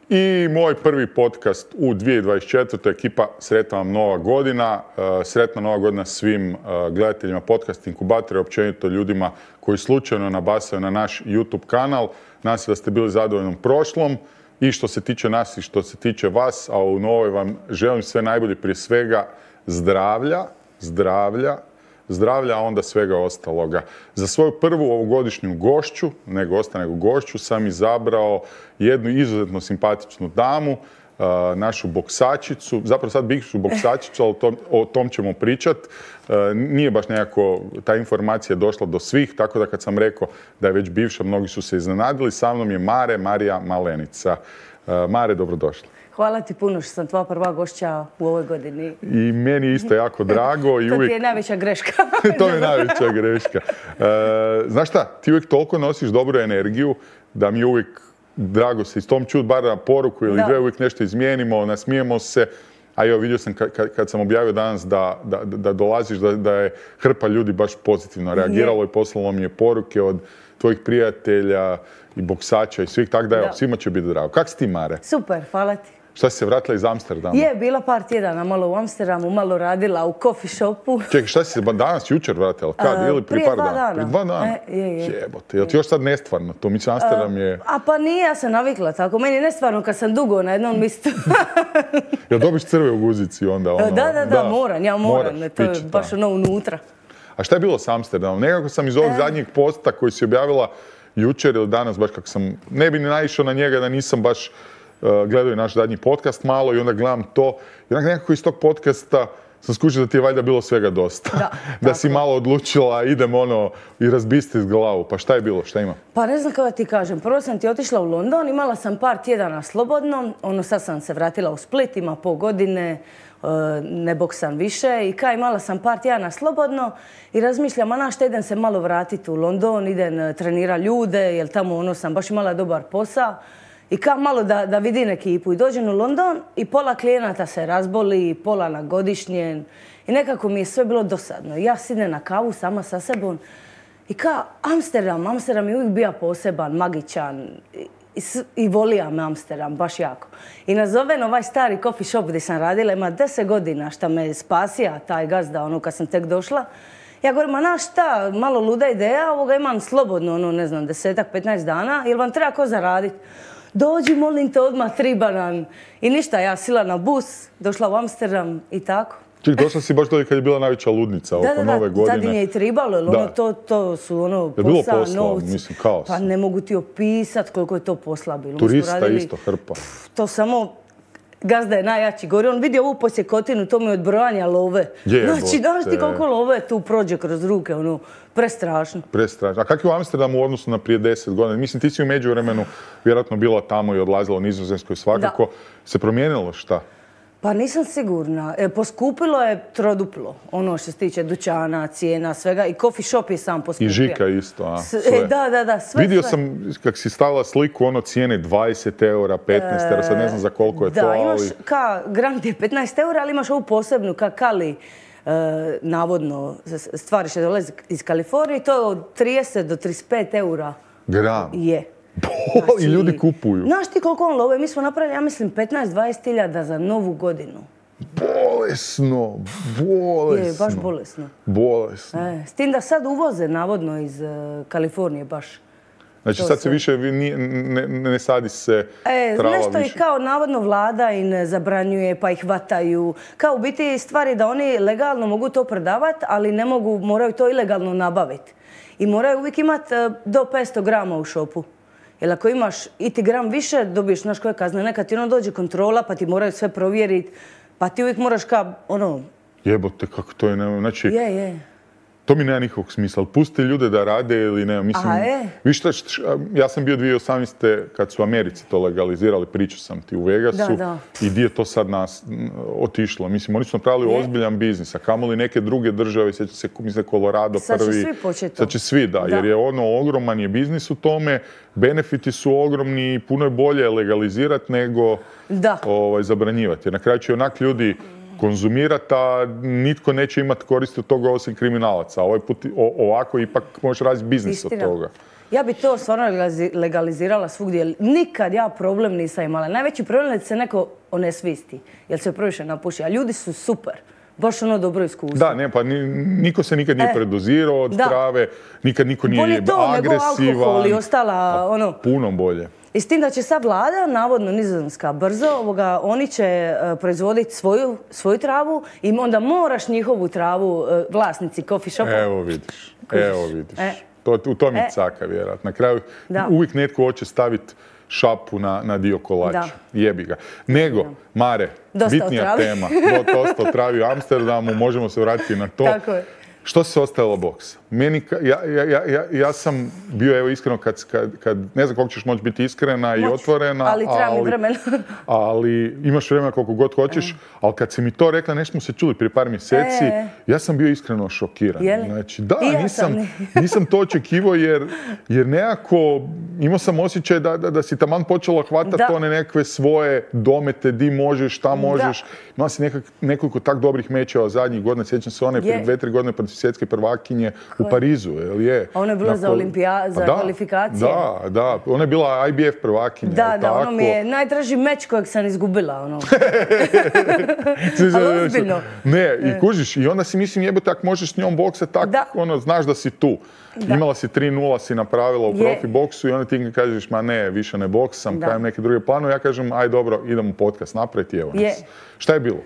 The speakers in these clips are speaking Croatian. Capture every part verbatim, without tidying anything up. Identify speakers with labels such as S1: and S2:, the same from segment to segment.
S1: I moj prvi podcast u dvije tisuće dvadeset četvrtoj. Ekipa, sretna vam nova godina. Sretna nova godina svim gledateljima podcast inkubatora i općenito ljudima koji slučajno nabasaju na naš YouTube kanal. Nadam se da ste bili zadovoljni prošlom i što se tiče nas i što se tiče vas, a u novoj vam želim sve najbolje, prije svega zdravlja, zdravlja, zdravlja, a onda svega ostaloga. Za svoju prvu ovogodišnju gošću, ne gosta nego gošću, sam izabrao jednu izuzetno simpatičnu damu, uh, našu boksačicu, zapravo sad bivšu boksačicu, ali to, o tom ćemo pričat. Uh, nije baš nekako ta informacija došla do svih, tako da kad sam rekao da je već bivša, mnogi su se iznenadili. Sa mnom je Mare, Marija Malenica. Uh, Mare, dobrodošla.
S2: Hvala ti puno što sam tvoja prva gošća u ovoj godini.
S1: I meni je isto jako drago. I
S2: to
S1: uvijek...
S2: ti je najveća greška.
S1: To je najveća greška. Uh, znaš šta, ti uvijek toliko nosiš dobru energiju da mi je uvijek drago se i s tom čut bar na poruku ili da. dve uvijek nešto izmijenimo, nasmijemo se. A evo, vidio sam kad, kad sam objavio danas da, da, da dolaziš, da, da je hrpa ljudi baš pozitivno reagiralo je. I poslalo mi je poruke od tvojih prijatelja i boksača i svih, tako da, evo, svima će biti drago. Kak si ti, Mare?
S2: Super, hvala ti.
S1: Šta si se vratila iz Amsterdama?
S2: Je, bila par tjedana malo u Amsterdamu, malo radila u coffee shopu.
S1: Čekaj, šta si se danas, jučer vratila? Kad?
S2: Uh,
S1: Ili prije par
S2: dva
S1: dana?
S2: dana.
S1: Prije dva dana?
S2: E, je, je.
S1: Jebote, jel ti još sad nestvarno? To mislim, Amsterdam je...
S2: Uh, a pa nije, ja sam navikla tako. Meni je nestvarno kad sam dugo na jednom mjestu.
S1: Jel dobiš crve u guzici onda? Ono...
S2: Da, da, da, moram, ja moram.
S1: Moraš,
S2: to je
S1: pići,
S2: baš ono unutra.
S1: A šta je bilo s Amsterdamom? Nekako sam iz ovog e. zadnjeg posta koji si objavila jučer ili danas, baš kako sam... Ne bi ni naišao na njega da nisam baš uh, gledao i naš zadnji podcast malo i onda gledam to. I onak nekako iz tog podcasta sam skušao da ti je valjda bilo svega dosta. Da, da si malo odlučila, idem ono i razbistiti glavu. Pa šta je bilo, šta ima?
S2: Pa ne znam kako ti kažem. Prvo sam ti otišla u London, imala sam par tjedana slobodno. Ono, sad sam se vratila u Split, ima pol godine, ne boksam više. I kaj, imala sam par tjedana slobodno i razmišljam, a na šta idem se malo vratiti u London, idem trenira ljude, jer tamo ono sam baš imala dobar posao. I kao malo da, da vidim ekipu. I dođem u London i pola klijenata se razboli, pola na godišnjen. I nekako mi je sve bilo dosadno. Ja sidem na kavu sama sa sebom i kao Amsterdam, Amsterdam je uvijek bio poseban, magičan. I, i volija me Amsterdam, baš jako. I nazovem ovaj stari coffee shop gdje sam radila, ima deset godina što me spasija taj gazda, ono kad sam tek došla. Ja govorim, ma na šta, malo luda ideja, ovoga imam slobodno, ono, ne znam, desetak, petnaest dana, jel vam treba ko zaraditi? Dođi, molim te, odmah tri banan. I ništa, ja sila na bus, došla u Amsterdam i tako.
S1: Ček, došla si baš doli kad je bila najveća ludnica oko
S2: da, da,
S1: nove godine.
S2: Da, tad mi je i tribalo, jer ono, to, to su ono
S1: posla, novci. Je bilo posla, mislim, kaos.
S2: Pa ne mogu ti opisat koliko je to posla bilo.
S1: Turista
S2: radili,
S1: isto, hrpa.
S2: Pff, to samo, gazda je najjači. Govori, on vidi ovu posjekotinu, to mi je od brojanja love.
S1: Jebote.
S2: Znači, znaš ti koliko love tu prođe kroz ruke, ono, prestrašno.
S1: Prestrašno. A kako je u Amsterdamu u odnosu na prije deset godina? Mislim, ti si u međuvremenu vjerojatno bila tamo i odlazila u Nizozemskoj svakako. Da. Se promijenilo šta?
S2: Pa nisam sigurna. E, poskupilo je troduplo, ono što se tiče dućana, cijena, svega. I coffee shop je sam poskupio.
S1: I žika isto, a?
S2: Sve. E, da, da, da, sve.
S1: Vidio
S2: sve.
S1: sam kak si stavila sliku, ono cijene dvadeset eura, petnaest eura, sad ne znam za koliko je
S2: da,
S1: to, ali...
S2: Da, imaš, ka, grant je petnaest eura, ali imaš ovu posebnu, ka kali, e, navodno, stvari što dolaze iz Kalifornije, to je od trideset do trideset pet eura.
S1: Gram?
S2: Je.
S1: Znači, i ljudi kupuju.
S2: Znaš ti koliko on love? Mi smo napravili, ja mislim, petnaest do dvadeset hiljada za novu godinu.
S1: Bolesno, bolesno.
S2: Je, baš bolesno.
S1: Bolesno.
S2: E, s tim da sad uvoze, navodno, iz uh, Kalifornije baš.
S1: Znači sad se više ne, ne, ne sadi se
S2: e,
S1: trava
S2: nešto
S1: više.
S2: I kao navodno vlada im zabranjuje, pa ih vataju. Kao u biti stvari da oni legalno mogu to prodavati, ali ne mogu, moraju to ilegalno nabaviti. I moraju uvijek imati uh, do petsto grama u šopu. Jer ako imaš iti gram više, dobiješ, znaš koje kazne. Nekad ti ono dođe kontrola, pa ti moraju sve provjeriti. Pa ti uvijek moraš ka, ono...
S1: Jebote, kako to je, ne, znači...
S2: Je, je.
S1: To mi nema nikakvog smisla. Pusti ljude da rade ili ne, mislim...
S2: Aha, je.
S1: Viš šta, ja sam bio dvije tisuće osamnaeste kad su u Americi to legalizirali, pričao sam ti u Vegasu.
S2: Da, da.
S1: I gdje je to sad nas otišlo. Mislim, oni su napravili je. ozbiljan biznis, a kamoli neke druge države, sjeća se, mislim, Colorado
S2: sad
S1: prvi.
S2: Sad će svi početi.
S1: Sad će svi, da, da, jer je ono, ogroman je biznis u tome, benefiti su ogromni i puno je bolje legalizirati nego ovaj, zabranjivati. Jer na kraju će onak ljudi konzumirati, a nitko neće imati koristi od toga osim kriminalaca. Ovaj put, o, ovako ipak možeš raditi biznis Istina. od toga.
S2: Ja bi to stvarno legalizirala svugdje. Nikad ja problem nisam imala. Najveći problem je da se neko onesvisti, jer se previše napuši. A ljudi su super. Baš ono dobro iskustvo.
S1: Da, ne, pa niko se nikad nije e, predozirao od da. trave, nikad niko nije
S2: bolje to
S1: agresivan.
S2: Nego alkohol i ostala, ono...
S1: Puno bolje.
S2: I s tim da će sad vlada, navodno nizozemska, brzo, ovoga, oni će uh, proizvoditi svoju, svoju travu i onda moraš njihovu travu, uh, vlasnici coffee shopa.
S1: Evo vidiš, evo vidiš. E. To, u tom je e. caka, vjerojatno. Na kraju da. uvijek netko hoće staviti šapu na, na dio kolača. Da. Jebi ga. Nego, Mare, dosta bitnija tema. Dosta o travi u Amsterdamu, možemo se vratiti na to.
S2: Tako je.
S1: Što se ostavilo boksa? Meni, ja, ja, ja, ja sam bio, evo iskreno, kad, kad, kad ne znam koliko ćeš moći biti iskrena Moć, i otvorena,
S2: ali, ali, vremena.
S1: ali imaš vremena koliko god hoćeš, e. ali kad si mi to rekla, nešto smo se čuli prije par mjeseci, e. ja sam bio iskreno šokiran. Znači, da, ja nisam, nisam to očekivao jer, jer nekako imao sam osjećaj da, da, da si taman počela hvatati one nekakve svoje domete, di možeš, šta možeš. Imala si nekak, nekoliko tak dobrih mečeva zadnjih godina, sjećam se one prije dve, tri godine protiv svjetske prvakinje u Parizu, jel je?
S2: A ona je bila na, za, olimpija, za da, kvalifikacije.
S1: Da, da. Ona je bila I B F prvakinja.
S2: Da, da, ono mi je najdraži meč kojeg sam izgubila. Ono. Ali ozbiljno.
S1: Ne, i kužiš, i onda si mislim jebote, ako možeš s njom boksati, tak, ono, znaš da si tu. Da. Imala si tri nula si napravila u je. profi boksu i onda ti kažeš, ma ne, više ne boksam, kajem neke druge planove. Ja kažem, aj dobro, idemo podcast napraviti, evo nas. Šta je bilo?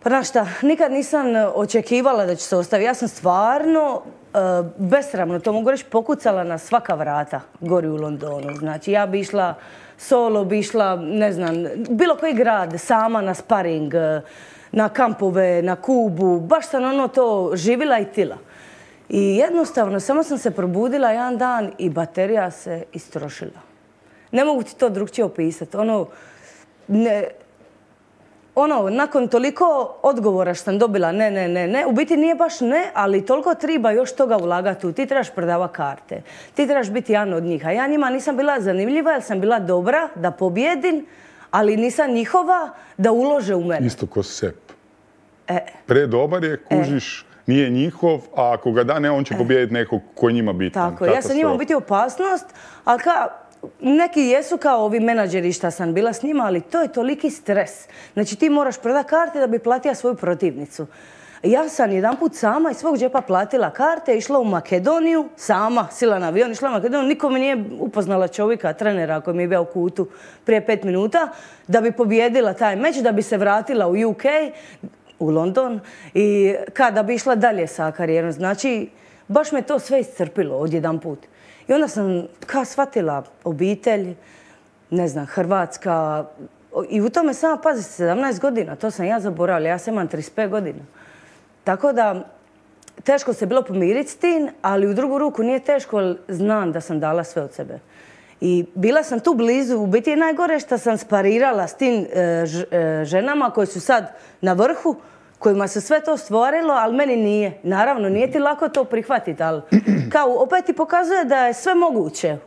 S2: Pa znaš šta, nikad nisam očekivala da će se ostaviti. Ja sam stvarno, uh, besramno, to mogu reći, pokucala na svaka vrata gori u Londonu. Znači, ja bi išla solo, bi išla, ne znam, bilo koji grad, sama na sparing, na kampove, na Kubu. Baš sam ono to živila i tila. I jednostavno, samo sam se probudila jedan dan i baterija se istrošila. Ne mogu ti to drugčije opisati. Ono, ne... Ono, nakon toliko odgovora što sam dobila ne, ne, ne, ne, u biti nije baš ne, ali toliko treba još toga ulagati tu. Ti trebaš prodavati karte, ti trebaš biti jedan od njih. A ja njima nisam bila zanimljiva jer sam bila dobra da pobjedim, ali nisam njihova da ulože u mene.
S1: Isto ko Sep. E. Predobar je, kužiš, e. nije njihov, a ako ga da ne, on će pobijediti nekog ko je njima bitan.
S2: Tako, ja sam njima biti opasnost, ali kao... Neki jesu kao ovi menadžeri šta sam bila s njima, ali to je toliki stres. Znači ti moraš prodati karte da bi platila svoju protivnicu. Ja sam jedan put sama iz svog džepa platila karte, išla u Makedoniju, sama, sila na avion, išla u Makedoniju, niko mi nije upoznala čovjeka, trenera koji mi je bio u kutu prije pet minuta, da bi pobjedila taj meč, da bi se vratila u U K, u London i kada bi išla dalje sa karijerom. Znači, baš me to sve iscrpilo odjedan put. I onda sam kao shvatila obitelj, ne znam, Hrvatska. I u tome sama, pazi, sedamnaest godina, to sam ja zaboravila, ja sam imam trideset pet godina. Tako da, teško se bilo pomiriti s tim, ali u drugu ruku nije teško, ali znam da sam dala sve od sebe. I bila sam tu blizu, u biti je najgore što sam sparirala s tim e, ž, e, ženama koje su sad na vrhu, kojima se sve to stvorilo, ali meni nije. Naravno, nije ti lako to prihvatiti, ali kao opet ti pokazuje da je sve moguće,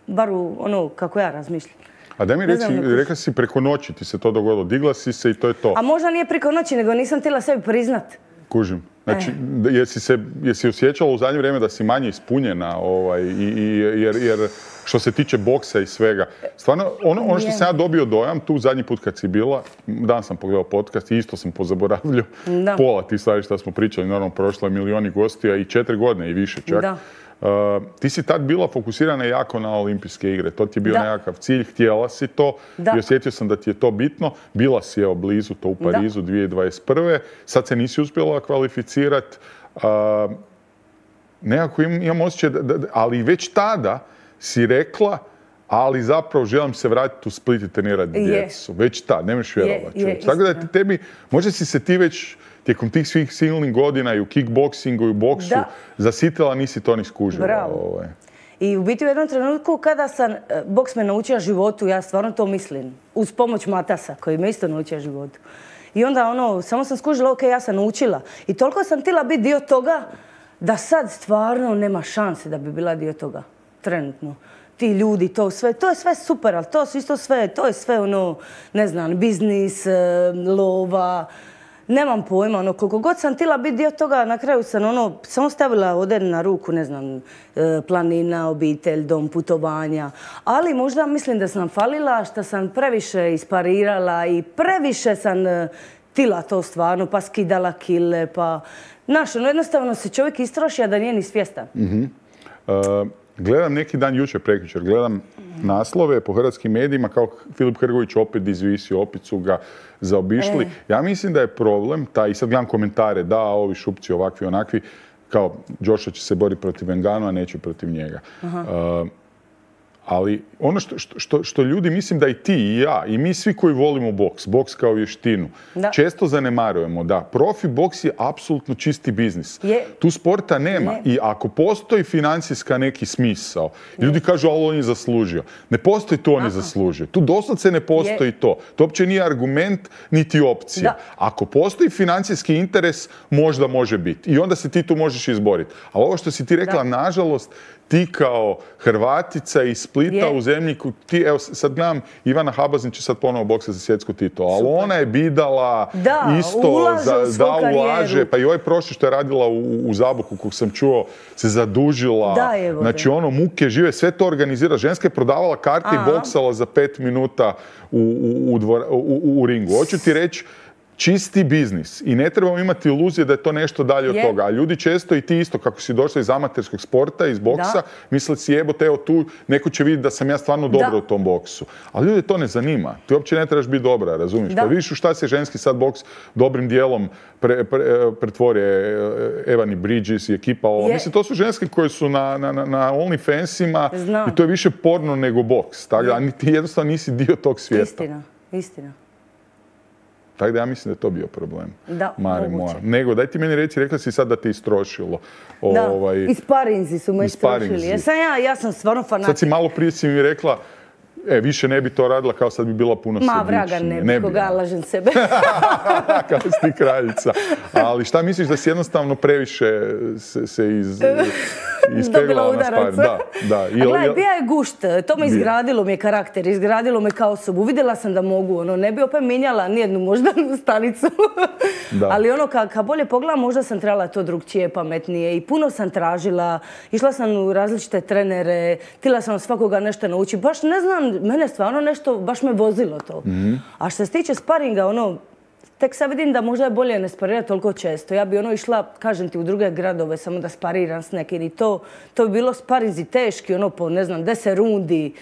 S2: bar u ono kako ja razmišljam.
S1: A da mi reci, rekla si preko noći ti se to dogodilo, digla si se i to je to.
S2: A možda nije preko noći, nego nisam htjela sebi priznat.
S1: Kužim. Znači, eh. jesi se jesi osjećala u zadnje vrijeme da si manje ispunjena, ovaj, i, i, jer, jer što se tiče boksa i svega. Stvarno, ono, ono što sam ja dobio dojam, tu zadnji put kad si bila, dan sam pogledao podcast i isto sam pozaboravljao pola tih stvari što smo pričali, naravno prošlo je milioni gostija i četiri godine i više čak. Da. Uh, ti si tad bila fokusirana jako na olimpijske igre, to ti je bio da. nekakav cilj, htjela si to da. i osjetio sam da ti je to bitno. Bila si evo blizu to u Parizu da. dvije tisuće dvadeset prve. Sad se nisi uspjela kvalificirati. Uh, nekako im, imam osjećaj, da, da, ali već tada si rekla, ali zapravo želim se vratiti u Split i trenirati djecu. Već tad, nemaš vjerovati. Tako da tebi, možda si se ti već tijekom tih svih silnih godina i u kickboksingu i u boksu da. zasitila, nisi to ni skužila.
S2: Bravo. Ovaj. I u biti u jednom trenutku kada sam, boks me naučio životu, ja stvarno to mislim, uz pomoć Matasa koji me isto naučio životu. I onda ono, samo sam skužila, ok, ja sam naučila. I toliko sam htjela biti dio toga da sad stvarno nema šanse da bi bila dio toga. Trenutno. Ti ljudi, to sve, to je sve super, ali to su isto sve, to je sve ono, ne znam, biznis, lova. nemam pojma, ono, koliko god sam htjela biti dio toga, na kraju sam ono, samo stavila ovdje na ruku, ne znam, planina, obitelj, dom, putovanja, ali možda mislim da sam falila, što sam previše isparirala i previše sam htjela to stvarno, pa skidala kile, pa... Znaš, ono, jednostavno se čovjek istroši, a da nije ni svjestan.
S1: Mm-hmm. uh, gledam neki dan, jučer, prekjučer, gledam naslove po hrvatskim medijima kao Filip Hrgović opet izvisio, opet su ga zaobišli. E. Ja mislim da je problem, taj, i sad gledam komentare, da, ovi šupci ovakvi, onakvi, kao Joša će se boriti protiv Enganu, a neće protiv njega. Uh, ali ono što, što, što ljudi, mislim da i ti i ja, i mi svi koji volimo boks, boks kao vještinu, da. često zanemarujemo da profi boks je apsolutno čisti biznis. Je. Tu sporta nema je. I ako postoji financijska neki smisao, je. ljudi kažu, ali on je zaslužio. Ne postoji to, on je zaslužio. Tu doslovce ne postoji je. to. To uopće nije argument, niti opcija. Da. Ako postoji financijski interes, možda može biti. I onda se ti tu možeš izboriti. Ali ovo što si ti rekla, da. nažalost, ti kao Hrvatica iz Splita je. u zemlji, ti, evo sad gledam, Ivana Habazin će sad ponovo boksa za svjetsku titulu, ali Super. ona je bidala
S2: da,
S1: isto, za, da ulaže, pa i ovaj prošli što je radila u, u Zaboku, kog sam čuo, se zadužila,
S2: da, je,
S1: znači ono, muke žive, sve to organizira, ženska je prodavala karte Aha. i boksala za pet minuta u, u, u, dvor, u, u, u ringu. Hoću ti reći, čisti biznis i ne trebamo imati iluzije da je to nešto dalje od je. toga. A ljudi često i ti isto, kako si došla iz amaterskog sporta, iz boksa, misle si jebote, evo tu neko će vidjeti da sam ja stvarno dobra da. u tom boksu. Ali ljudi to ne zanima. Ti uopće ne trebaš biti dobra, razumiješ? Da. Pa vidiš u šta se ženski sad boks dobrim dijelom pre, pre, pretvori Evani Bridges i ekipa ovo. Mislim, to su ženske koje su na, na, na OnlyFansima i to je više porno nego boks. Tako da ti jednostavno nisi dio tog svijeta.
S2: Istina, istina.
S1: Tako da ja mislim da je to bio problem.
S2: Da,
S1: Mare
S2: moguće.
S1: moja. Nego, daj ti meni reci, rekla si sad da te istrošilo.
S2: Da,
S1: ovaj,
S2: i sparinzi su me istrošili. Ja sam, ja, ja sam stvarno fanatik.
S1: Sad si malo prije si mi rekla, e, više ne bi to radila, kao sad bi bila puno sredičnije.
S2: Ma, vraga, ne bi, ne bi koga lažem sebe.
S1: Kao si ti kraljica. Ali šta misliš da si jednostavno previše se, se iz...
S2: Dobila udarac.
S1: Da, da.
S2: Il, A gledaj, bija je gušt. To me izgradilo mi je karakter, izgradilo me kao osobu. Vidjela sam da mogu, ono, ne bi opet minjala nijednu moždanu stanicu. Da. Ali ono, kad ka bolje pogledam, možda sam trebala to drugčije, pametnije. I puno sam tražila, išla sam u različite trenere, htjela sam svakoga nešto naučiti. Baš ne znam, mene stvarno nešto, baš me vozilo to. Mm-hmm. A što se tiče sparinga, ono, tek sad vidim da možda je bolje ne sparirati toliko često. Ja bi ono išla, kažem ti, u druge gradove samo da spariram s nekim i to, to bi bilo sparinzi teški, ono po, ne znam, deset rundi.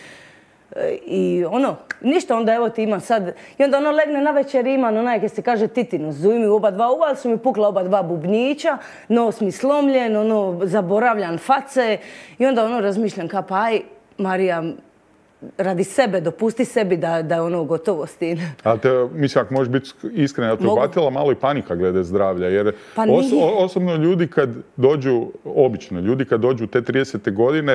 S2: I ono, ništa, onda evo ti imam sad, i onda ono legne na večer imam onaj kad se kaže titinu, zuj mi oba dva uva, su mi pukla oba dva bubnjića, nos mi slomljen, ono, zaboravljan face i onda ono razmišljam kao pa aj, Marija, radi sebe, dopusti sebi da, da je ono gotovo s tim. Ali
S1: te, mislim, ako možeš biti iskrena, ja te uhvatila malo i panika glede zdravlja, jer pa os, osobno ljudi kad dođu, obično ljudi kad dođu u te tridesete godine,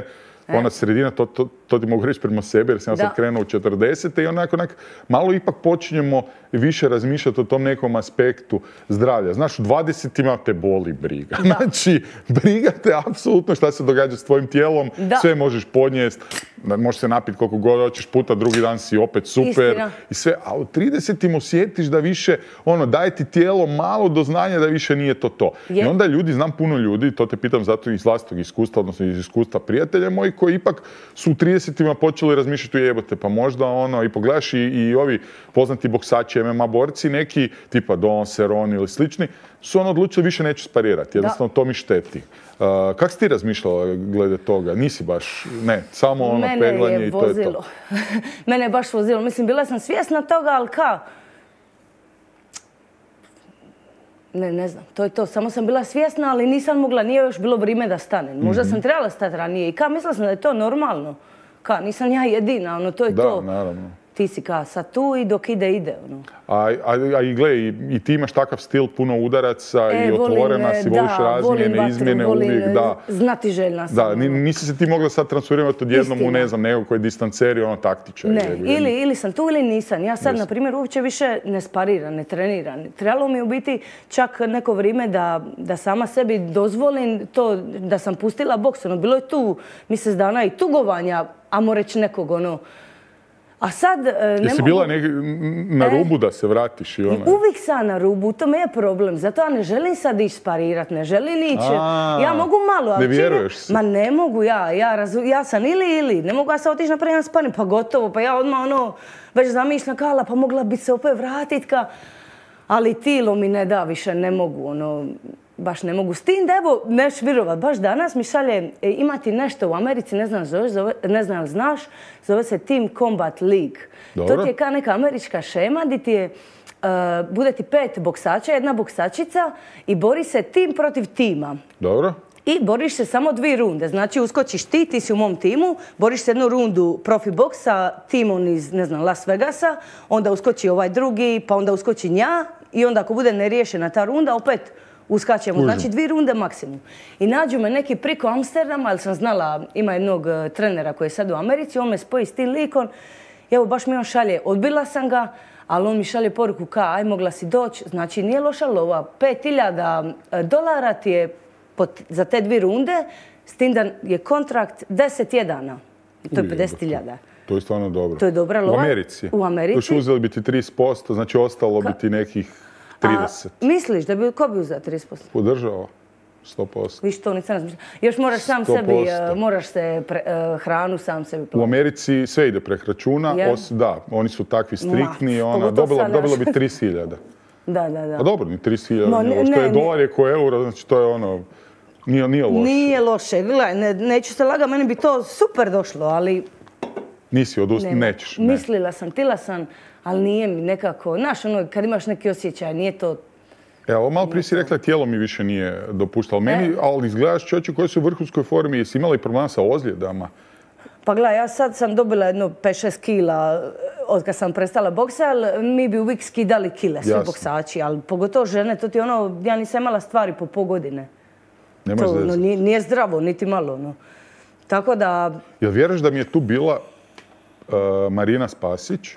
S1: e. ona sredina, to, to, to ti mogu reći prema sebi, jer sam ja sad krenuo u četrdesete i onako, onak, malo ipak počinjemo više razmišljati o tom nekom aspektu zdravlja. Znaš, u dvadesetima te boli briga. Da. Znači, briga te apsolutno šta se događa s tvojim tijelom, da. sve možeš podnijesti, možeš se napiti koliko god hoćeš, puta drugi dan si opet super. Istina. I sve, a u tridesetima osjetiš da više, ono, daje ti tijelo malo do znanja da više nije to to. Je. I onda ljudi, znam puno ljudi, to te pitam zato iz vlastitog iskustva, odnosno iz iskustva prijatelja moji, koji ipak su u tridesetima počeli razmišljati u jebote, pa možda ono, i pogledaš i, i ovi poznati boksači, M M A borci, neki tipa Don, Cerrone ili slični, su ono odlučili više neću sparirati, jednostavno da. to mi šteti. Uh, kako si ti razmišljala glede toga? Nisi baš, ne, samo ono Mene peglanje i to je to.
S2: Mene je baš vozilo. Mislim, bila sam svjesna toga, ali ka? Ne, ne znam, to je to. Samo sam bila svjesna, ali nisam mogla, nije još bilo vrijeme da stanem. Možda mm-hmm. sam trebala stati ranije i ka, mislila sam da je to normalno. Ka, nisam ja jedina, ono, to je
S1: da,
S2: to.
S1: Da, naravno.
S2: Ti si ka sad tu i dok ide, ide. Ono.
S1: A, a, a i gle, i, i ti imaš takav stil, puno udaraca e, i otvorena si, voliš razmijene, izmjene
S2: volim,
S1: uvijek, da.
S2: Znati željna sam.
S1: Da, nisi se ti mogla sad transformirati odjednom u, ne znam, nekog koji je distanceri, ono, taktičar.
S2: Ne, ili, ili sam tu ili nisam. Ja sad, Jes. na primjer, uopće više ne spariram, ne treniram. Trebalo mi u biti čak neko vrijeme da, da sama sebi dozvolim to, da sam pustila boks. Ono, bilo je tu mjesec dana i tugovanja, amo reći nekog, ono, A sad... E,
S1: Jesi bila neki, na rubu e, da se vratiš? I ono...
S2: Uvijek sam na rubu, to me je problem. Zato ja ne želim sad ići sparirat, ne želim ići. Ja mogu malo, ali...
S1: Ne vjeruješ si?
S2: Ma ne mogu ja, ja, razu, ja sam ili ili. Ne mogu ja sad otići napraviti sparing, pa gotovo. Pa ja odmah ono, već zamišljam kala, pa mogla bi se opet vratit ka... Ali tilo mi ne da više, ne mogu, ono... Baš ne mogu. S tim da evo, neš virovat, baš danas mi šalje, e, imati nešto u Americi, ne znam, zove, zove, ne znam, znaš, zove se Team Combat League.
S1: Dobro.
S2: To ti je kao neka američka šema gdje ti je, uh, bude ti pet boksača, jedna boksačica i bori se tim protiv tima.
S1: Dobro.
S2: I boriš se samo dvije runde. Znači, uskočiš ti, ti si u mom timu, boriš se jednu rundu profi boks sa timom iz, ne znam, Las Vegasa, onda uskoči ovaj drugi, pa onda uskoči nja i onda ako bude neriješena ta runda, opet uskačemo, znači dvije runde maksimum. I nađu me neki priko Amsterdama, ali sam znala, ima jednog uh, trenera koji je sad u Americi, on me spoji s tim likom. I evo, baš mi on šalje, odbila sam ga, ali on mi šalje poruku ka, aj mogla si doći. Znači, nije loša lova, pet hiljada dolara ti je pot, za te dvije runde, s tim da je kontrakt deset jedana. I to je pedeset hiljada.
S1: To je stvarno dobro.
S2: To je dobra lova.
S1: U Americi?
S2: U Americi.
S1: To što uzeli bi ti trideset posto, znači ostalo ka... bi ti nekih... trideset.
S2: A misliš da bi, ko bi uzeo trideset posto?
S1: Podržava. sto posto.
S2: Viš to nisam razmišljala. Još moraš sam sto posto. Sebi, moraš se pre, uh, hranu sam sebi platiti.
S1: U Americi sve ide prek računa. Yeah. Os, da, oni su takvi striktni.
S2: Ma,
S1: ona, dobila, dobila bi trideset hiljada.
S2: Da, da, da.
S1: A dobro, ni trideset hiljada. No, ne, što je dolar je ko euro, znači to je ono... Nije, nije loše.
S2: Nije loše. Gledaj, ne, neću se laga, meni bi to super došlo, ali...
S1: Nisi odustala, ne, nećeš. Ne.
S2: Mislila sam, tila sam, ali nije mi nekako... Znaš, ono, kad imaš neki osjećaj, nije to...
S1: Evo, malo prije si rekla, tijelo mi više nije dopuštalo. Meni, e. ali izgledaš čovječe koji su u vrhunskoj formi, jesi imala i problema sa ozljedama?
S2: Pa gledaj, ja sad sam dobila jedno pet šest kila od kad sam prestala boksa, ali mi bi uvijek skidali kile, svi Jasne. boksači, ali pogotovo žene, to ti ono, ja nisam imala stvari po pol godine.
S1: Nemaš
S2: to, no, nije, nije zdravo, niti malo. No. Tako da...
S1: Jel vjeraš da mi je tu bila uh, Marina Spasić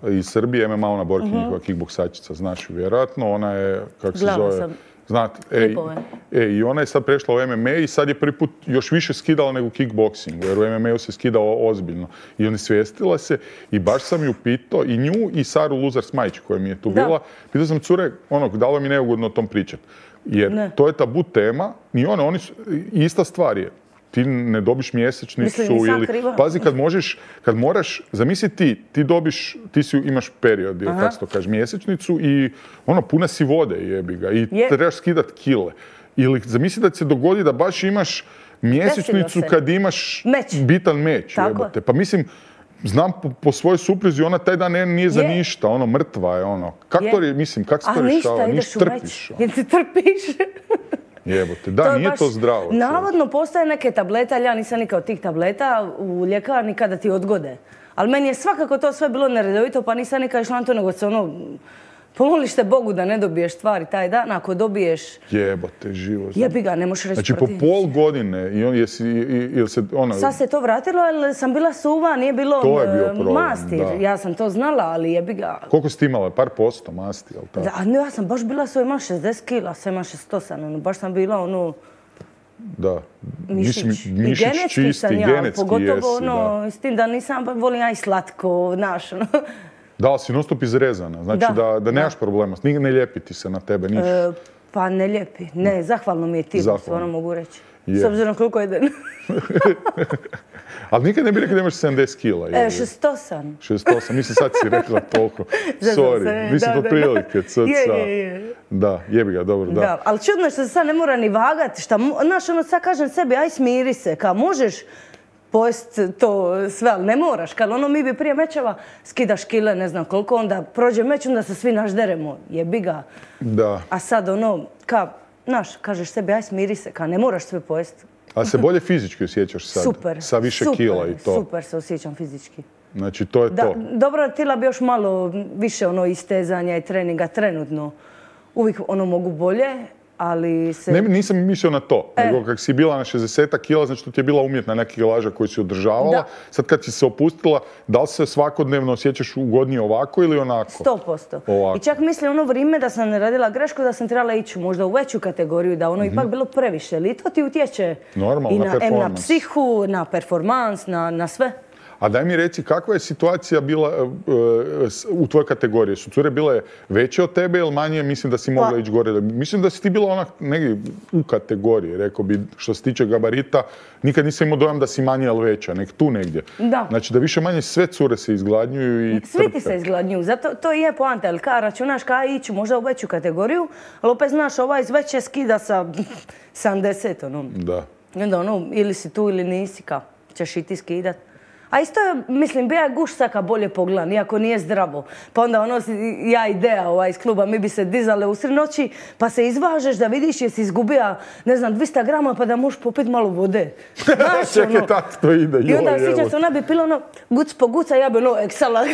S1: iz Srbije, M M A, ona borkinja, uh-huh. njihova kickboksačica, znaš ju vjerojatno, ona je, kako se
S2: Glava
S1: zove...
S2: Sam.
S1: Znate, ej, ej, i ona je sad prešla u M M A i sad je prvi put još više skidala nego u kickboksingu, jer u M M A-u se skidao ozbiljno. I ona svijestila se i baš sam ju pitao, i nju i Saru Luzar-Smajić koja mi je tu da. bila, pitao sam cure, ono, dalo mi neugodno o tom pričati. Jer ne. to je tabu tema, i one, oni su, ista stvar je. Ti ne dobiš mjesečnicu ili... Kriva. Pazi, kad možeš, kad moraš, zamisli ti, ti dobiš, ti si, imaš period, ili kako se to kaže, mjesečnicu i ono, puna si vode, jebi ga, i je. trebaš skidat kile. Ili zamisli da se dogodi da baš imaš mjesečnicu kad imaš
S2: meč.
S1: bitan meč, jebote. Pa mislim, znam po, po svojoj supruzi, ona taj dan nije za je. ništa, ono, mrtva je, ono. Kako to je, mislim, kako se to rješava? Ništa, trpiš.
S2: Jer ti trpiš.
S1: Jebote, da, to nije to zdravo.
S2: Navodno postoje neke tablete, ali ja nisam nikao od tih tableta u ljekarni kada ti odgode. Ali meni je svakako to sve bilo neredovito, pa nisam nikao išla na to, nego se ono... Pomoliš te Bogu da ne dobiješ stvari taj dan, ako dobiješ...
S1: Jebote, živo.
S2: Jebi ga, ne možeš reći
S1: znači, protiv. Znači, po pol godine, i on jesi, i, i, se, ona...
S2: Sad se to vratilo, jer sam bila suva, nije bilo
S1: to je bio problem,
S2: masti. Da. Ja sam to znala, ali jebi ga...
S1: Koliko si ti imala? Par posto masti, jel tako?
S2: Da, ne, ja sam baš bila suva, imala šezdeset kila, sam imala šezdeset osam, ono, baš sam bila ono...
S1: Da.
S2: Mišić.
S1: Mišić čisti, sam ja, genetski
S2: pogotovo,
S1: jesi,
S2: ono,
S1: da.
S2: S tim da nisam, volim ja i slatko, znaš, ono...
S1: Da, ali si non stop izrezana, znači da, da, da nemaš problema, ne lijepi ti se na tebe niš. E,
S2: pa ne lijepi, ne, zahvalno mi je ti, stvarno mogu reći.
S1: Je.
S2: S obzirom koliko je...
S1: Ali nikad ne bi rekli da imaš sedamdeset kila.
S2: E, šezdeset osam.
S1: šezdeset osam, mislim sad si rekla toliko. Sorry, mislim od prilike, cca.
S2: Je, je, je.
S1: Da, jebi ga, dobro, da.
S2: Da, ali čudno je što se sad ne mora ni vagati, šta, znaš, ono sad kažem sebi, aj smiri se, kao možeš pojest to sve, ali ne moraš. Kad ono mi bi prije mečeva skidaš kile, ne znam koliko, onda prođe meć, onda se svi našderemo, jebi ga.
S1: Da.
S2: A sad ono, ka, znaš, kažeš sebi, aj smiri se, ka ne moraš sve pojest.
S1: A se bolje fizički osjećaš sad?
S2: Super.
S1: Sa više
S2: super,
S1: kila i to?
S2: Super se osjećam fizički.
S1: Znači, to je
S2: da,
S1: to?
S2: Dobro, htjela bi još malo više ono istezanja i treninga trenutno. Uvijek ono mogu bolje. Ali se...
S1: Ne, nisam mislio na to, e. nego kak si bila na šezdeset kila, znači to ti je bila umjetna neka kilaža koju si održavala. Da. Sad kad si se opustila, da li se svakodnevno osjećaš ugodnije ovako ili onako?
S2: Sto posto. I čak mislim ono vrijeme da sam radila grešku, da sam trebala ići možda u veću kategoriju, da ono mm-hmm. ipak bilo previše. Ali to ti utječe
S1: Normalno,
S2: i
S1: na,
S2: na,
S1: na,
S2: na psihu, na performans, na, na sve.
S1: A daj mi reci, kakva je situacija bila uh, u tvojoj kategoriji? Su cure bile veće od tebe ili manje? Mislim da si mogla pa, ići gore. Mislim da si ti bila ona negdje u kategoriji, rekao bi, što se tiče gabarita. Nikad nisam imao dojam da si manje ili veća, nek tu negdje.
S2: Da.
S1: Znači da više manje sve cure se izgladnjuju i
S2: Svi ti se izgladnjuju, zato to je poanta. Jer ka računaš ka ići možda u veću kategoriju, ali opet znaš ovaj iz veće skida sa sedamdeset, ono.
S1: Da.
S2: I onda ono, ili si tu ili nisi, kao, ćeš i ti skidat. A isto je, mislim, bija je guš saka bolje pogledan, iako nije zdravo. Pa onda ono, ja i Deja ovaj, iz kluba, mi bi se dizale usred noći, pa se izvažeš da vidiš jesi izgubija, ne znam, dvista grama pa da možeš popit malo vode.
S1: Znaš, čekaj, ono, tako to ide, joj,
S2: i onda sjećam se, ona bi pila ono, guc po guca, ja bi ono, eksala.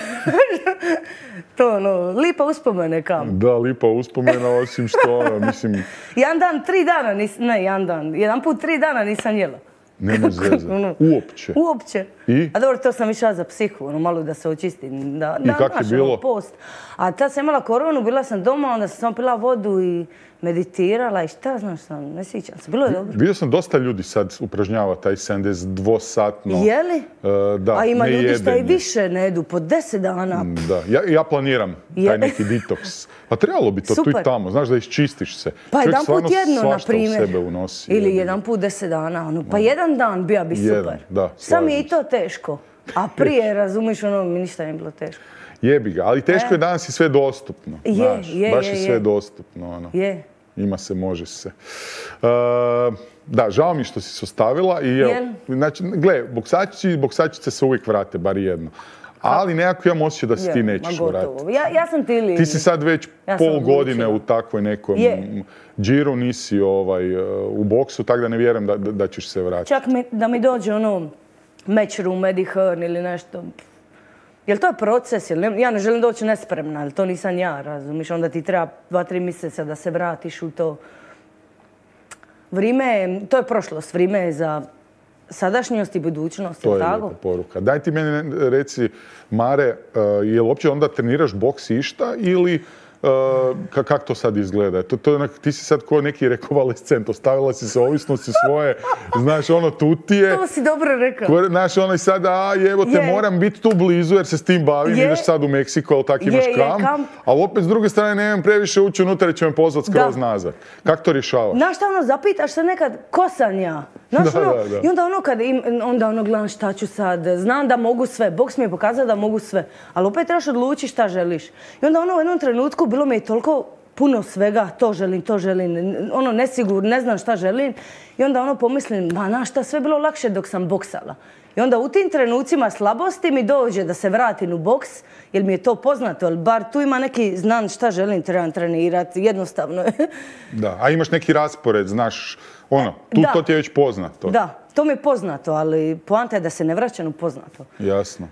S2: To ono, lipa uspomene kam.
S1: Da, lipa uspomena, osim što ono, mislim...
S2: Jedan dan, tri dana nisam, ne, jedan dan, jedan put tri dana nisam jela.
S1: Nema zeze. Uopće.
S2: Uopće.
S1: I?
S2: A dobro, to sam išla za psihu, ono malo da se očistim. Da,
S1: I
S2: da,
S1: kak je
S2: naš,
S1: bilo?
S2: Ono, post. A tad sam imala koronu, bila sam doma, onda sam samo pila vodu i meditirala i šta znaš sam, ne sjećam se. Bilo je dobro.
S1: Vidio sam dosta ljudi sad upražnjava taj sedamdeset dvosatno.
S2: Je li?
S1: Uh, da,
S2: a ima ljudi
S1: nejedenje.
S2: šta i više ne jedu, po deset dana.
S1: Da, ja, ja planiram
S2: je.
S1: taj neki detoks. Pa trebalo bi to
S2: Super.
S1: tu i tamo, znaš da iščistiš se.
S2: Pa
S1: Čovjek
S2: jedan put jedno, na primjer.
S1: u sebe unosi.
S2: Ili
S1: jedin.
S2: jedan put deset dana. Ono. Pa jedan dan bija bi
S1: jedan,
S2: super.
S1: Da,
S2: sam je i to teško. A prije, razumiš, ono, mi ništa nije bilo teško.
S1: Jebi ga, ali teško
S2: e.
S1: je danas i sve dostupno.
S2: Je,
S1: znaš,
S2: je,
S1: baš
S2: je,
S1: je
S2: je.
S1: sve dostupno. Ono.
S2: Je.
S1: Ima se, može se. Uh, da, žao mi što si se ostavila i evo, znači, gle, boksačići i boksačice se uvijek vrate, bar jedno. Ali nekako imam osjećaj da se ti nećeš vratiti.
S2: Ja, ja sam ti li...
S1: Ti si sad već
S2: ja
S1: pol godine u takvoj nekom džiru, nisi ovaj, u boksu, tako da ne vjerujem da, da, da ćeš se vratiti.
S2: Čak mi, da mi dođe ono matchroom, Eddie Hearn ili nešto. Jel to je proces? Jel ne, ja ne želim doći nespremna, ali to nisam ja, razumiš? Onda ti treba dva, tri mjeseca da se vratiš u to. Vrijeme je, to je prošlost, vrijeme je za sadašnjost i budućnost,
S1: to
S2: je
S1: je
S2: tako?
S1: lijepa poruka. Daj ti meni reci, Mare, uh, je li uopće onda treniraš boks išta ili uh, kako to sad izgleda? To, to je, ti si sad ko neki rekovalescent, ostavila si se ovisnosti svoje, znaš, ono, tu ti je.
S2: To si dobro rekao.
S1: Ko, znaš, ono i sad, a evo te, je. moram biti tu blizu jer se s tim bavim, je. ideš sad u Meksiko, ali tak imaš
S2: je,
S1: kamp,
S2: je, kamp.
S1: ali opet s druge strane nemam previše ući unutra i će me pozvat skroz nazad. Kako to rješavaš?
S2: Znaš šta, ono, zapitaš se nekad, ko sam ja? Znaš,
S1: da,
S2: ono,
S1: da, da.
S2: I onda ono, kad im, onda ono gledam šta ću sad, znam da mogu sve, boks mi je pokazao da mogu sve, ali opet trebaš odlučiti šta želiš. I onda ono u jednom trenutku bilo mi je toliko puno svega, to želim, to želim, ono nesigurno, ne znam šta želim. I onda ono pomislim, ma na šta, sve bilo lakše dok sam boksala. I onda u tim trenucima slabosti mi dođe da se vratim u boks, jer mi je to poznato, ali bar tu ima neki znam šta želim, trebam trenirati, jednostavno.
S1: Da, a imaš neki raspored, znaš, ono, tu
S2: da.
S1: to ti je već poznato.
S2: Da, to mi je poznato, ali poanta je da se ne vraćam u poznato.
S1: Jasno.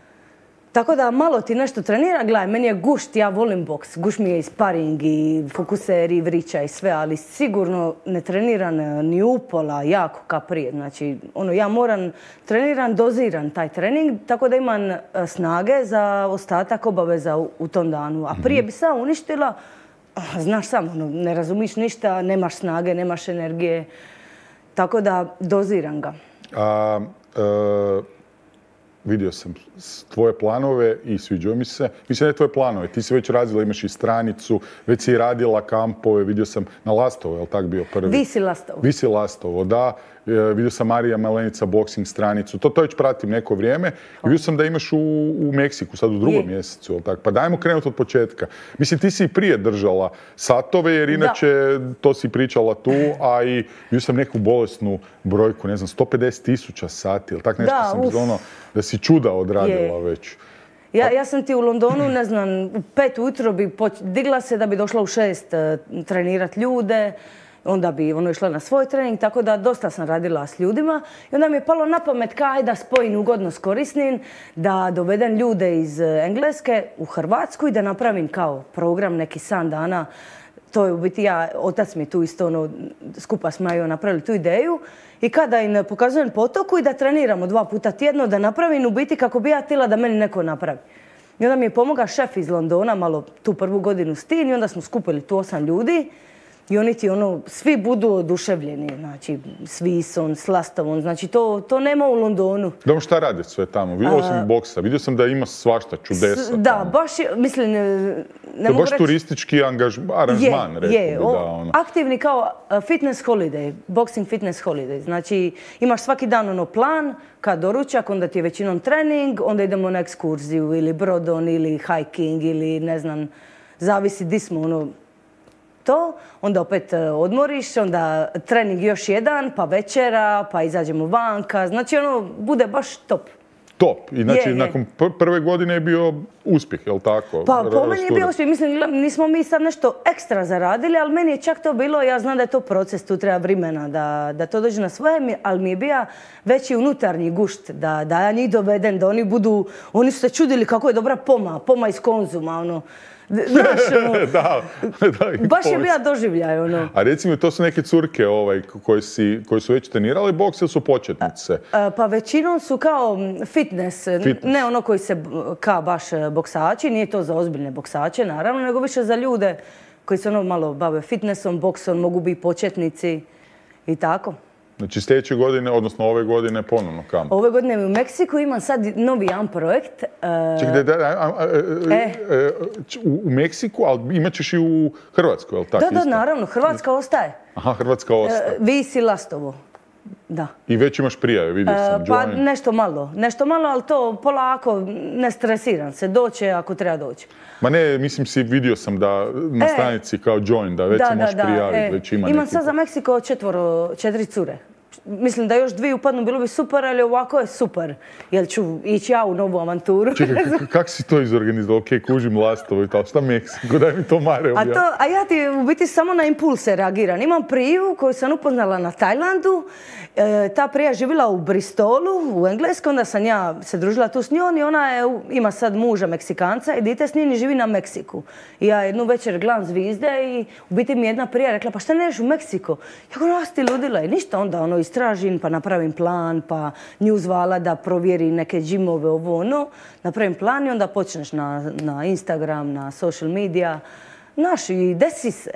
S2: Tako da malo ti nešto trenira, gledaj, meni je gušt, ja volim boks, gušt mi je i sparing i fokuser i vrića i sve, ali sigurno ne treniram ni upola jako ka prije. Znači, ono, ja moram, treniram doziran taj trening, tako da imam snage za ostatak obaveza u, u tom danu. A prije bi sam uništila, znaš sam, ono, ne razumiš ništa, nemaš snage, nemaš energije, tako da doziram ga.
S1: A, e... Vidio sam tvoje planove i sviđaju mi se. Mislim da je tvoje planove. Ti si već razvila, imaš i stranicu, već si radila kampove, vidio sam na Lastovo, je li tak bio prvi?
S2: Visi Lastovo.
S1: Visi Lastovo, da. E, vidio sam Marija Malenica boxing stranicu. To, to već pratim neko vrijeme. I vidio sam da imaš u, u Meksiku, sad u drugom je. mjesecu, je li tak? Pa dajmo krenuti od početka. Mislim, ti si i prije držala satove, jer inače da. to si pričala tu, a i vidio sam neku bolesnu brojku, ne znam, sto pedeset tisuća sati, je li tak nešto
S2: da,
S1: sam
S2: uf.
S1: ono, da si čuda odradila je. već.
S2: Ja, ja sam ti u Londonu, ne znam, u pet ujutro bi poč... digla se da bi došla u šest uh, trenirati ljude, onda bi ono išla na svoj trening, tako da dosta sam radila s ljudima. I onda mi je palo na pamet kaj da spojim ugodno s korisnim, da dovedem ljude iz Engleske u Hrvatsku i da napravim kao program neki sedam dana. To je u biti ja, otac mi tu isto ono, skupa s Majom napravili tu ideju. I kada im pokazujem potoku i da treniramo dva puta tjedno, da napravim u biti kako bi ja htjela da meni neko napravi. I onda mi je pomogao šef iz Londona malo tu prvu godinu s tim i onda smo skupili tu osam ljudi i oni ti ono, svi budu oduševljeni, znači s visom, s lastavom, znači to, to nema u Londonu.
S1: Dobro, šta rade sve tamo? Vidio sam boksa, vidio sam da ima svašta čudesa.
S2: Da,
S1: tamo.
S2: baš je, mislim, ne
S1: to je baš reći... turistički angaž... aranžman,
S2: je,
S1: rekao
S2: je.
S1: bi, da. Ono.
S2: Aktivni kao fitness holiday, boxing fitness holiday, znači imaš svaki dan ono plan, kad doručak, onda ti je većinom trening, onda idemo na ekskurziju ili brodon ili hiking ili ne znam, zavisi di smo ono, to, onda opet odmoriš, onda trening još jedan, pa večera, pa izađemo vanka, znači ono, bude baš top.
S1: Top. I znači,
S2: je,
S1: nakon prve godine je bio uspjeh, je li tako?
S2: Pa po meni je bio uspjeh. Mislim, nismo mi sad nešto ekstra zaradili, ali meni je čak to bilo, ja znam da je to proces, tu treba vremena da, da to dođe na svoje, ali mi je bio veći unutarnji gušt, da, da ja njih dovedem, da oni budu, oni su se čudili kako je dobra poma, poma iz Konzuma, ono. Znaš, ono,
S1: da, da,
S2: baš je bio doživljaj, ono.
S1: A reci mi, to su neke curke ovaj, koje, si, koje su već trenirale boks ili su početnice?
S2: A, pa većinom su kao fitness, fitness, ne ono koji se kao baš boksači, nije to za ozbiljne boksače, naravno, nego više za ljude koji se ono malo bave fitnessom, boksom, mogu biti početnici i tako.
S1: Znači sljedeće godine, odnosno ove godine, ponovno kam?
S2: Ove godine u Meksiku imam sad novi jedan projekt.
S1: Čekaj, da, da, a, a, e. e, u, u Meksiku, ali imat ćeš i u Hrvatskoj, je li tako?
S2: Da, da, naravno, Hrvatska ostaje.
S1: Aha, Hrvatska ostaje.
S2: Vis i Lastovo. Da.
S1: I već imaš prijave, vidio sam.
S2: E, pa nešto malo, nešto malo, ali to polako, ne stresiram se, doće ako treba doći.
S1: Ma ne, mislim si, vidio sam da na e, stranici kao join, da već
S2: da,
S1: se možeš
S2: da,
S1: prijaviti,
S2: e,
S1: već ima
S2: Imam
S1: neki...
S2: sad za Meksiko četvoro, četiri cure. Mislim da još dvije upadnu, bilo bi super, ali ovako je super. Jer ću ići ja u novu avanturu.
S1: Čekaj, kako si to izorganizovao? Ok, kužim Lastovo i tako, šta Meksiko? Daj mi to Mare
S2: objav. A, to, a ja ti u biti samo na impulse reagiram. Imam priju koju sam upoznala na Tajlandu. E, ta prija živjela u Bristolu, u Engleskoj, onda sam ja se družila tu s njom i ona je, ima sad muža Meksikanca i dite s njim i živi na Meksiku. I ja jednu večer gledam zvizde i u biti mi jedna prija rekla, pa šta ne ješ u Meksiko? Ja go, nas ti ludila i ništa, onda ono istražim, pa napravim plan, pa nju zvala da provjeri neke džimove, ovo ono. Napravim plan i onda počneš na, na Instagram, na social media. Znaš, i desi se.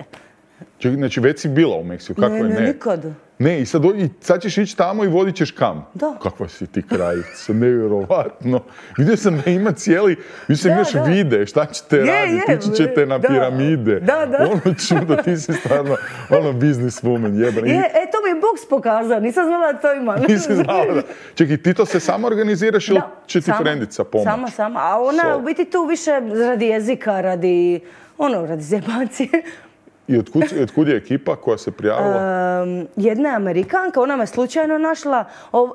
S1: Znači, već si bila u Meksiku, kako
S2: ne,
S1: je?
S2: Ne, ne, nikad.
S1: Ne, i sad, i sad ćeš ići tamo i vodit ćeš kam?
S2: Da.
S1: Kakva si ti krajica, nevjerovatno. Vidio sam da ima cijeli, vidio sam imaš vide, šta ćete
S2: je,
S1: raditi, ići ćete na
S2: da.
S1: piramide.
S2: Da, da.
S1: Ono čudo, ti si stvarno, ono business woman, jebana.
S2: Je, e, to mi je boks pokazao, nisam znala da to ima.
S1: Nisam znala da. Čekaj, ti to se samo organiziraš ili će ti
S2: sama,
S1: frendica pomoći?
S2: Sama, sama. A ona so. u biti tu više radi jezika, radi, ono, radi zebancije.
S1: I otkud, otkud je ekipa koja se prijavila?
S2: Um, jedna je Amerikanka, ona me slučajno našla,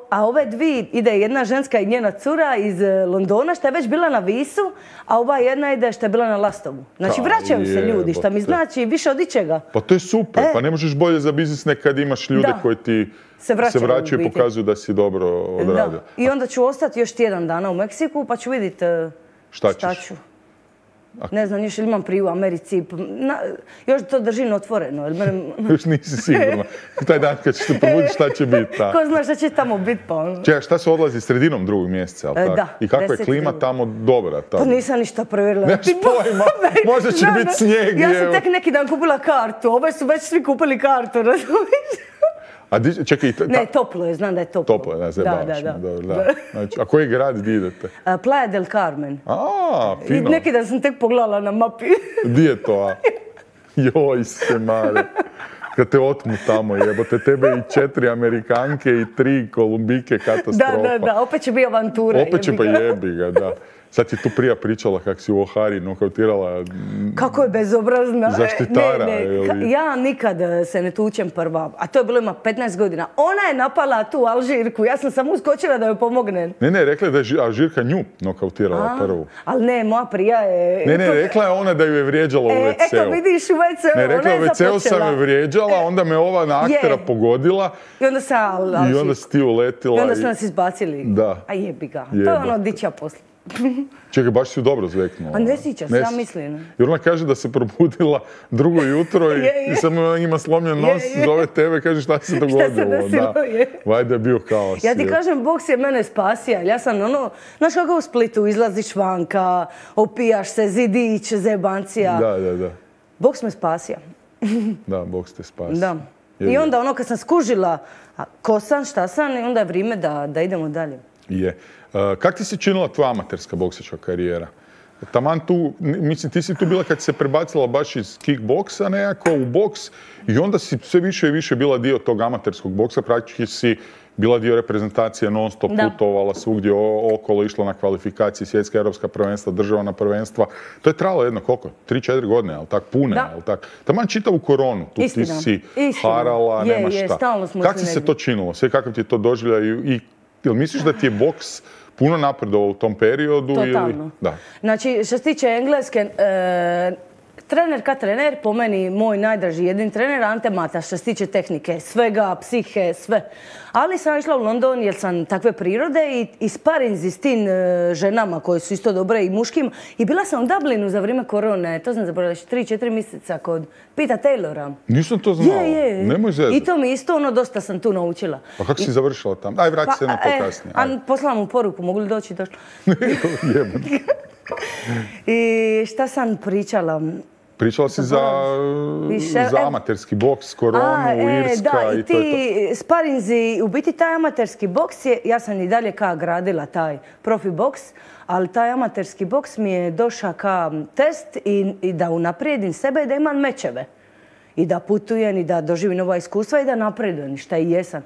S2: a ove dvije ide jedna ženska i njena cura iz Londona, što je već bila na Visu, a ova jedna ide što je bila na Lastovu. Znači Ka, vraćaju je, se ljudi, što mi znači više od ičega.
S1: Pa to je super, e. pa ne možeš bolje za biznis nekad imaš ljude da. koji ti se vraćaju, se vraćaju i pokazuju da si dobro odradio.
S2: Da. I onda ću ostati još tjedan dana u Meksiku, pa ću vidjeti šta, šta ću. Ne znam, još imam priju u Americi, na, još to držim otvoreno. Mene...
S1: Još nisi sigurna. Taj dan kad ćeš se probuditi šta će biti. Ta.
S2: Ko zna šta će tamo biti pa ono.
S1: Čekaj, šta se odlazi sredinom drugog mjeseca, ali tako?
S2: Da.
S1: I kakva je klima tamo dobra? Tamo?
S2: Pa nisam ništa provjerila.
S1: Nemaš pojma, možda će biti snijeg.
S2: Ja sam tek neki dan kupila kartu, ove su već svi kupili kartu, razumiješ?
S1: A di, čekaj, ta...
S2: Ne, toplo je, znam da je toplo.
S1: Toplo je, ne, zajebavaš. Da, da, da. da. Znači, a koji grad gdje idete?
S2: Uh, Playa del Carmen.
S1: A, fino.
S2: I neki dan sam tek pogledala na mapi.
S1: Gdje je to, a? Joj se, Mare. Kad te otmu tamo, jebote, tebe i četiri Amerikanke i tri Kolumbike, katastrofa.
S2: Da, da, da, opet će biti avantura.
S1: Opet će pa jebi ga, da. Sad je tu prija pričala kako si u Ohari nokautirala...
S2: Kako je bezobrazna.
S1: Zaštitara.
S2: Ne, ne. Ja nikad se ne tučem prva, a to je bilo ima petnaest godina. Ona je napala tu Alžirku, ja sam samo uskočila da joj pomognem.
S1: Ne, ne, rekla je da je Alžirka nju nokautirala a, prvu.
S2: Ali ne, moja prija je...
S1: Ne, ne, rekla je ona da ju je vrijeđala e, u ve ce u.
S2: Eto, vidiš u ve ce u,
S1: ne, rekla, ona je započela. U ve ce u sam je vrijeđala, onda me ova na aktera je. pogodila.
S2: I onda sam Alžirku.
S1: I onda si ti uletila.
S2: I onda su nas izbacili.
S1: Da.
S2: A jebi ga. Jeba. To je ono dića posle.
S1: Čekaj, baš si dobro zveknula.
S2: A ne sjeća se, ja mislim.
S1: Jer ona kaže da se probudila drugo jutro i, je, je. i samo ima slomljen nos, je, je. zove tebe, kaže šta se dogodilo.
S2: Šta se desilo, da. je.
S1: Vajde je bio kaos.
S2: Ja ti je. kažem, boks je mene spasio. Ja sam ono, znaš kako u Splitu, izlaziš vanka, opijaš se, zidić, zebancija.
S1: Da, da, da.
S2: Boks me spasio.
S1: Da, boks te spasi.
S2: Da. I onda ono kad sam skužila ko sam, šta sam, i onda je vrijeme da, da idemo dalje.
S1: Je. Uh, kak ti se činila tvoja amaterska boksačka karijera? Taman tu, mislim, ti si tu bila kad se prebacila baš iz kickboksa nekako u boks i onda si sve više i više bila dio tog amaterskog boksa, praktički si bila dio reprezentacije, non stop putovala svugdje okolo, išla na kvalifikacije, svjetska, europska prvenstva, državna prvenstva. To je trajalo jedno, koliko? tri četiri godine, ali tak, pune, ali tak. Taman čitavu koronu, tu
S2: Istina.
S1: ti si
S2: Istina.
S1: harala,
S2: je,
S1: nema
S2: je,
S1: šta. Kako si se to činilo? Sve kakav ti je to doživljaj i jel misliš da ti je boks puno napredovao u tom periodu?
S2: Totalno.
S1: Ili? Da.
S2: Znači, što se tiče engleske, e, trener ka trener, po meni moj najdraži jedin trener, Ante Mata, što se tiče tehnike, svega, psihe, sve. Ali sam išla u London jer sam takve prirode i, i sparinzi s tim e, ženama koje su isto dobre i muškim. I bila sam u Dublinu za vrijeme korone, to sam zaboravila, tri četiri mjeseca kod Pita Taylora.
S1: Nisam to znala,
S2: je, je.
S1: Nemoj zezati.
S2: I to mi isto, ono, dosta sam tu naučila.
S1: Pa kako si I... završila tamo? Aj, vrati pa, se na to kasnije.
S2: E, poslala mu poruku, mogu li doći? Došla. I šta sam pričala?
S1: Pričala si za, Više, za amaterski boks, koronu,
S2: a, e,
S1: Irska
S2: da,
S1: i,
S2: i
S1: to je
S2: ti sparinzi, u biti taj amaterski boks je, ja sam i dalje ka gradila taj profi boks, ali taj amaterski boks mi je došao ka test i, i da unaprijedim sebe i da imam mečeve. I da putujem i da doživim nova iskustva i da napredujem, šta i jesam.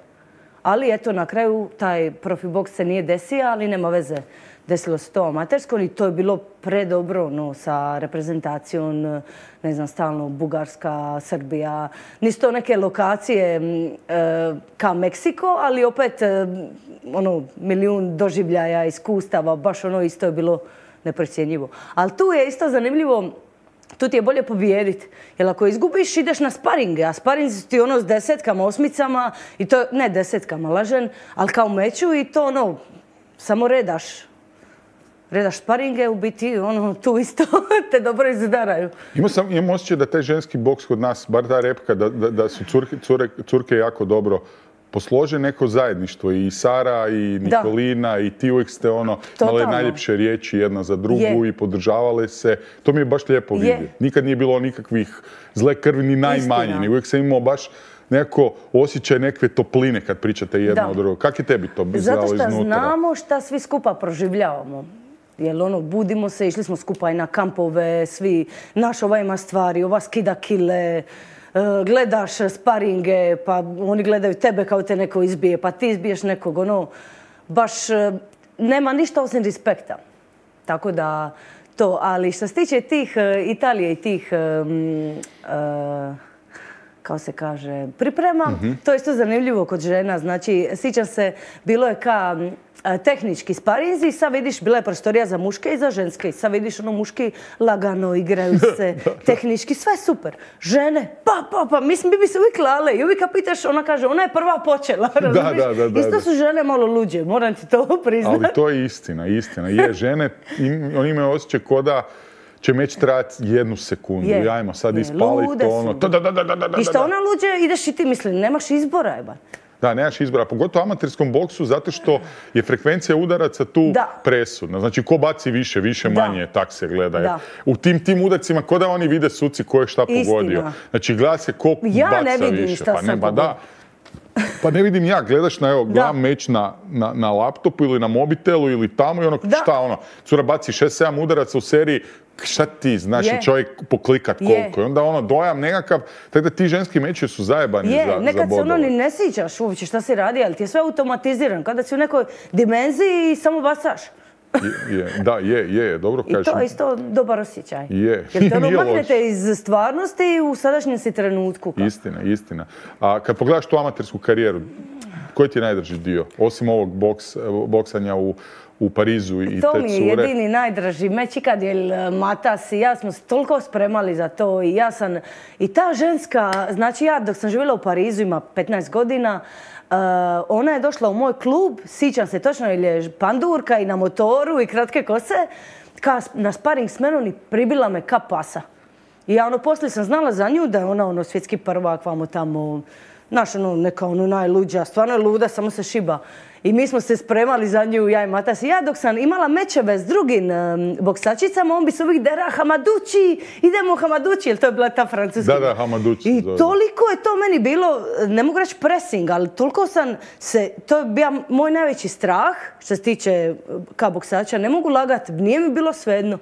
S2: Ali eto, na kraju taj profi boks se nije desio, ali nema veze. Desilo se to amatersko i to je bilo predobro, no, sa reprezentacijom, ne znam, stalno Bugarska, Srbija. Nisu to neke lokacije e, ka Meksiko, ali opet e, ono, milijun doživljaja, iskustava, baš ono isto je bilo neprocjenjivo. Ali tu je isto zanimljivo, tu ti je bolje pobijediti. Jer ako izgubiš, ideš na sparinge, a sparingi su ti ono s desetkama, osmicama, i to, ne desetkama, lažem, ali kao meču i to ono, samo redaš. Redaš sparinge, u biti ono, tu isto te dobro izdaraju.
S1: Imam, sam, imam osjećaj da taj ženski boks kod nas, bar ta repka, da, da, da su curke, cure, curke jako dobro poslože neko zajedništvo. I Sara, i Nikolina, da. I ti uvijek ste ono, imale najljepše riječi jedna za drugu je. I podržavale se. To mi je baš lijepo vidjeti. Nikad nije bilo nikakvih zle krvi, ni najmanje. Ni uvijek sam imao baš neko osjećaj nekve topline kad pričate jedna od drugog. Kako je tebi to izgledalo iznutra?
S2: Zato što znamo šta svi skupa proživljavamo. Jer ono, budimo se, išli smo skupa i na kampove, svi, naš ova ima stvari, ova skida kile, gledaš sparinge, pa oni gledaju tebe kao te neko izbije, pa ti izbiješ nekog, ono, baš nema ništa osim respekta. Tako da to, ali što se tiče tih Italije i tih, um, uh, kao se kaže, priprema, mm-hmm. to je isto zanimljivo kod žena. Znači, sjećam se, bilo je ka tehnički sparinzi, sad vidiš, bila je prostorija za muške i za ženske. Sad vidiš, ono, muški lagano igraju se, tehnički, sve super. Žene, pa, pa, pa, mislim, mi bi se uvijek lale i uvijek kad pitaš, ona kaže, ona je prva počela, razumiješ? Da, da, da, isto su žene malo luđe, moram ti to priznati.
S1: Ali to je istina, istina. Je, žene, im, oni imaju osjećaj ko da će meč trajati jednu sekundu. Je, ajmo sad ispaliti to ono. Da, da, da, da, da,
S2: I što ona luđe, ideš i ti, mislim, nemaš izbora, jeba.
S1: Da, nemaš izbora, pogotovo u amaterskom boksu, zato što je frekvencija udaraca tu da. presudna. Znači, ko baci više, više, da. manje, tak se gleda. Da. U tim tim udarcima, ko da oni vide suci ko je šta pogodio. Istina. Znači, gleda se ko
S2: ja
S1: baca
S2: ne vidim
S1: više.
S2: Šta
S1: pa,
S2: sam
S1: ne, pa, da. Pa ne vidim ja, gledaš na, evo, gledam meč na, na, na laptopu ili na mobitelu ili tamo i ono, da. šta ono, cura baci šest sedam udaraca u seriji, šta ti znaš je. čovjek poklikat koliko. Je. I onda ono, dojam nekakav, tako da ti ženski meči su zajebani je. za, za
S2: nekad
S1: bodove.
S2: Se ono ni ne sjećaš uopće šta si radi, ali ti je sve automatiziran, kada si u nekoj dimenziji i samo bacaš.
S1: Je, je, da, je, je, dobro kažem.
S2: I to je isto dobar osjećaj.
S1: Je,
S2: jer te ono maknete iz stvarnosti u sadašnjem si trenutku. Ka.
S1: Istina, istina. A kad pogledaš tu amatersku karijeru, koji ti je najdraži dio? Osim ovog boks, boksanja u, u Parizu i te cure.
S2: To mi je jedini najdraži meč, kad je Matas i ja smo se toliko spremali za to i ja sam, i ta ženska, znači ja dok sam živjela u Parizu, ima petnaest godina, Uh, ona je došla u moj klub, sjećam se točno, ili je pandurka i na motoru i kratke kose, ka, na sparing s menom i pribila me ka pasa. I ja ono, poslije sam znala za nju da je ona ono svjetski prvak, vamo tamo, Znaš, ono, neka ono najluđa, stvarno je luda, samo se šiba. I mi smo se spremali za nju, ja i Matas. I ja dok sam imala mečeve s drugim um, boksačicama, on bi se uvijek dera Hamadući, idemo Hamadući, jer to je bila ta francuska.
S1: Da, da, Hamadući.
S2: I toliko je to meni bilo, ne mogu reći pressing, ali toliko sam se, to je bio moj najveći strah, što se tiče kao boksača, ne mogu lagati, nije mi bilo svejedno.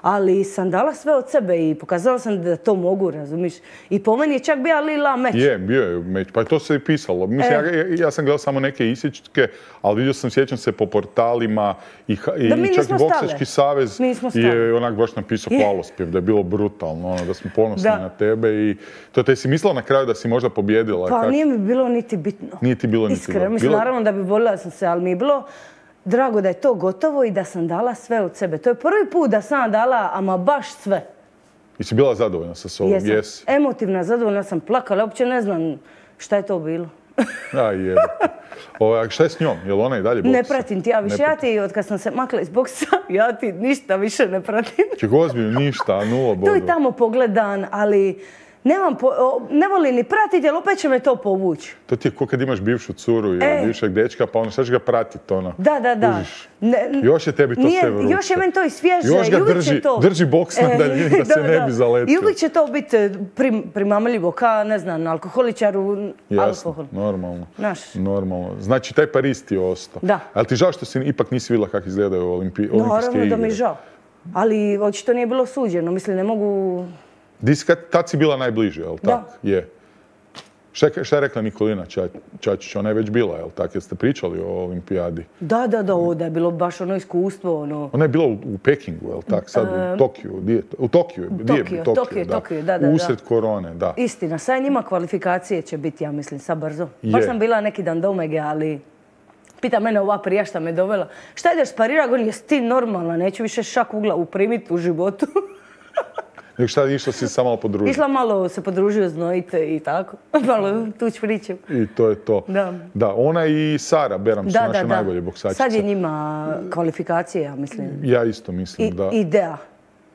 S2: Ali sam dala sve od sebe i pokazala sam da to mogu, razumiš. I po meni je čak bio lila meč.
S1: Je, bio je meč, pa to se i pisalo. Mislim, e. ja, ja sam gledao samo neke isječke, ali vidio sam, sjećam se po portalima i, i čak i Boksački savez je onak baš napisao hvalospjev, da je bilo brutalno, ono, da smo ponosni da. na tebe i to te si mislila na kraju da si možda pobjedila?
S2: Pa kak? Nije mi bilo niti bitno.
S1: Nije ti bilo niti
S2: Iskreno, bitno. Mislim, bilo... naravno da bi voljela sam se, ali mi je bilo drago da je to gotovo i da sam dala sve od sebe. To je prvi put da sam dala, ama baš sve.
S1: I si bila zadovoljna sa sobom?
S2: Jesam. Yes. Emotivna, zadovoljna sam plakala. Uopće ne znam šta je to bilo.
S1: A, jebe. O, šta je s njom? Je li ona i dalje boksa?
S2: Ne pratim ti. Ja više, ja ti, od kad sam se makla iz boksa, ja ti ništa više ne pratim.
S1: Ček, ozbiljno, ništa, nula bodu.
S2: Tu i tamo pogledan, ali... Nemam po, o, ne volim ni pratiti, ali opet će me to povući.
S1: To ti je ko kad imaš bivšu curu ili e. bivšeg dečka, pa ono sad će ga pratiti, ono.
S2: Da, da, da.
S1: Ne, još je tebi to nije, sve vruće.
S2: Još je meni to i svježe.
S1: Još ga drži, to... drži boks na daljini da, da se ne bi zaletio.
S2: I uvijek će to biti prim, primamljivo, ka, ne znam, alkoholičaru,
S1: jasno,
S2: alkohol.
S1: normalno.
S2: Naš.
S1: Normalno. Znači, taj Pariz ti je ostao.
S2: Da.
S1: Ali ti žao što si ipak nisi vidjela kako izgledaju olimpi, olimpijske igre?
S2: Naravno da mi je žao. Ali očito nije bilo suđeno. Mislim, ne mogu...
S1: Tad si bila najbliže, jel tak? Je. Šta, šta je rekla Nikolina Ča, Čačić? Ona je već bila, jel tak? Jeste pričali o olimpijadi?
S2: Da, da, da, da je bilo baš ono iskustvo. Ono...
S1: Ona je bila u, u Pekingu, jel tak? Sad u Tokiju. Di u Tokiju.
S2: U Tokiju, Tokiju, da. Tokiju, da, da.
S1: Usred korone, da.
S2: Istina, sad njima kvalifikacije će biti, ja mislim, sad brzo. Je. Baš sam bila neki dan do Omege, ali... Pita mene ova prija šta me dovela. Šta ideš sparirati? Govorim, jesi ti normalna? Neću više šak ugla uprimiti u životu.
S1: Nek šta, išla si samo malo podružiti?
S2: Išla malo se podružio, znojite i tako. Malo tuć pričam.
S1: I to je to.
S2: Da.
S1: Da, ona i Sara Beram su
S2: da,
S1: naše
S2: da, da.
S1: najbolje boksačice.
S2: Sad je njima kvalifikacije, ja mislim.
S1: Ja isto mislim,
S2: I,
S1: da.
S2: I Dea.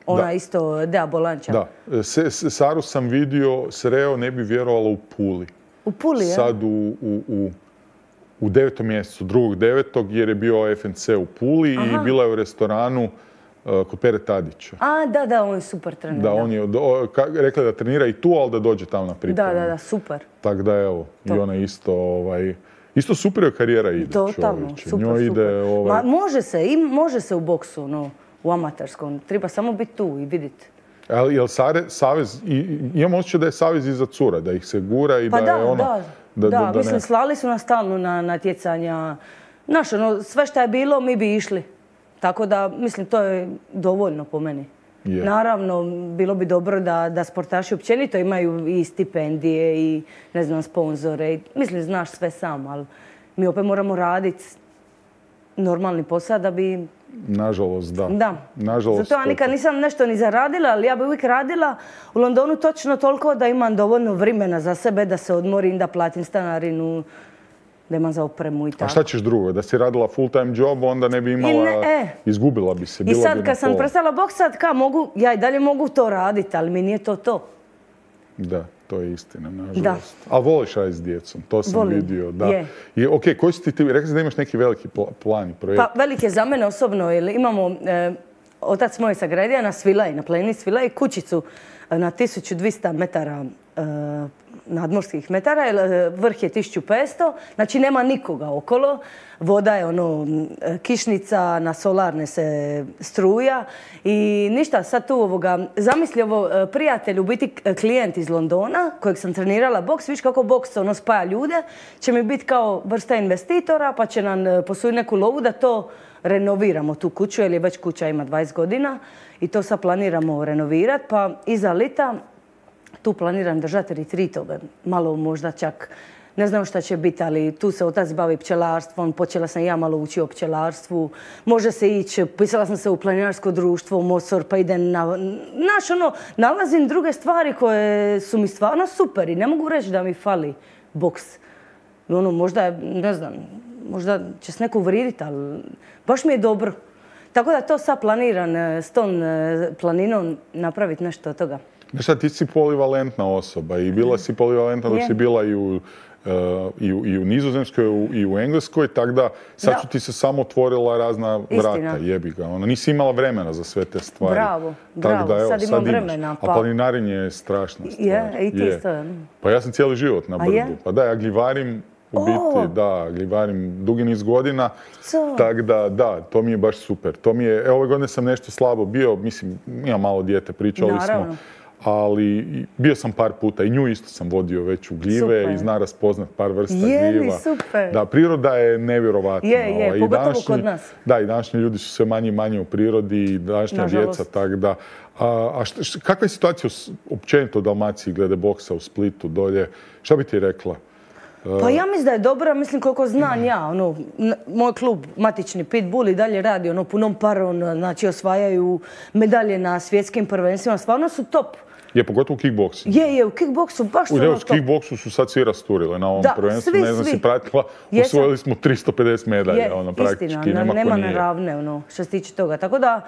S2: Ona
S1: da.
S2: isto, Dea Bolanča.
S1: Da. Se, se, Saru sam vidio, sreo, ne bi vjerovala u Puli.
S2: U Puli, je?
S1: Sad u, u, u, u devetom mjesecu, drugog devetog, jer je bio F N C u Puli. Aha. I bila je u restoranu kod Pere Tadića.
S2: A, da, da, on je super trener.
S1: Da, on je rekla da trenira i tu, ali da dođe tamo na pripremu.
S2: Da, da, da, super.
S1: Tako da, evo, to. I ona isto, ovaj, isto super joj karijera ide.
S2: Totalno, super,
S1: njoj
S2: super.
S1: Ide, ovaj...
S2: Ma, može se, i može se u boksu, no, u amaterskom. Treba samo biti tu i vidjeti.
S1: Ali, jel Sare, savez, i, imam osjećaj da je savez iza cura, da ih se gura i
S2: pa
S1: da,
S2: da
S1: je ono...
S2: Da, da, da, da, da mislim, ne... slali su nas stalno na natjecanja. Znaš, ono, sve što je bilo, mi bi išli. Tako da, mislim, to je dovoljno po meni. Yeah. Naravno, bilo bi dobro da, da sportaši općenito imaju i stipendije i, ne znam, sponzore. Mislim, znaš sve sam, ali mi opet moramo raditi normalni posao da bi...
S1: Nažalost, da.
S2: Da.
S1: Nažalost,
S2: zato ja nikad nisam nešto ni zaradila, ali ja bi uvijek radila u Londonu točno toliko da imam dovoljno vremena za sebe, da se odmorim, da platim stanarinu, da imam za opremu i tako.
S1: A šta ćeš drugo? Da si radila full time job, onda ne bi imala...
S2: Ne, e.
S1: Izgubila bi se.
S2: I sad kad sam prestala boksat, ka mogu, ja i dalje mogu to raditi, ali mi nije to to.
S1: Da, to je istina, nažalost. Da. A voliš raditi s djecom, to sam
S2: Volim.
S1: vidio. Da.
S2: Je.
S1: I, ok, koji si ti, rekli si da imaš neki veliki plan i projekt?
S2: Pa velik je za mene osobno, jer imamo, e, otac moj sagradio na Svilaj, na planini Svilaj, kućicu na tisuću dvista metara e, nadmorskih metara, vrh je tisuću petsto, znači nema nikoga okolo, voda je ono kišnica, na solarne se struja i ništa, sad tu ovoga, zamisli ovo prijatelj, u biti klijent iz Londona kojeg sam trenirala boks, viš kako boks ono spaja ljude, će mi biti kao vrsta investitora pa će nam posuditi neku lovu da to renoviramo tu kuću, jer je već kuća ima dvadeset godina i to sad planiramo renovirati, pa iza lita tu planiram držati retreatove, malo možda čak, ne znam šta će biti, ali tu se otac bavi pčelarstvom, počela sam ja malo ući o pčelarstvu, može se ići, pisala sam se u planinarsko društvo, u Mosor, pa idem na... Znaš, ono, nalazim druge stvari koje su mi stvarno super i ne mogu reći da mi fali boks. Ono, možda, ne znam, možda će se neko uvrijediti, ali baš mi je dobro. Tako da to sad planiram s tom planinom napraviti nešto od toga.
S1: Znaš šta, ti si polivalentna osoba i bila si polivalentna dok si bila i u i u, i u Nizozemskoj i u Engleskoj, tako da sad
S2: Da.
S1: su ti se samo otvorila razna vrata,
S2: Istina.
S1: jebi ga. Ona, nisi imala vremena za sve te stvari.
S2: Bravo,
S1: Tak
S2: bravo,
S1: da, evo,
S2: sad imam
S1: imaš.
S2: vremena,
S1: A
S2: pa-
S1: planinarenje je strašna stvar.
S2: Je, i ti
S1: Je.
S2: isto.
S1: Pa ja sam cijeli život na
S2: A
S1: brdu.
S2: je?
S1: Pa da, ja gljivarim u
S2: O!
S1: biti, da, gljivarim dugi niz godina.
S2: Co?
S1: Tako da, da, to mi je baš super. To mi je, evo, ove godine sam nešto slabo bio, mislim, imam malo dijete, pričali
S2: Naravno.
S1: smo. Ali i- bio sam par puta i nju isto sam vodio već u gljive
S2: Super.
S1: i zna raspoznat par vrsta
S2: Je li,
S1: gljiva.
S2: super.
S1: Da, priroda je nevjerovatna.
S2: Je, je,
S1: ovaj, i
S2: pogotovo
S1: današnji-
S2: kod nas.
S1: Da, i današnji ljudi su sve manje i manje u prirodi i današnja
S2: Nažalost.
S1: djeca, tako da. A, a šta, šta- kakva je situacija u s- općenito u Dalmaciji glede boksa u Splitu dolje? Šta bi ti rekla?
S2: Pa ja mislim da je dobra, mislim koliko znam ja, ono, n- moj klub, matični Pitbull i dalje radi, ono, punom parom, znači osvajaju medalje na svjetskim prvenstvima, stvarno su top.
S1: Je, pogotovo u kickboksu.
S2: Je, je, u kickboksu baš su
S1: U
S2: ono
S1: u
S2: top.
S1: kickboksu su sad svi rasturile na ovom
S2: Da,
S1: prvenstvu,
S2: svi,
S1: ne znam
S2: svi.
S1: si pratila,
S2: Jesam.
S1: osvojili smo tristo pedeset medalja,
S2: Je,
S1: ono, praktički,
S2: istina,
S1: nema,
S2: nema,
S1: ko
S2: na
S1: nije.
S2: ravne, ono, što se tiče toga. Tako da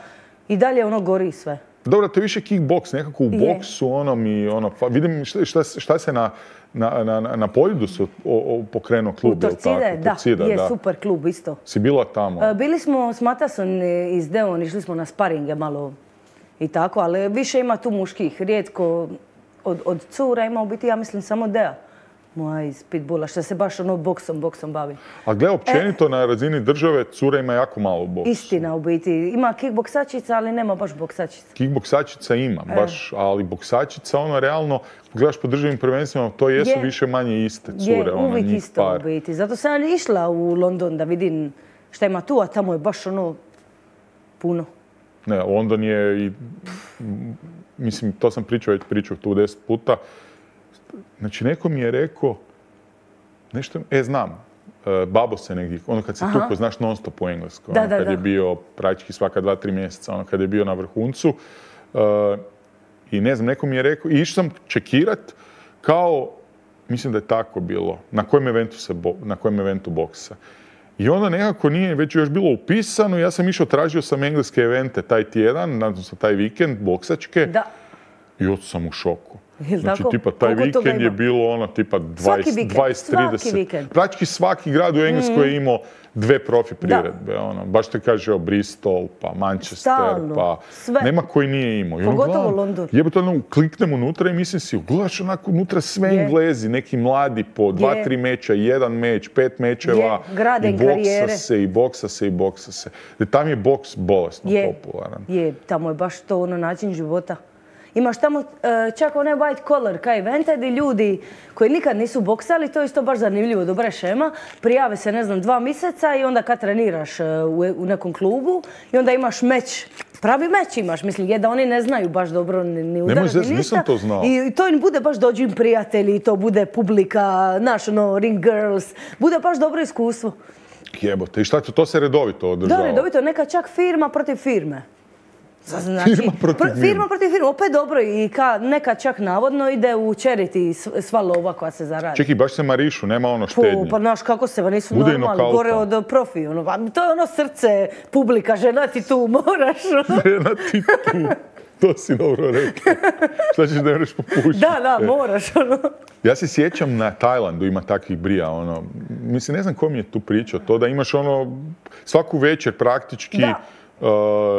S2: i dalje ono gori sve.
S1: Dobro, to je više kickboks, nekako u
S2: Je.
S1: boksu, ono mi, ono, pa vidim šta, šta, šta se na, na, na, na Poljudu su o- o- pokrenuo klub,
S2: U
S1: jel
S2: Torcide,
S1: tako?
S2: da,
S1: Torcida,
S2: je
S1: da.
S2: super klub isto.
S1: Si bila tamo?
S2: E, Bili smo s Matasom e, iz Deon, išli smo na sparinge malo i tako, ali više ima tu muških, rijetko od, od cura ima u biti, ja mislim, samo Dea. Moja iz Pitbulla, što se baš ono boksom, boksom bavi.
S1: A gle, općenito na razini države cura ima jako malo u boksu.
S2: Istina u biti. Ima kickboksačica, ali nema baš boksačica.
S1: Kickboksačica ima, baš, ali boksačica, ono, realno, gledaš po državnim prvenstvima, to jesu
S2: Je.
S1: više manje iste
S2: Je,
S1: cure, ono,
S2: uvijek
S1: njih
S2: isto
S1: par.
S2: u biti. Zato sam ja išla u London da vidim šta ima tu, a tamo je baš ono puno.
S1: Ne, London je i, m, mislim, to sam pričao, već pričao tu deset puta. Znači, neko mi je rekao, nešto, e, znam, e, Babo se negdje, ono kad se
S2: Aha.
S1: tuko, znaš, non stop u engleskom,
S2: Da,
S1: ono,
S2: da,
S1: kad
S2: da.
S1: je bio praktički svaka dva, tri mjeseca, ono, kad je bio na vrhuncu. E, I ne znam, neko mi je rekao, i išao sam čekirat kao, mislim da je tako bilo, na kojem eventu, se bo, na kojem eventu boksa. I onda nekako nije već još bilo upisano, ja sam išao, tražio sam engleske evente taj tjedan, odnosno taj vikend, boksačke,
S2: Da.
S1: i od sam u šoku.
S2: Jel
S1: Znači,
S2: tako?
S1: tipa, taj
S2: Koliko toga
S1: vikend je
S2: ima?
S1: bilo ono, tipa
S2: Svaki
S1: dvadeset,
S2: vikend,
S1: dvadeset
S2: svaki
S1: trideset.
S2: vikend.
S1: Praktički svaki grad u Engleskoj je imao dve profi priredbe. Ono. Baš te kaže, evo, Bristol, pa Manchester,
S2: Stalno,
S1: pa
S2: sve.
S1: nema koji nije imao. I ono,
S2: Pogotovo
S1: gledam,
S2: London.
S1: Jebote, ono, kliknem unutra i mislim si, gledaš onako unutra sve
S2: Je.
S1: Englezi, neki mladi po dva,
S2: Je.
S1: tri meča, jedan meč, pet mečeva.
S2: Je, grade
S1: i boksa
S2: karijere.
S1: se, i boksa se, i boksa se. Jer tam je boks bolesno
S2: Je,
S1: popularan.
S2: je, tamo je baš to ono način života. Imaš tamo e, čak one white collar kao evente gdje ljudi koji nikad nisu boksali, to je isto baš zanimljivo, dobra je šema. Prijave se, ne znam, dva mjeseca i onda kad treniraš e, u, u nekom klubu i onda imaš meč. Pravi meč imaš, mislim, je da oni ne znaju baš dobro ni, ni udarat,
S1: zez,
S2: ni
S1: nisam
S2: ništa.
S1: to znao.
S2: I, I to im bude baš dođu im prijatelji, to bude publika, naš ono, ring girls, bude baš dobro iskustvo.
S1: Jebote, i šta to, to se redovito održava?
S2: Da, redovito, neka čak firma protiv firme. Znači,
S1: Firma protiv
S2: pr-
S1: firme.
S2: firma protiv firme, opet dobro i ka, neka čak navodno ide u charity s- sva lova koja se zaradi.
S1: Čekaj, baš se marišu, nema ono
S2: Po,
S1: štednje.
S2: pa znaš kako se, pa nisu
S1: Bude i
S2: normalni,
S1: nokauta.
S2: gore od profi. Ono, pa to je ono srce, publika, žena ti tu moraš. ono.
S1: Žena ti tu. To si dobro rekla. Šta ćeš da ne možeš popušiti?
S2: Da, da, moraš. Ono.
S1: Ja se sjećam na Tajlandu, ima takvih brija, ono, mislim, ne znam ko mi je tu pričao, to da imaš ono, svaku večer praktički
S2: Da.
S1: uh,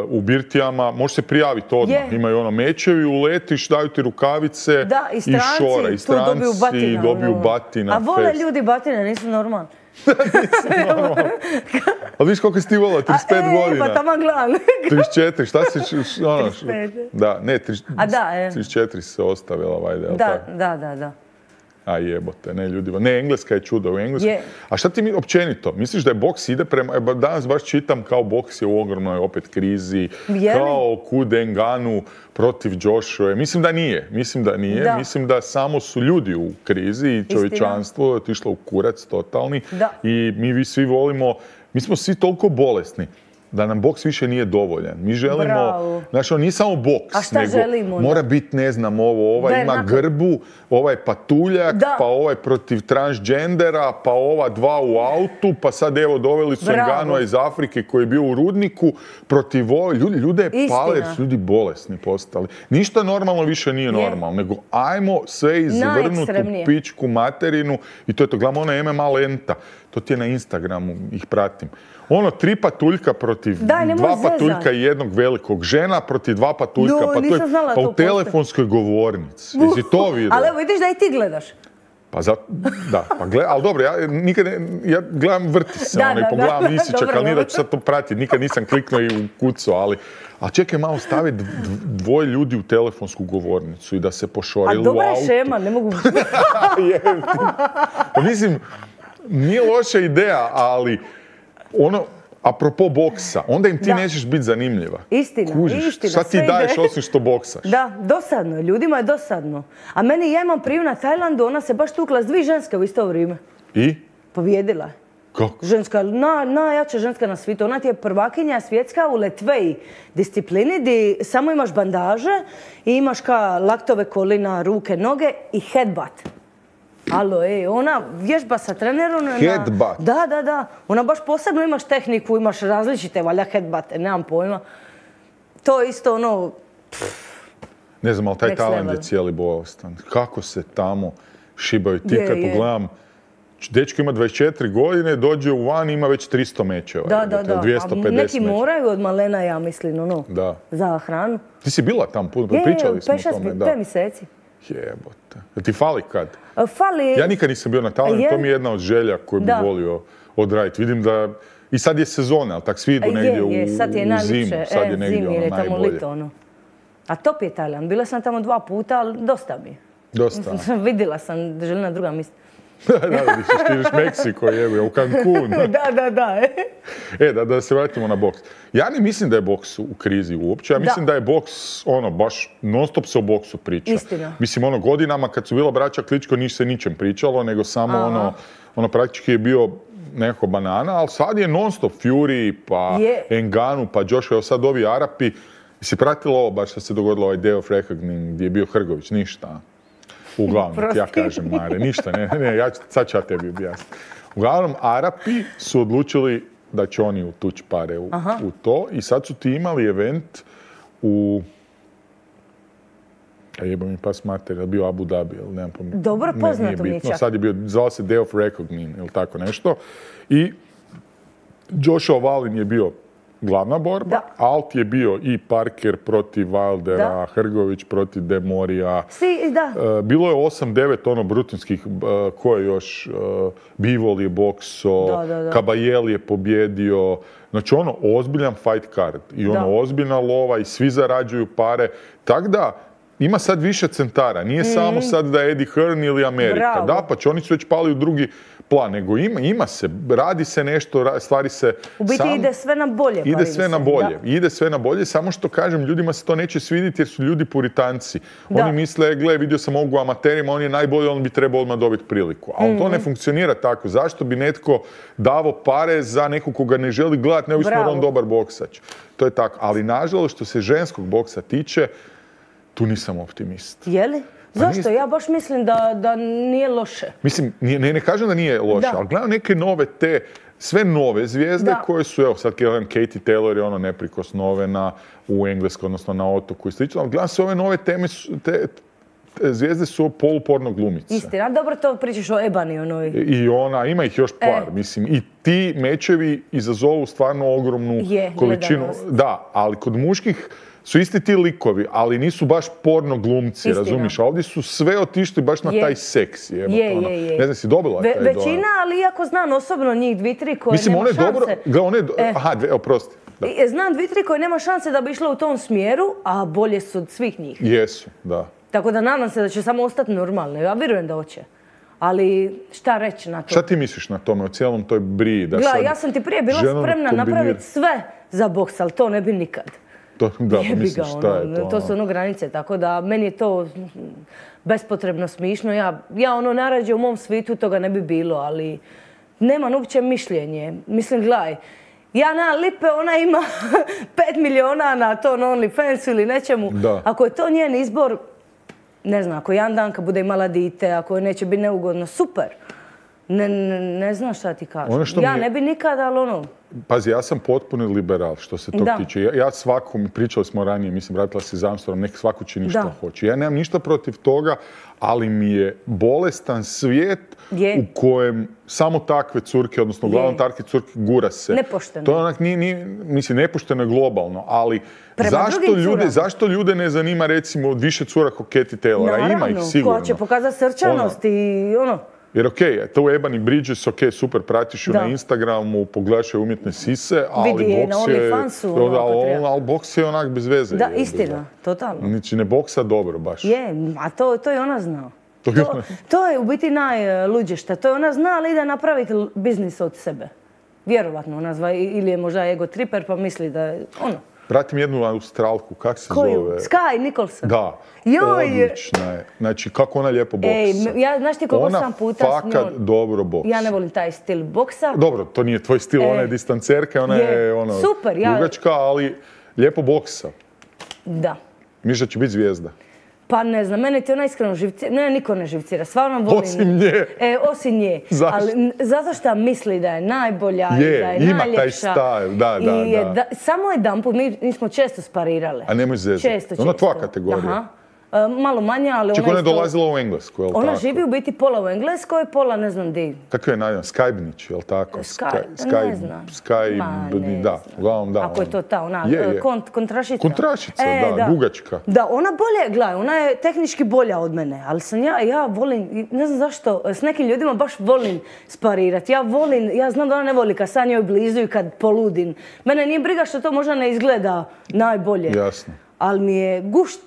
S1: u birtijama, možeš se prijaviti odmah,
S2: Je.
S1: imaju ono mečevi, uletiš, daju ti rukavice
S2: Da, i stranci,
S1: šora, i
S2: tu dobiju
S1: stranci
S2: batina.
S1: dobiju
S2: ono.
S1: batina,
S2: A vole
S1: fest.
S2: ljudi batine, nisu normalni.
S1: Ali viš koliko si ti volila, trideset pet
S2: A, e,
S1: godina.
S2: pa taman gledam.
S1: trideset četiri, šta si, š- š- ono, š-
S2: trideset pet.
S1: da, ne, trideset
S2: A da, e.
S1: trideset četiri si se ostavila, vajde, jel
S2: Da,
S1: tako?
S2: da, da, da.
S1: A jebote, ne ljudima. Ne, Engleska je čudo u Engleskoj.
S2: Je.
S1: A šta ti mi općenito? Misliš da je boks ide prema... Eba, danas baš čitam kao boks je u ogromnoj opet krizi.
S2: Je li?
S1: Kao Kudenganu protiv Joshua. Mislim da nije. Mislim da nije.
S2: Da.
S1: Mislim da samo su ljudi u krizi i čovječanstvo je otišlo u kurac totalni.
S2: Da.
S1: I mi vi svi volimo... Mi smo svi toliko bolesni. da nam boks više nije dovoljan. Mi želimo,
S2: Bravo.
S1: znači on nije samo boks,
S2: A šta
S1: nego
S2: želimo,
S1: mora biti, ne znam, ovo, ovaj
S2: Ber,
S1: ima
S2: nakon-
S1: grbu, ovaj patuljak,
S2: Da.
S1: pa ovaj protiv transgendera, pa ova dva u autu, pa sad evo doveli su
S2: Bravo.
S1: Ngannou iz Afrike koji je bio u rudniku, protiv ovo, ljudi, ljude je
S2: Istina.
S1: pale jer su ljudi bolesni postali. Ništa normalno više nije normalno, nego ajmo sve izvrnuti
S2: Najekstremnije.
S1: u pičku materinu i to je to. Gledamo ona M M A lenta, to ti je na Instagramu, ih pratim. Ono, tri patuljka protiv
S2: Daj, nemoj
S1: dva
S2: zezat.
S1: patuljka i jednog velikog, žena protiv dva patuljka,
S2: Jo,
S1: pa, to je,
S2: nisam znala
S1: pa
S2: to
S1: u telefonskoj govornici. Jesi to vidio?
S2: Ali evo, vidiš da i ti gledaš.
S1: Pa za, da, pa gled, ali dobro, ja nikad ne, ja gledam vrti se,
S2: Da,
S1: ono, i
S2: da,
S1: pogledam
S2: da.
S1: lisičak,
S2: Dobro,
S1: ali nije da
S2: dobro.
S1: ću sad to pratiti, nikad nisam kliknuo i ukucao, ali, ali čekaj malo staviti dvoje ljudi u telefonsku govornicu i da se pošore
S2: A
S1: ili u
S2: dobra je
S1: autu.
S2: šema, ne mogu...
S1: Jebem ti. Pa mislim, nije loša ideja, ali ono, apropo boksa, onda im ti
S2: Da.
S1: nećeš biti zanimljiva.
S2: Istina,
S1: Kužiš,
S2: istina,
S1: šta ti
S2: sve
S1: daješ
S2: ide.
S1: osim što boksaš?
S2: Da, dosadno je, ljudima je dosadno. A meni, ja imam priju na Tajlandu, ona se baš tukla s dvije ženske u isto vrijeme.
S1: I?
S2: Pobjedila je.
S1: Kako?
S2: Ženska, na, najjača ženska na svijetu. Ona ti je prvakinja svjetska u letveji disciplini gdje samo imaš bandaže i imaš ka laktove kolina, ruke, noge i headbutt. Alo, ej, ona vježba sa trenerom... na-
S1: Headbutt?
S2: Da, da, da. Ona baš posebno imaš tehniku, imaš različite, valjda headbutte, nemam pojma. To je isto ono...
S1: Ne znam, ali taj
S2: Next
S1: talent
S2: level.
S1: je cijeli bolestan. Kako se tamo šibaju ti
S2: Je,
S1: kad
S2: je.
S1: pogledam, dečko ima dvadeset četiri godine, dođe u van i ima već tristo mečeva.
S2: Da,
S1: jebote,
S2: da, da.
S1: dvjesto
S2: A
S1: pedeset
S2: neki
S1: mečeva.
S2: moraju od malena, ja mislim, ono,
S1: Da.
S2: za hranu.
S1: Ti si bila tamo, puno,
S2: Je,
S1: pričali
S2: je,
S1: smo o
S2: pet, šest,
S1: tome.
S2: pet
S1: Da.
S2: mjeseci.
S1: Jebote. Jel ti fali kad?
S2: A, Fali...
S1: Ja nikad nisam bio na talentu,
S2: Je.
S1: to mi je jedna od želja koju bi
S2: Da.
S1: volio odraditi. Vidim da... I sad je sezona, ali tak svi idu negdje
S2: Je,
S1: u,
S2: je, sad je
S1: u
S2: najljepše.
S1: zimu. Sad je
S2: E,
S1: negdje
S2: zimi, jer
S1: ono
S2: je tamo
S1: najbolje.
S2: lito, ono. A top je Tajland. Bila sam tamo dva puta, ali dosta mi je.
S1: Dosta.
S2: Vidjela sam da želim na druga mjesta.
S1: da, da, da, ti ideš Meksiko, jebe, u Cancun.
S2: Da, da, da.
S1: E, da, da se vratimo na boks. Ja ne mislim da je boks u krizi uopće, ja
S2: Da.
S1: mislim da je boks, ono, baš non stop se o boksu priča.
S2: Istina.
S1: Mislim, ono, godinama kad su bila braća Kličko nije se ničem pričalo, nego samo
S2: Aha.
S1: ono, ono praktički je bio nekako banana, ali sad je non stop Fury, pa
S2: Je.
S1: Ngannou, pa Joshua, evo sad ovi Arapi. Si pratila ovo baš što se dogodilo, ovaj Day of Reckoning, gdje je bio Hrgović, ništa. Uglavnom, ti ja
S2: Prosti.
S1: kažem, Mare, ništa, ne, ne, ja, ću- sad ću ja tebi objasniti. Uglavnom, Arapi su odlučili da će oni utući pare u, u to i sad su ti imali event u... A jeba mi pas mater, je li bio Abu Dhabi, ili nemam pojma.
S2: Dobro,
S1: Ne,
S2: poznato
S1: nije
S2: mi je
S1: bitno.
S2: čak.
S1: Sad je bio, zvao se Day of Reckoning ili tako nešto. I Joshua Wallin je bio glavna borba,
S2: Da.
S1: Alt je bio i Parker protiv Wildera,
S2: Da.
S1: Hrgović protiv Demorija.
S2: Si, da.
S1: E, bilo je osam devet ono brutinskih, e, ko je još, e, Bivol je bokso,
S2: Da, da, da.
S1: Kabajel je pobjedio. Znači ono, ozbiljan fight card i ono,
S2: Da.
S1: ozbiljna lova i svi zarađuju pare. Tako da, ima sad više centara. Nije samo sad da je Eddie Hearn ili Amerika.
S2: Bravo.
S1: Da, pa će oni su već pali u drugi plan. Nego ima, ima se, radi se nešto, ra- stvari se...
S2: U biti
S1: sam-
S2: ide sve na bolje.
S1: Ide
S2: pari
S1: sve
S2: mi
S1: na
S2: se,
S1: bolje,
S2: da.
S1: ide sve na bolje, samo što kažem, ljudima se to neće svidjeti jer su ljudi puritanci.
S2: Da.
S1: Oni misle, gle, vidio sam ovog u amaterima, on je najbolji, on bi trebao odmah dobiti priliku. Ali to ne
S2: Mhm.
S1: funkcionira tako. Zašto bi netko davao pare za nekog koga ne želi gledati, neovisno da je
S2: Bravo.
S1: on dobar boksač. To je tako. Ali nažalost, što se ženskog boksa tiče, tu nisam optimist.
S2: Je li?
S1: Pa
S2: Zašto?
S1: nije-
S2: Ja baš mislim da, da nije loše.
S1: Mislim, nije- ne, ne kažem da nije loše,
S2: Da.
S1: ali gledam neke nove te, sve nove zvijezde
S2: Da.
S1: koje su, evo sad gledam Katie Taylor je ono neprikosnovena u Engleskoj, odnosno na otoku i slično, ali gledam sve ove nove teme, su- te, te zvijezde su poluporno glumice.
S2: Istina, dobro to pričaš o Ebani onoj.
S1: I ona, ima ih još par,
S2: E.
S1: mislim, i ti mečevi izazovu stvarno ogromnu
S2: Je,
S1: količinu.
S2: gledanost.
S1: Da, ali kod muških su isti ti likovi, ali nisu baš porno glumci,
S2: Istina.
S1: razumiješ? A ovdje su sve otišli baš na
S2: Je.
S1: taj seks. jebote,
S2: Je,
S1: ono.
S2: je, je.
S1: Ne znam, si dobila
S2: Ve-
S1: taj dojam?
S2: većina, ali iako znam osobno njih dvi, tri koje
S1: Mislim,
S2: nema
S1: one
S2: šanse.
S1: dobro... Gle, one... do-
S2: E.
S1: Aha, dve, oprosti. Da.
S2: I- Znam dvi, tri koje nema šanse da bi išle u tom smjeru, a bolje su od svih njih.
S1: Jesu, da.
S2: Tako da nadam se da će samo ostati normalne. Ja vjerujem da hoće. Ali šta reći na to?
S1: Šta ti misliš na tome, o cijelom toj briji? Da
S2: Gle,
S1: sad
S2: ja sam ti prije bila
S1: ženom
S2: spremna
S1: kombinira-
S2: napraviti sve za boks, ali to ne bi nikad.
S1: To, da, pa
S2: Jebi
S1: mislim,
S2: ga,
S1: šta je
S2: ono,
S1: to?
S2: to su ono granice, tako da meni je to bespotrebno smišno. Ja, ja ono narađe u mom svijetu toga ne bi bilo, ali nemam uopće mišljenje. Mislim, gledaj, Ja na lipe, ona ima pet miliona na to na OnlyFansu ili nečemu.
S1: Da.
S2: Ako je to njen izbor, ne znam, ako jedan dan kad bude imala dite, ako joj neće biti neugodno, super. Ne, ne, ne znam šta ti kažem. Ono ja je... ne bi nikada, ali ono...
S1: Pazi, ja sam potpuni liberal što se tog tiče. Ja, ja svakom, pričali smo ranije, mislim, vratila se za Amsterdam, nek svako čini što hoće. Ja nemam ništa protiv toga, ali mi je bolestan svijet je. u kojem samo takve curke, odnosno uglavnom takve curke gura se.
S2: Nepošteno.
S1: To je onak, nije, nije, mislim, nepošteno je globalno, ali zašto ljude, zašto ljude ne zanima, recimo, više cura kao Katie Taylor?
S2: Naravno,
S1: ima ih sigurno.
S2: Koja će pokazati srčanost ono. i ono...
S1: Jer okej, okay, to Ebony Bridges, okej, okay, super, pratiš ju na Instagramu, pogledaš joj umjetne sise, ali
S2: vidi je, boks je...
S1: Ono, ali, ali boks je onak bez veze.
S2: Da,
S1: je,
S2: istina,
S1: da.
S2: totalno.
S1: Znači, ne boksa dobro baš.
S2: Je, a to, to je ona znao. To, to, to je u biti najluđe šta. To je ona zna, ali ide napraviti biznis od sebe. Vjerovatno ona zva, ili je možda ego triper pa misli da je ono.
S1: Pratim jednu Australku, kak se
S2: Koju?
S1: zove?
S2: Sky Nicholson.
S1: Da,
S2: Joj.
S1: odlična je. Znači, kako ona lijepo boksa.
S2: Ej, ja, znaš ti koliko sam puta
S1: s njom... Ona fakat dobro boksa.
S2: Ja ne volim taj stil boksa.
S1: Dobro, to nije tvoj stil, e, ona je distancerka, ona je, je ono,
S2: super, ja...
S1: dugačka, ali lijepo boksa.
S2: Da.
S1: Mišlja će biti zvijezda.
S2: Pa ne znam, mene ti ona iskreno živcira, ne, niko ne živcira, stvarno volim.
S1: Osim nje.
S2: E, osim nje.
S1: Zašto?
S2: Ali zato što misli da je najbolja
S1: je,
S2: i da je
S1: ima
S2: najljepša.
S1: Taj stil, da, da,
S2: I je,
S1: da.
S2: da. Samo jedan put, mi, mi smo često sparirale.
S1: A nemoj zezati.
S2: Često, često.
S1: Ona tvoja kategorija.
S2: Aha. E, malo manja, ali
S1: Ček,
S2: ona
S1: ona je
S2: isto...
S1: dolazila u Englesku, je li
S2: ona
S1: tako?
S2: Ona živi u biti pola u Engleskoj, pola ne znam di.
S1: Kako je nazivam? Skybnić, je li tako?
S2: Sky,
S1: Sky,
S2: ne znam.
S1: Sky,
S2: Ma, ne
S1: da, uglavnom da.
S2: Ako je to ta, ona,
S1: je, je.
S2: Kont, kontrašica.
S1: Kontrašica, e, da, da, dugačka.
S2: Da, ona bolje, gledaj, ona je tehnički bolja od mene, ali sam ja, ja volim, ne znam zašto, s nekim ljudima baš volim sparirati. Ja volim, ja znam da ona ne voli kad sam njoj blizu i kad poludim. Mene nije briga što to možda ne izgleda najbolje.
S1: Jasno.
S2: Ali mi je gušt.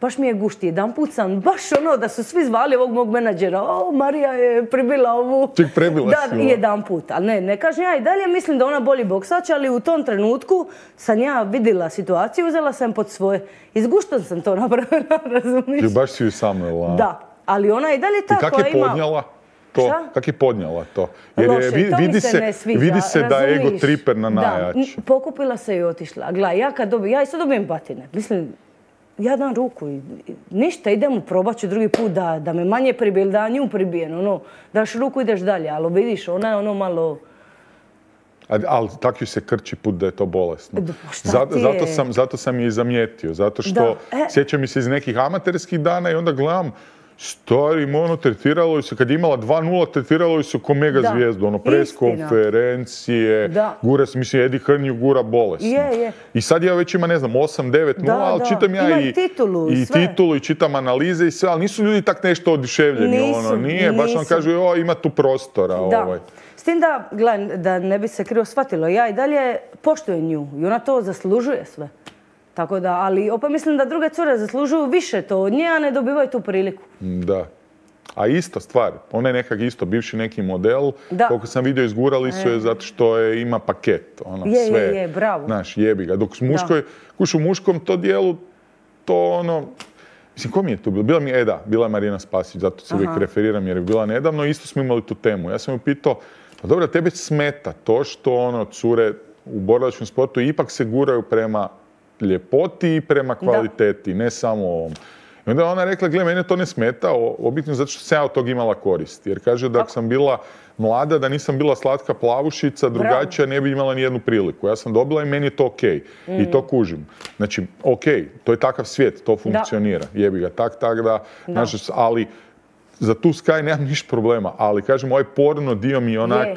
S2: Baš mi je gušti. Jedan put sam baš ono da su svi zvali ovog mog menadžera. O, Marija je pribila ovu...
S1: Ček, prebila
S2: da,
S1: si ovo.
S2: jedan put. Ali ne, ne kažem ja i dalje mislim da ona bolji boksač, ali u tom trenutku sam ja vidjela situaciju, uzela sam pod svoje. Izguštom sam to napravila, razumiješ?
S1: Ti baš si ju samljela.
S2: Da, ali ona i dalje ta koja ima...
S1: I kak je podnjela to?
S2: Šta?
S1: Kak je podnjela to? Jer
S2: Loše,
S1: je, vidi,
S2: to mi
S1: vidi
S2: se ne sviđa,
S1: vidi se da je ego triper na najjači.
S2: Da, pokupila se i otišla. Gledaj, ja kad dobijem, ja isto dobijem batine. Mislim, ja dam ruku i ništa, idemo, probat ću drugi put da, da me manje pribije ili da nju pribijem, ono, daš ruku ideš dalje, ali vidiš, ona je ono malo...
S1: Ali, ali tako ju se krči put da je to bolesno.
S2: Zato,
S1: je? zato, sam, zato sam je i zamijetio, zato što e. sjećam mi se iz nekih amaterskih dana i onda gledam, stari, ono, tretiralo ju se, kad je imala dva nula, tretiralo ju se ko mega da. zvijezdu, ono, preskonferencije, gura se, mislim, Eddie Hearn ju gura bolesno.
S2: Je, je.
S1: I sad ja već ima, ne znam, osam devet nula, ali da. čitam ja
S2: ima
S1: i,
S2: titulu,
S1: i titulu i čitam analize i sve, ali nisu ljudi tak nešto odiševljeni,
S2: nisu,
S1: ono, nije,
S2: nisu.
S1: baš vam kažu, o, ima tu prostora,
S2: da.
S1: ovaj.
S2: S tim da, gledaj, da ne bi se krivo shvatilo, ja i dalje poštujem nju i ona to zaslužuje sve. Tako da, ali opet mislim da druge cure zaslužuju više to od nje, a ne dobivaju tu priliku.
S1: Da. A isto stvar, ona je nekak isto bivši neki model,
S2: da.
S1: koliko sam vidio izgurali su je zato što je, ima paket, ono,
S2: je,
S1: sve,
S2: je, je, bravo.
S1: Znaš, jebi ga. Dok s muškoj, kuš u muškom to dijelu, to ono, mislim, ko mi je tu bilo? Bila mi je, e da, bila je Marina Spasić, zato se uvijek referiram jer je bila nedavno, isto smo imali tu temu. Ja sam ju pitao, pa dobro, tebe smeta to što ono, cure u borilačkom sportu ipak se guraju prema ljepoti i prema kvaliteti, da. ne samo ovom. I onda ona rekla, gle, mene to ne smeta, obitno zato što sam ja od tog imala korist. Jer kaže da sam bila mlada, da nisam bila slatka plavušica, drugačija ne bi imala ni jednu priliku. Ja sam dobila i meni je to okej. Okay. Mm. I to kužim. Znači, okej, okay, to je takav svijet, to funkcionira. Da. Jebi ga, tak, tak da, da. Znači, ali za tu Sky nemam niš problema. Ali, kažem, ovaj porno dio mi onak... Je.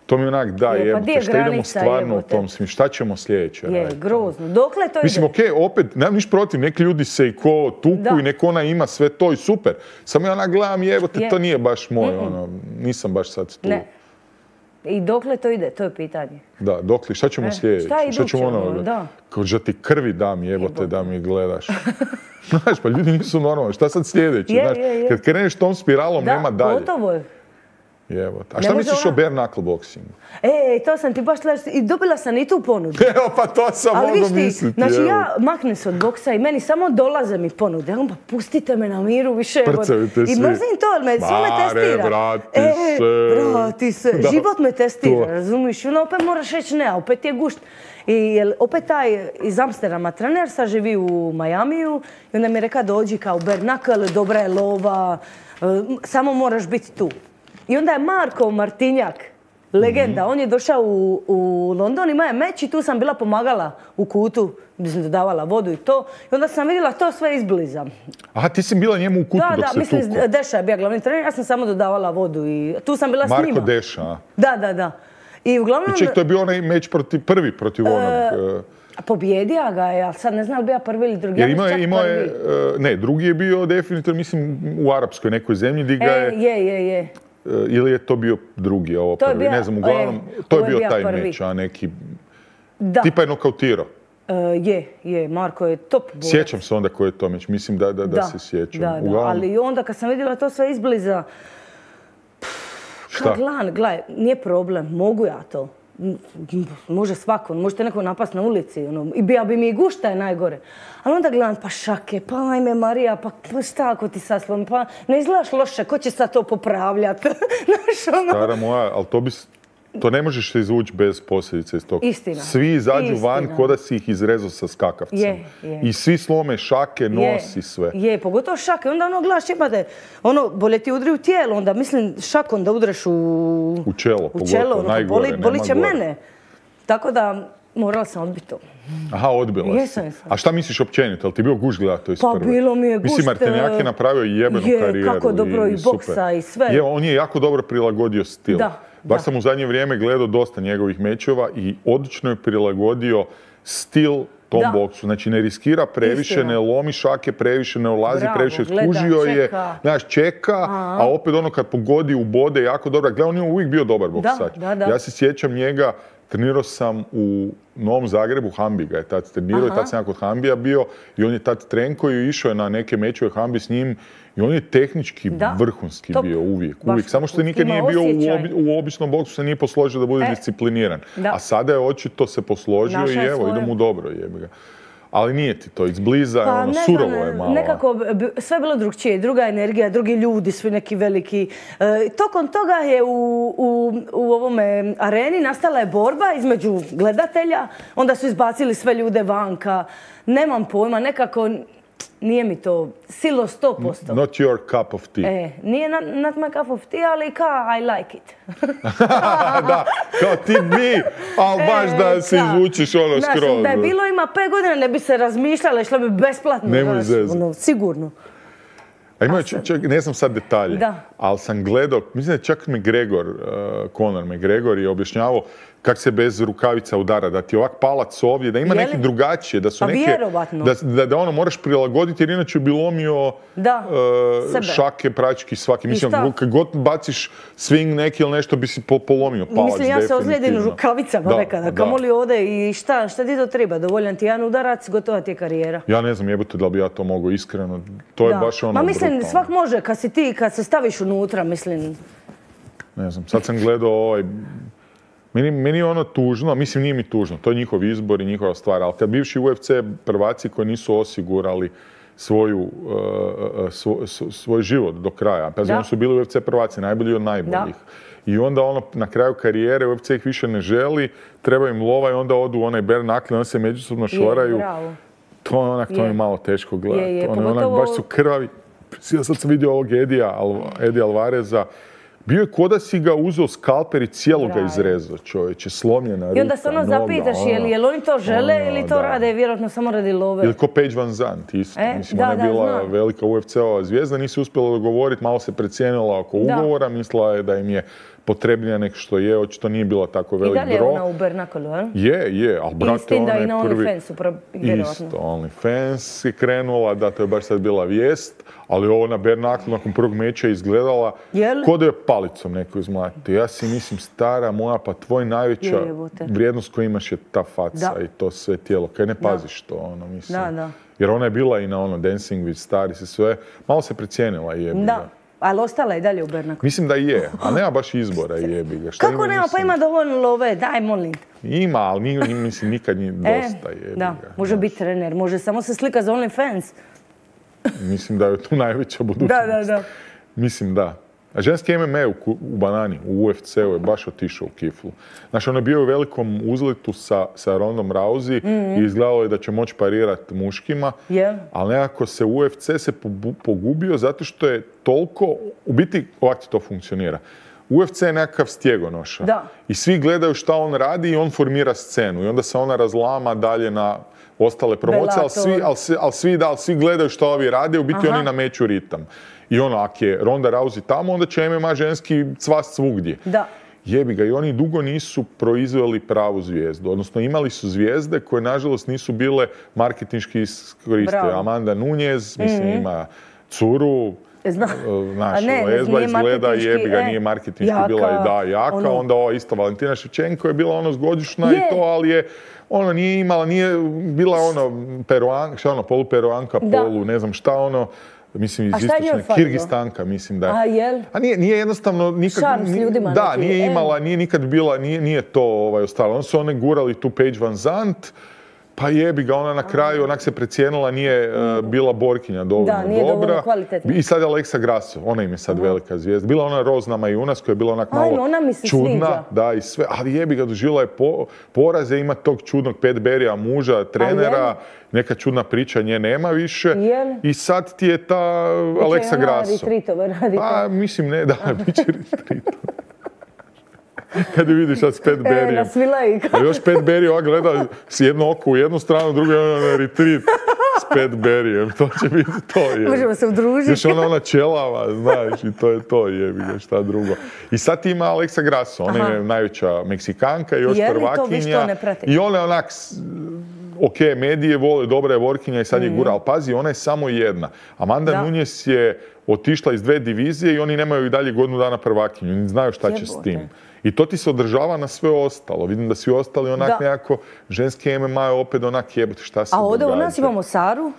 S1: To mi onak da, je, jebote, pa šta idemo stvarno jebote. U tom smislu, šta ćemo sljedeće?
S2: Je, raditi? Grozno. Dokle to
S1: Mislim,
S2: ide?
S1: okej, okay, opet, nemam niš protiv, neki ljudi se i ko tuku da. I neko ona ima sve to i super. Samo ja onak gledam, jebote, je. To nije baš moj, Mm-mm. ono, nisam baš sad tu. Ne.
S2: I dokle to ide, to je pitanje.
S1: Da, dokle, šta ćemo e, sljedeće?
S2: Šta, šta ćemo ono,
S1: da. Kao da ti krvi dam, jebote, jebote. Da mi gledaš. Znaš, pa ljudi nisu normalni, šta sad sljedeće?
S2: Je,
S1: znaš,
S2: je, je.
S1: Kad kreneš tom spiralom,
S2: da,
S1: nema dalje.
S2: Gotovo je.
S1: Jevo. A šta misliš ona... o bare knuckle boxingu?
S2: E, to sam ti baš tla... I dobila sam i tu ponudu.
S1: Evo, pa to sam
S2: ali
S1: mogu
S2: ti,
S1: misliti.
S2: Znači,
S1: evo.
S2: ja maknem se od boksa i meni samo dolaze mi ponude. On pa pustite me na miru više.
S1: Prcavite svi.
S2: I mrzim to, ali me sve me testira.
S1: vrati
S2: e,
S1: se.
S2: vrati se. Da. Život me testira, razumiš? Ono, opet moraš reći ne, a opet je gušt. I jel, opet taj iz Amsterdama trener sad živi u Majamiju i onda mi je reka dođi kao bare knuckle, dobra je lova, samo moraš biti tu. I onda je Marko Martinjak, legenda, mm-hmm. on je došao u, u London, ima je meč i tu sam bila pomagala u kutu, mislim dodavala vodu i to. I onda sam vidjela to sve izbliza.
S1: Aha, ti si bila njemu u kutu
S2: da,
S1: dok
S2: da,
S1: se
S2: mislim,
S1: tuko.
S2: Deša je bio glavni trener, ja sam samo dodavala vodu i tu sam bila
S1: Marko
S2: s njima.
S1: Marko Deša, a?
S2: Da, da, da. I uglavnom...
S1: I ček, to je bio onaj meč protiv, prvi protiv onog...
S2: E, pobjedija ga je, ali sad ne znam li bio prvi ili drugi.
S1: Jer imao je, imao je, ne, drugi je bio definitivno, mislim, u arapskoj nekoj zemlji gdje ga je...
S2: E, je, je, je.
S1: Ili je to bio drugi, ovo
S2: to
S1: prvi,
S2: bio,
S1: ne znam, uglavnom, e, to je bio, bio taj prvi. meč, a neki...
S2: Da.
S1: Tipa je nokautirao.
S2: E, je, je, Marko je top borac.
S1: Sjećam se onda koji je to meč, mislim da, da, da,
S2: da
S1: se sjećam.
S2: Da, da,
S1: uglavnom...
S2: ali onda kad sam vidjela to sve izbliza... Šta? Gledaj, gledaj, nije problem, mogu ja to. Može svako, možete neko napast na ulici, ono, i bija bi mi i gušta je najgore. Ali onda gledam, pa šake, pa ajme Marija, pa, pa šta ako ti sad slom, pa ne izgledaš loše, ko će sad to popravljati? Znaš, ono...
S1: Stara moja, ali to bi... To ne možeš se izvući bez posljedice iz toga.
S2: Istina.
S1: Svi izađu
S2: Istina.
S1: van ko da si ih izrezao sa skakavcem.
S2: Je, je.
S1: I svi slome šake, nos
S2: je,
S1: i sve.
S2: Je, pogotovo šake. Onda ono gledaš, imate, ono, bolje ti udri u tijelo, onda mislim šakom da udreš u...
S1: U čelo,
S2: u čelo,
S1: pogotovo,
S2: ono,
S1: najgore,
S2: boli, boli će
S1: gore.
S2: mene. Tako da morala sam odbiti to.
S1: Aha, odbila si.
S2: Jesam sam.
S1: A šta misliš općenito? Ali ti bio gušt gledati to iz
S2: pa,
S1: prve?
S2: Pa bilo mi je gušt.
S1: Mislim, Martinjak je napravio jebenu
S2: je,
S1: karijeru.
S2: Kako dobro i,
S1: i
S2: boksa i sve.
S1: Je, on je jako dobro prilagodio stil.
S2: Da.
S1: Baš
S2: da.
S1: sam u zadnje vrijeme gledao dosta njegovih mečeva i odlično je prilagodio stil tom
S2: da.
S1: boksu. Znači ne riskira previše,
S2: Istina.
S1: ne lomi šake previše, ne ulazi
S2: Bravo,
S1: previše,
S2: gleda,
S1: skužio je, znaš, čeka,
S2: Aha.
S1: a opet ono kad pogodi u bode jako dobro. Gle, on je uvijek bio dobar boksač.
S2: Da, da, da.
S1: Ja se sjećam njega, trenirao sam u Novom Zagrebu, Hambi ga je tad trenirao i tad sam ja kod Hambija bio i on je tad trenko i išao je na neke mečeve Hambi s njim i on je tehnički
S2: da.
S1: vrhunski
S2: Top.
S1: bio uvijek,
S2: Baš
S1: uvijek. Samo što nikad nije bio u, obi, u običnom boksu, se nije posložio da bude e. discipliniran. Da. A sada je očito se posložio
S2: Naša
S1: i evo,
S2: svoje.
S1: ide mu dobro, jebi ga. Ali nije ti to, izbliza,
S2: pa,
S1: ono,
S2: ne
S1: surovo
S2: znam,
S1: je malo.
S2: Nekako sve je bilo drugčije, druga energija, drugi ljudi, svi neki veliki. E, tokom toga je u, u, u ovome areni nastala je borba između gledatelja, onda su izbacili sve ljude vanka. Nemam pojma, nekako nije mi to silo sto posto.
S1: Not your cup of tea.
S2: E, nije not, not my cup of tea, ali ka I like it.
S1: Da, kao ti bi, ali baš e, da se izvučiš ono
S2: znaš,
S1: skroz.
S2: Da je bilo ima pet godina, ne bi se razmišljala, išla bi besplatno.
S1: Nemoj zezati.
S2: Ono, sigurno.
S1: A imaju, čak, čak, ne znam sad detalje,
S2: da.
S1: ali sam gledao, mislim da čak McGregor, uh, Conor McGregor je objašnjavao kako se bez rukavica udara, da ti ovak palac ovdje, da ima neki drugačije, da su
S2: a
S1: neke, da, da, da ono moraš prilagoditi jer inače bi lomio
S2: da,
S1: uh, šake, prački, svaki. Mislim, kad god baciš swing neki ili nešto bi si polomio palac.
S2: Mislim, ja se ozlijedim rukavicama da, nekada, da. Kamoli ovdje i šta, šta ti to treba, dovoljan ti jedan udarac, gotova ti je karijera.
S1: Ja ne znam, jebote da li bi ja to mogao iskreno, to je
S2: da.
S1: baš ono
S2: Ma mislim,
S1: brutalno.
S2: Svak može, kad si ti, kad se staviš unutra, mislim.
S1: Ne znam, sad sam gledao ovaj, Meni, meni je ono tužno, mislim nije mi tužno, to je njihov izbor i njihova stvar, ali kad bivši U F C prvaci koji nisu osigurali svoju, uh, svoj, svoj život do kraja, pa oni su bili U F C prvaci, najbolji od najboljih. Da. I onda ono na kraju karijere U F C ih više ne želi, treba im lova i onda odu u onaj bare knuckle, oni se međusobno šoraju.
S2: Je,
S1: to onak, to je. Mi malo teško gledati.
S2: Je, je,
S1: ono,
S2: pogotovo...
S1: onak, baš su krvavi. Ja sad sam vidio ovog Edija, Edi Alvareza. Bio je ko da si ga uzeo skalper i cijelo ga izrezao, čovječe, slomljena ruka,
S2: i onda se ono
S1: noga,
S2: zapitaš,
S1: ono,
S2: je li, je li oni to žele
S1: ono,
S2: ili to
S1: da.
S2: rade vjerojatno samo radi love.
S1: Ili ko Paige Van Zandt, isto.
S2: E,
S1: Mislim,
S2: da,
S1: ona je
S2: da,
S1: bila
S2: znam.
S1: velika U F C-ova zvijezda, nisi uspjela dogovoriti, malo se precijenila oko
S2: da.
S1: ugovora, mislila je da im je potrebnija nek što je, očito nije bila tako velik
S2: bro. I dalje
S1: bro.
S2: je ona u bare knuckle, jel?
S1: Je, je, ali brate, ona je
S2: prvi... I OnlyFansu, vjerojatno.
S1: Isto, OnlyFans je krenula, da, to je baš sad bila vijest, ali ovo na bare knuckle nakon prvog meča izgledala ko da je palicom neko izmlatio. Ja si mislim, stara moja, pa tvoj najveća vrijednost koju imaš je ta faca da. I to sve tijelo. Kaj ne paziš da. To, ono, mislim.
S2: Da, da.
S1: Jer ona je bila i na ono Dancing with Stars i sve. Malo se precijenila jebi.
S2: Da. Ali ostala je dalje u Bernaku.
S1: Mislim da je, a nema baš izbora, jebi ga.
S2: Šta kako ima, nema, mislim... pa ima dovoljno love, daj molim.
S1: Ima, ali nije, mislim, nikad nije dosta, jebi ga.
S2: Da, može biti trener, može samo se slika za OnlyFans.
S1: Mislim da je tu najveća budućnost.
S2: Da, da, da.
S1: Mislim da. A ženski M M A u, u banani, u U F C-u je baš otišao u kiflu. Znači, on je bio u velikom uzletu sa, sa Rondom Rousey mm-hmm. i izgledalo je da će moći parirati muškima,
S2: yeah.
S1: ali nekako se U F C se pogubio zato što je toliko, u biti ovako to funkcionira. U F C je nekakav stjegonoša.
S2: Da.
S1: I svi gledaju šta on radi i on formira scenu. I onda se ona razlama dalje na ostale promocije, ali svi, ali, ali, svi, da, ali svi gledaju šta ovi rade, u biti Aha. oni nameću ritam. I ono, ako je Ronda Rousey tamo, onda će M M A ženski cvast svugdje.
S2: Da.
S1: Jebi ga, i oni dugo nisu proizveli pravu zvijezdu. Odnosno, imali su zvijezde koje, nažalost, nisu bile marketinški iskoristile. Amanda Nunes, mislim, mm-hmm. ima curu,
S2: Zna.
S1: Naša lezba izgleda, jebi ga, nije marketinški jaka, bila i da, jaka. Ono. Onda ova isto Valentina Ševčenko je bila ono zgođušna je. I to, ali je ono nije imala, nije bila ono peruanka, šta ono, poluperuanka, polu, ne znam šta ono, mislim iz istočne, Kirgistanka, mislim da je.
S2: A jel?
S1: A nije, nije jednostavno nikad...
S2: Šarm s ljudima.
S1: Da, neki, nije imala, nije nikad bila, nije, nije to ovaj, ostalo. Onda su one gurali tu Paige Van Zandt, pa jebi ga, ona na kraju onak se precijenila, nije uh, bila borkinja dovoljno dobra.
S2: Da, nije dovoljno kvalitetna.
S1: I sad je Alexa Grasso, ona im je sad Aha. velika zvijezda. Bila ona Rozna Majunas koja je bila onak malo
S2: Ajme, ona mi se
S1: čudna.
S2: Sviđa.
S1: Da, i sve, ali jebi ga, doživjela je po, poraze, ima tog čudnog Pat Berrya, muža, trenera, neka čudna priča, nje nema više.
S2: Jel?
S1: I sad ti je ta Alexa Grasso.
S2: Biće ona retreatove radite.
S1: Pa, mislim ne, da, bit će retreatove. Kad ju vidiš sad s Pat Berryem.
S2: E, nasvila i kako.
S1: A još Pat Berry ova gleda s jedno oko u jednu stranu, drugo je na retreat s Pat Berryem. To će biti to, jebi.
S2: Možemo se udružiti.
S1: Još ona ona čelava, znaš, i to je to, jebi ga, šta drugo. I sad ti ima Alexa Grasso, ona je najveća Meksikanka, još
S2: je
S1: prvakinja.
S2: To, to ne prati.
S1: I ona je onak, ok, medije vole, dobra je vorkinja i sad je mm. gura, ali pazi, ona je samo jedna. Amanda da. Nunes je otišla iz dve divizije i oni nemaju i dalje godinu dana prvakinju, ni znaju šta će s tim. I to ti se održava na sve ostalo. Vidim da svi ostali onak da. nekako, ženski M M A je opet onak jebati šta se
S2: A ovdje
S1: događa.
S2: u nas imamo Saru?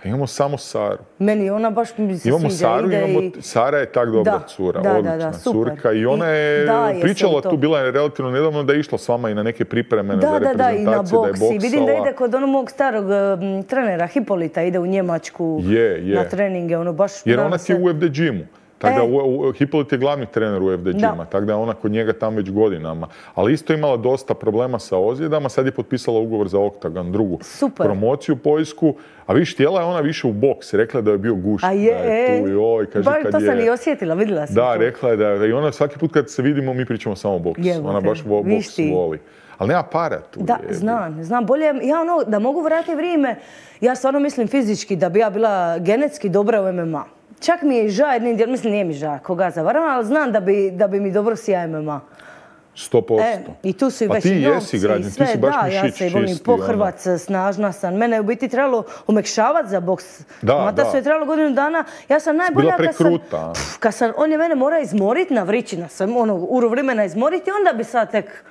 S1: Pa imamo samo Saru.
S2: Meni ona baš mi se
S1: imamo
S2: sviđa,
S1: Saru,
S2: ide
S1: imamo
S2: i...
S1: Sara je tak dobra
S2: da.
S1: cura,
S2: da,
S1: odlična
S2: da, da,
S1: curka. I ona je,
S2: da,
S1: pričala tu, bila je relativno nedavno da je išla s vama i na neke pripreme
S2: da,
S1: za
S2: da,
S1: reprezentacije,
S2: da, i na
S1: boks, da je boksala.
S2: Vidim da ide kod onog mog starog um, trenera Hipolita, ide u Njemačku
S1: je, je.
S2: na treninge, ono baš...
S1: Jer ona ti je u F D Gymu. Tako da, e. Hipolit je glavni trener u F D Gyma, tako da je ona kod njega tamo već godinama. Ali isto imala dosta problema sa ozljedama, sad je potpisala ugovor za Octagon, drugu
S2: Super.
S1: promociju Poljsku. A viš, htjela je ona više u boks, rekla je da je bio gušt.
S2: A je,
S1: da je tu, joj, kaže,
S2: Bar,
S1: kad
S2: to
S1: je...
S2: sam i osjetila, vidjela sam
S1: Da,
S2: to.
S1: rekla je da je, i ona svaki put kad se vidimo, mi pričamo samo boks.
S2: Jebote,
S1: ona baš vo, boks voli. Ali nema para tu.
S2: Da,
S1: je,
S2: znam, znam. Bolje, ja ono, da mogu vratiti vrijeme, ja stvarno mislim fizički da bi ja bila genetski dobra u M M A. Čak mi je i ža jednim dijelom, mislim nije mi ža koga zavaram, ali znam da bi, da bi mi dobro sija M M A.
S1: Sto posto.
S2: E, I tu su i
S1: pa
S2: veći
S1: ti
S2: novci
S1: jesi građan,
S2: sve,
S1: ti si baš
S2: da,
S1: mišić
S2: ja se volim
S1: čisti,
S2: pohrvat, ono. Snažna sam. Mene je u biti trebalo omekšavati za boks.
S1: Da,
S2: Mata
S1: da.
S2: su je trebalo godinu dana. Ja sam najbolja
S1: kad sam,
S2: pf, kad sam, on je mene mora izmoriti na vrićina, sam ono, uru vremena izmoriti, onda bi sad tek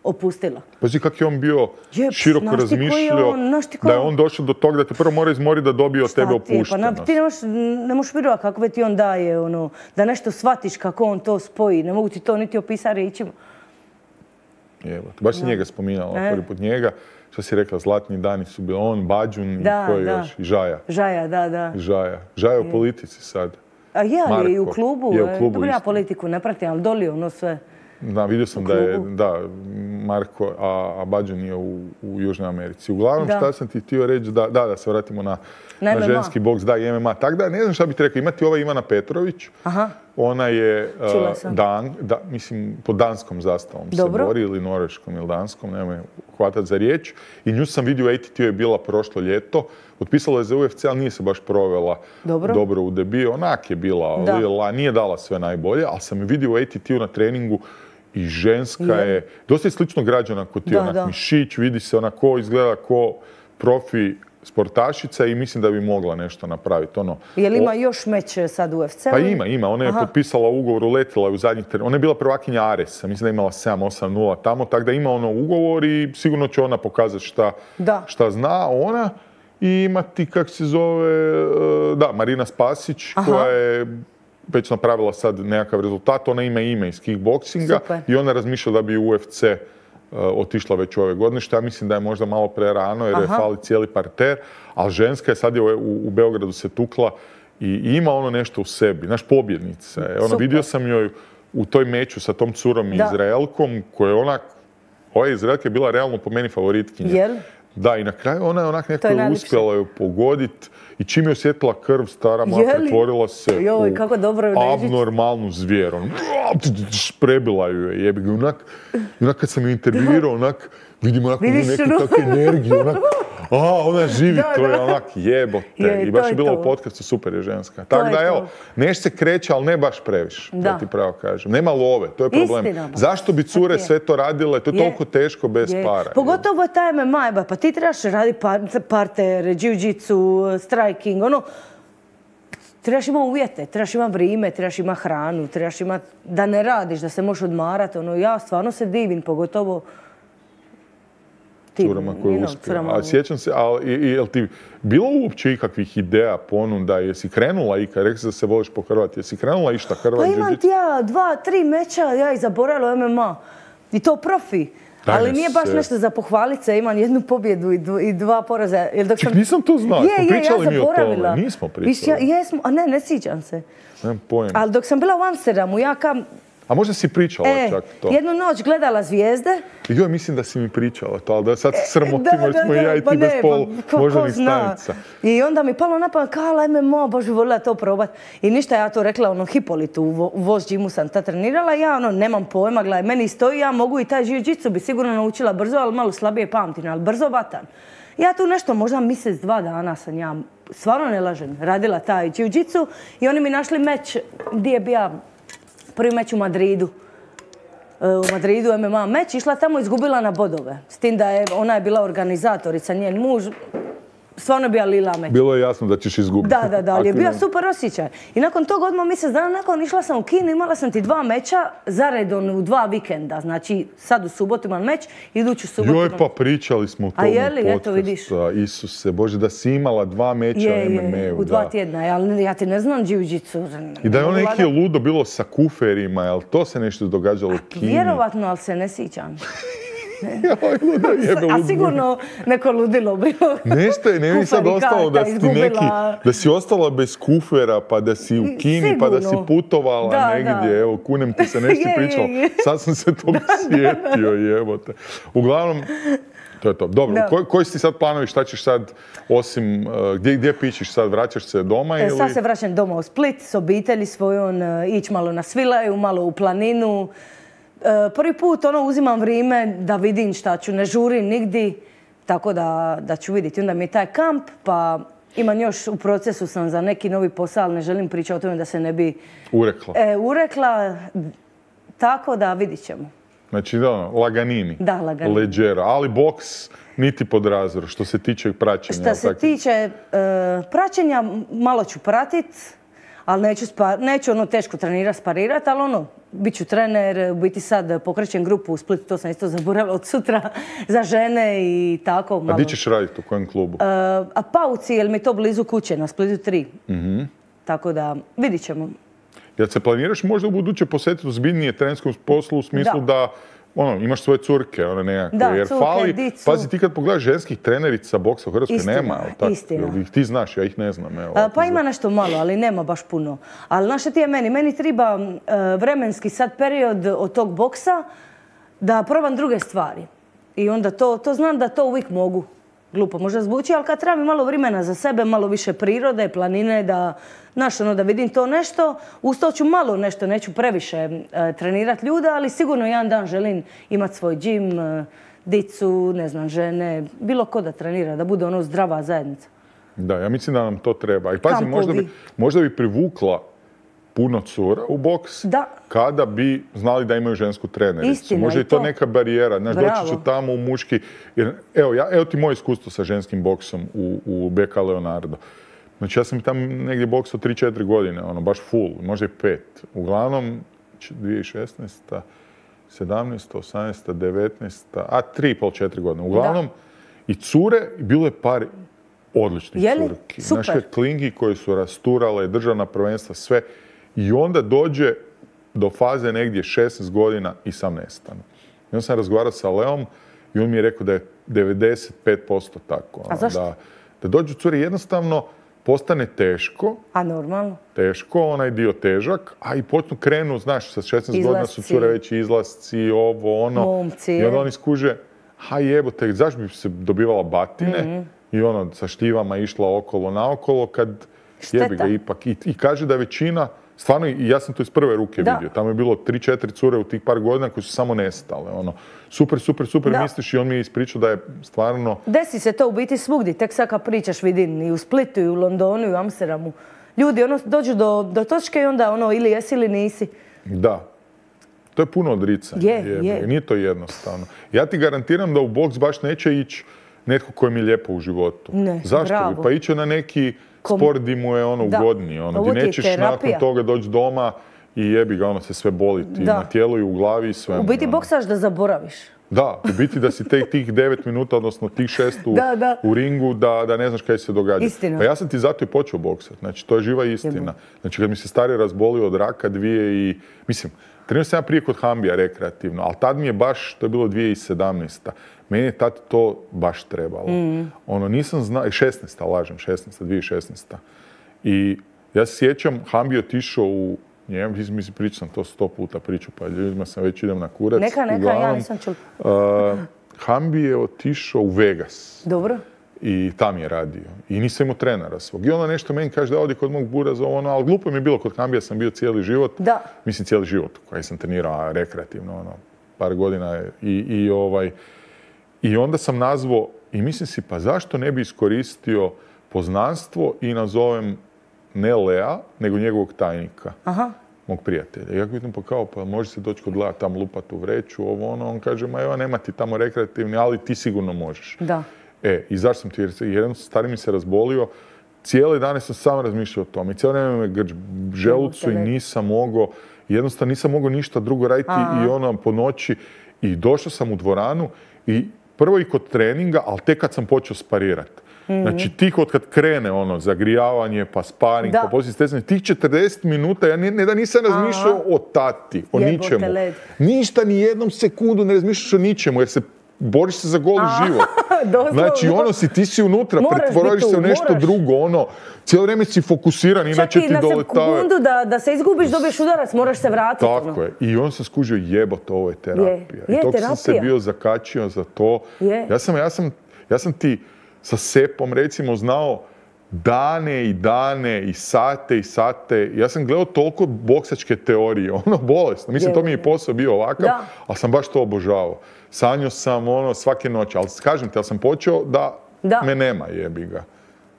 S2: opustila.
S1: Pazi kak je on bio
S2: Jep,
S1: široko razmišljao, da je on došao do toga da te prvo mora izmoriti da dobije od tebe opuštenost.
S2: Pa, ti ne možeš, ne možeš vjerovati kako ti on daje, ono, da nešto shvatiš kako on to spoji. Ne mogu ti to niti opisati riječima.
S1: Evo, baš si no. njega spominjala, e. prvi put njega. Što si rekla, zlatni dani su bili on, Bađun
S2: da,
S1: i ko je
S2: da.
S1: još? I Žaja.
S2: Žaja, da, da.
S1: Žaja. Žaja u politici sad.
S2: A je, ali i u klubu.
S1: Je, u klubu
S2: dobro, ja politiku ne pratim, ali doli ono sve.
S1: Da, vidio sam da je, da, Marko, a, a Bađun je u, u Južnoj Americi. Uglavnom, da. šta sam ti htio reći, da, da, da se vratimo na, na, na ženski boks, da, i M M A. Tako da, ne znam šta bih ti rekao, imati ova Ivana Petrović.
S2: Aha.
S1: Ona je, uh, dan, da, mislim, pod danskom zastavom
S2: Dobro.
S1: se bori, ili norveškom ili danskom, nemoj hvatati za riječ. I nju sam vidio, A T T je bila prošlo ljeto, potpisala je za U F C, ali nije se baš provela dobro, dobro u debiju. Onak je bila, lila, nije dala sve najbolje, ali sam je vidio u A T T na treningu i ženska je, je dosta je slično građana kod ti, da, onak da. mišić, vidi se onako, izgleda ko profi sportašica i mislim da bi mogla nešto napraviti. Ono,
S2: je li ima o... još meč sad u U F C-u?
S1: Pa ima, ima. Ona je Aha. potpisala ugovor, uletila u zadnjih trenutka. Ona je bila prvakinja Aresa, mislim da je imala sedam osam nula tamo, tako da ima ono ugovor i sigurno će ona pokazati šta, šta zna ona. I imati, kak se zove, da, Marina Spasić, Aha. koja je već napravila sad nekakav rezultat, ona ima ime iz kickboksinga i ona razmišlja da bi U F C uh, otišla već ove godine, što ja mislim da je možda malo prerano jer je fali cijeli parter, ali ženska je sad je u, u Beogradu se tukla i, i ima ono nešto u sebi, naš pobjednica je. Ono, vidio sam joj u toj meču sa tom curom i Izraelkom, koja je onak, ova Izraelka je bila realno po meni favoritkinja.
S2: Jel?
S1: Da, i na kraju ona je onak nekako uspjela ju pogoditi i čim je osjetila krv, stara moja pretvorila se
S2: Joj,
S1: u
S2: kako dobro
S1: abnormalnu zvijer. On, prebila ju je, jebi ga. Onak, onak kad sam ju intervjuirao, onak, vidim onak neku takvu energiju, onak, a, ona živi, da, to je onak jebote. Je, I baš je bila to. U podcastu, super je ženska. Tako da, evo, nešto se kreće, ali ne baš previše, da. da ti pravo kažem. Nema love, to je problem. Istina, zašto bi cure sve to radile? To je, je. toliko teško bez je. para.
S2: Pogotovo je taj M M A, pa ti trebaš raditi parter, jiu-jitsu, striking, ono, trebaš imati uvjete, trebaš imati vrijeme, trebaš imati hranu, trebaš imati da ne radiš, da se možeš odmarati. Ono, ja stvarno se divim, pogotovo
S1: curama koje uspiju. A sjećam se, ali jel ti bilo uopće ikakvih ideja, ponuda, jesi krenula ikad, rekli si da se voliš pohrvati, jesi krenula išta hrvati?
S2: Pa imam ti ja dva, tri meča, ja i zaboravila M M A. I to profi. Ali nije baš nešto za pohvalit se, imam jednu pobjedu i dva poraza.
S1: Ček, nisam to znao, smo pričali mi o tome, nismo pričali.
S2: Jesmo, a ne, ne sjećam se.
S1: Nemam pojma.
S2: Ali dok sam bila u Amsterdamu, ja kam...
S1: A možda si pričala
S2: e,
S1: čak to.
S2: Jednu noć gledala zvijezde.
S1: Joj, mislim da si mi pričala to, ali da sad se sramotimo, jer smo i ja i ti pa bez pol pa, moždanih stanica.
S2: I onda mi palo na pamet, kala M M A, baš bi volila to probat. I ništa, ja to rekla ono Hipolitu, u, u Voz Gymu sam ta trenirala, ja ono nemam pojma, gledaj, meni stoji, ja mogu i taj jiu-jitsu bi sigurno naučila brzo, ali malo slabije pamtim, ali brzo vatan. Ja tu nešto, možda mjesec, dva dana sam ja, stvarno ne lažem, radila taj jiu-jitsu i oni mi našli meč gdje je bio prvi meč u Madridu. U Madridu M M A meč, išla tamo i izgubila na bodove. S tim da je, ona je bila organizatorica, njen muž, stvarno je bila lila meč.
S1: Bilo je jasno da ćeš izgubiti.
S2: Da, da, da, ali je bio super osjećaj. I nakon toga odmah mjesec dana nakon išla sam u kino, imala sam ti dva meča zaredom u dva vikenda. Znači, sad u subotu imam meč, iduću subotu imam...
S1: Joj, pa pričali smo o tome
S2: u podcastu. A je li, eto vidiš.
S1: Isuse, Bože, da si imala dva meča u M M A-u.
S2: U dva tjedna, ali ja ti ne znam jiu-jitsu.
S1: I da je ono neki ludo bilo sa kuferima, jel to se nešto događalo u kini?
S2: Vjerovatno, ali se ne sjećam. A sigurno neko ludilo bilo.
S1: Nešto je, ne mi sad ostalo da si neki, da si ostala bez kufera, pa da si u Kini, pa da si putovala negdje, evo, kunem ti se nešto pričalo. Sad sam se toga sjetio, jebote. Uglavnom, to je to. Dobro, koji si ti sad planovi, šta ćeš sad, osim, gdje pićiš sad, vraćaš se doma ili?
S2: Sad se vraćam doma u Split, s obitelji svojom, ići malo na Svilaju, malo u planinu. Prvi put ono uzimam vrijeme da vidim šta ću, ne žurim nigdje, tako da, da ću vidjeti. Onda mi je taj kamp, pa imam još u procesu sam za neki novi posao, ali ne želim pričati o tome da se ne bi...
S1: Urekla.
S2: E, urekla, tako da vidit ćemo.
S1: Znači, da, laganini.
S2: Da, laganini.
S1: Leđera, ali boks niti pod razvoru, što se tiče praćenja.
S2: Što se tiče uh, praćenja, malo ću pratiti. Ali neću, spa, neću ono teško trenirati, sparirati, ali ono, bit ću trener, u biti sad pokrećem grupu u Splitu, to sam isto zaboravila od sutra, za žene i tako. Malo.
S1: A gdje ćeš raditi, u kojem klubu? Uh,
S2: a Pauci, jer mi je to blizu kuće, na Splitu tri.
S1: Mm-hmm.
S2: Tako da, vidit ćemo.
S1: Jel se planiraš možda u buduće posjetiti ozbiljnije trenerskom poslu u smislu da, da ono, imaš svoje curke, one nekako,
S2: da,
S1: jer
S2: curke,
S1: fali,
S2: dicu.
S1: Pazi, ti kad pogledaš ženskih trenerica boksa u Hrvatskoj,
S2: istina,
S1: nema, tako,
S2: istina.
S1: Ih ti znaš, ja ih ne znam. Evo,
S2: A, pa ima nešto malo, ali nema baš puno. Ali znaš šta ti je meni? Meni treba uh, vremenski sad period od tog boksa da probam druge stvari. I onda to, to znam da to uvijek mogu. Glupo možda zvuči, ali kad treba mi malo vremena za sebe, malo više prirode, planine, da, znaš, ono, da vidim to nešto, uz to ću malo nešto, neću previše e, trenirati ljude, ali sigurno jedan dan želim imati svoj džim, e, dicu, ne znam, žene, bilo ko da trenira, da bude ono zdrava zajednica.
S1: Da, ja mislim da nam to treba. I pazi, možda bi, možda bi privukla puno cura u boks,
S2: da.
S1: Kada bi znali da imaju žensku trenericu.
S2: Istina,
S1: možda je to neka barijera. Znaš, doći ću tamo u muški. Jer, evo, ja, evo ti moje iskustvo sa ženskim boksom u, u B K Leonardo. Znači, ja sam tamo negdje boksao tri četiri godine, ono, baš full, možda i pet. Uglavnom, dvije tisuće šesnaesta, sedamnaesta, osamnaesta, devetnaesta, a tri i pol, četiri godine. Uglavnom, da. I cure, bilo je par odličnih
S2: Jeli?
S1: curki.
S2: Super.
S1: Naše klingi koje su rasturale, državna prvenstva, sve. I onda dođe do faze negdje šesnaest godina i sam nestane. I onda sam razgovarao sa Leom i on mi je rekao da je devedeset pet posto tako.
S2: A zašto?
S1: Da, da dođu cure jednostavno postane teško.
S2: A normalno?
S1: Teško, onaj dio težak, a i počnu krenu, znaš, sa šesnaest godina su cure već izlasci, ovo, ono.
S2: Momci,
S1: I onda oni skuže, ha jebote, zašto bi se dobivala batine? Mm-hmm. I ono, sa štivama išla okolo naokolo, kad jebi ga ipak. I, I kaže da većina, stvarno, i ja sam to iz prve ruke da. vidio, tamo je bilo tri četiri cure u tih par godina koje su samo nestale, ono. Super, super, super da. misliš i on mi je ispričao da je stvarno...
S2: Desi se to u biti svugdje, tek sad kad pričaš vidim i u Splitu, i u Londonu, i u Amsterdamu. Ljudi ono dođu do, do točke i onda ono ili jesi ili nisi.
S1: Da. To je puno odricanja.
S2: Je, je, je.
S1: Nije to jednostavno. Ja ti garantiram da u boks baš neće ići netko koji mi je lijepo u životu.
S2: Ne,
S1: zašto
S2: bravo.
S1: bi? Pa iće na neki Kom... sport di mu je ono ugodniji. Ono, ti nećeš nakon toga doći doma i jebi ga, ono se sve boli ti na tijelu i u glavi i sve.
S2: U biti ono. Boksaš da zaboraviš.
S1: Da, u biti da si te, tih devet minuta, odnosno tih šest u, da, da. u ringu, da, da ne znaš kaj se događa.
S2: Istina.
S1: Pa ja sam ti zato i počeo boksati. Znači, to je živa istina. Znači, kad mi se stari razbolio od raka dvije i... Mislim, trenirao sam ja prije kod Hambija rekreativno, ali tad mi je baš, to je bilo dvije tisuće sedamnaesta. Meni je tad to baš trebalo. Mm. Ono, nisam znao, šesnaesta, lažem, šesnaesta, dvije tisuće šesnaesta. I ja se sjećam, Hambi je otišao u Njem, mislim, mislim, pričam to sto puta priču, pa ljudima sam već idem na kurac.
S2: Neka, neka, Uglavnom, ja nisam čula.
S1: Uh, Hambi je otišao u Vegas.
S2: Dobro.
S1: I tam je radio. I nisam imao trenera svog. I onda nešto meni kaže da odi kod mog buraza, ono, ali glupo mi je bilo, kod Hambija sam bio cijeli život.
S2: Da.
S1: Mislim, cijeli život, koji sam trenirao rekreativno, ono, par godina. I, i, ovaj, I onda sam nazvao, i mislim si, pa zašto ne bi iskoristio poznanstvo i nazovem ne Lea, nego njegovog tajnika,
S2: Aha.
S1: mog prijatelja. I ja pitam, pa kao, pa može se doći kod Lea tam lupat u vreću, ovo ono, on kaže, ma evo, nema ti tamo rekreativni, ali ti sigurno možeš.
S2: Da.
S1: E, i zašto sam ti, jer jedan stari mi se razbolio, cijele dane sam samo razmišljao o tome. I cijelo vrijeme me grč želucu i nisam mogao, jednostavno nisam mogao ništa drugo raditi. Aha. I ono po noći. I došao sam u dvoranu i prvo i kod treninga, ali tek kad sam počeo sparirati. Mm-hmm. Znači, tih od kad krene ono, zagrijavanje, pa sparing, pa poslije stezanje, tih četrdeset minuta, ja ne, ne da nisam razmišljao o tati, o Jebote ničemu. Led. Ništa, ni jednom sekundu ne razmišljaš o ničemu, jer se boriš se za goli A, život. Znači, ono si, ti si unutra, pretvoriš se u nešto moraš. drugo, ono, cijelo vrijeme si fokusiran, inače ti doletave.
S2: Čak i na sekundu da, da se izgubiš, dobiješ udarac, moraš se vratiti.
S1: Tako ono. je. I on sam skužio, jebote, ovo je terapija.
S2: Je, je,
S1: I tog
S2: terapija.
S1: sam se bio zakačio za to.
S2: Je.
S1: Ja sam, ja sam, ja sam ti sa Sepom, recimo, znao dane i dane i sate i sate. Ja sam gledao toliko boksačke teorije, ono, bolesno. Mislim, je, to mi je posao bio ovakav, da. ali sam baš to obožavao. Sanjao sam, ono, svake noći. Ali kažem ti, ali sam počeo da, da. me nema, jebi ga.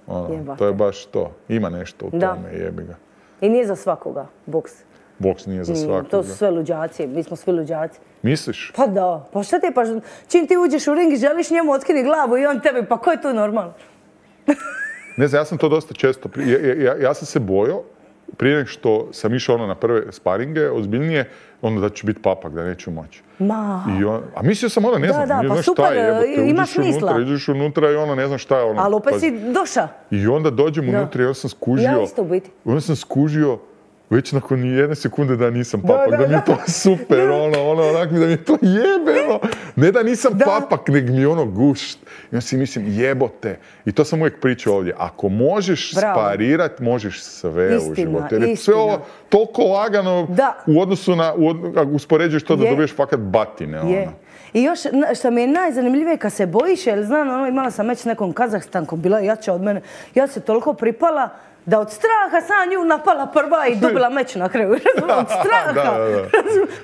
S1: Ono, to je baš to. Ima nešto u da. tome, jebi ga.
S2: I nije za svakoga, boks.
S1: Boks nije za nije. svakoga.
S2: To su sve luđaci, mi smo svi luđaci.
S1: Misliš?
S2: Pa da, pa šta ti, pa čim ti uđeš u ring i želiš njemu otkini glavu i on tebi, pa ko je tu normalno?
S1: Ne znam, ja sam to dosta često, ja, ja, ja sam se bojao, prije nek što sam išao ono na prve sparinge, ozbiljnije, ono da ću biti papak, da neću moći.
S2: Ma.
S1: I on, a mislio sam ono, ne znam,
S2: da, da,
S1: ne
S2: pa
S1: znam
S2: super,
S1: šta je, jebote,
S2: ima
S1: uđeš
S2: smisla.
S1: unutra, ideš unutra i ono, ne znam šta je ono.
S2: Ali opet
S1: pa,
S2: si došao.
S1: I onda dođem da. unutra i onda sam skužio,
S2: ja isto u biti.
S1: onda sam skužio, već nakon jedne sekunde da nisam papak, da, da, da mi je to super, ono, ono, onak mi da mi je to jebeno. Ne da nisam da. papak, nego mi je ono gušt. I onda si mislim, jebote. I to sam uvijek pričao ovdje. Ako možeš Bravo. sparirat, možeš sve
S2: istina,
S1: u životu. Jer je
S2: istina.
S1: sve ovo toliko lagano da. u odnosu na, u, ako uspoređuješ to da je. dobiješ fakat batine.
S2: Je.
S1: Ono.
S2: I još, što mi je najzanimljivije, kad se bojiš, jer znam, ono, imala sam meč s nekom Kazahstankom, bila je jača od mene. Ja se toliko pripala da od straha sam nju napala prva i dobila meč na kraju. Od straha.
S1: da, da, da.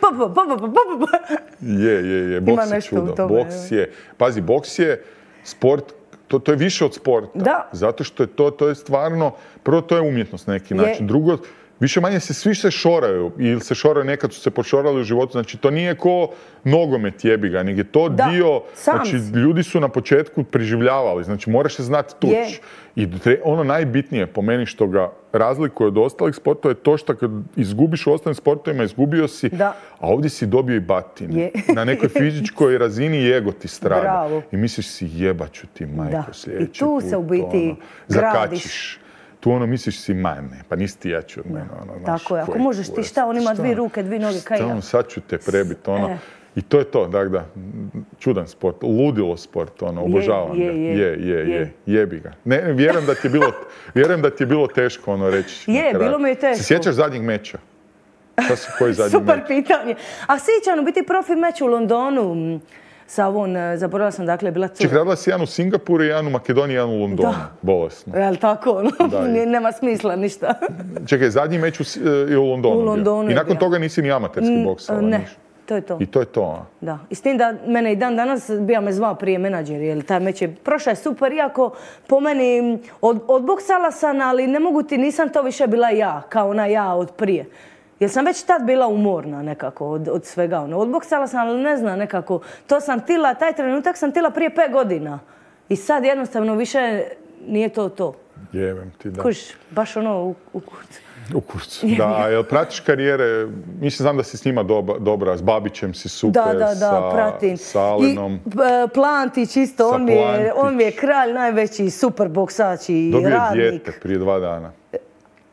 S2: Pa, pa, pa, pa, pa, pa.
S1: Je, je, je. Boks je čudo. Tome, boks je, pazi, boks je sport, to, to je više od sporta.
S2: Da.
S1: Zato što je to, to je stvarno, prvo to je umjetnost na neki način. Je. Drugo, više manje se svi se šoraju ili se šoraju, nekad su se pošorali u životu. Znači, to nije ko nogomet jebi ga, nego je to da, dio, znači, ljudi su na početku preživljavali, znači, moraš se znati tući. I ono najbitnije po meni što ga razlikuje od ostalih sportova je to što kad izgubiš u ostalim sportovima, izgubio si, da. a ovdje si dobio i batine. Je. Na nekoj fizičkoj razini i ego ti strada.
S2: Bravo.
S1: I misliš si jebaću ti majko sljedeći
S2: put. I tu
S1: put,
S2: se u biti
S1: ono, zakačiš. tu ono misliš si, ma ne, pa nisi ti jači od mene. Ono, naš,
S2: tako je, ako
S1: koje,
S2: možeš ti šta, on ima dvije ruke, dvije noge, kaj ja.
S1: Ono, sad ću te prebiti, ono.
S2: E.
S1: I to je to, dakle, čudan sport, ludilo sport, ono, obožavam
S2: je,
S1: ga.
S2: je,
S1: je, je, je, jebi ga. Ne, vjerujem da ti je bilo, vjerujem da ti je bilo teško, ono, reći.
S2: Je, bilo mi je teško.
S1: Se sjećaš zadnjeg meča? Šta si, koji zadnji
S2: Super
S1: meč?
S2: pitanje. A sjećam, u biti profi meč u Londonu, sa ovom, zaboravila sam, dakle, bila cura.
S1: Ček, radila si jedan u Singapuru, jedan u Makedoniji, jedan u Londonu. Da. Bolesno.
S2: Jel tako?
S1: Da,
S2: nema smisla ništa.
S1: Čekaj, zadnji meč u, je u Londonu.
S2: U Londonu
S1: bio. I nakon
S2: bio.
S1: toga nisi ni amaterski
S2: Mm,
S1: boksala.
S2: ne,
S1: niš.
S2: to je to.
S1: I to je to, a?
S2: Da. I s tim da mene i dan danas bija me zvao prije menadžer, jer taj meč je prošao je super, iako po meni od, odboksala sam, ali ne mogu ti, nisam to više bila ja, kao ona ja od prije. Jer sam već tad bila umorna nekako od, od svega. Ono. Odboksala sam, ali ne znam nekako. To sam tila, taj trenutak sam tila prije pet godina. I sad jednostavno više nije to to.
S1: Jebem ti, da.
S2: Kuš, baš ono u, u kurcu.
S1: U kurcu, da. A jel pratiš karijere, mislim znam da si s njima doba, dobra, s Babićem si super,
S2: da, da, da,
S1: sa,
S2: pratim.
S1: s Alenom.
S2: I e, Plantić isto, on mi, je, on mi je kralj najveći, super boksač i
S1: dobio
S2: radnik.
S1: Dobio je dijete prije dva dana.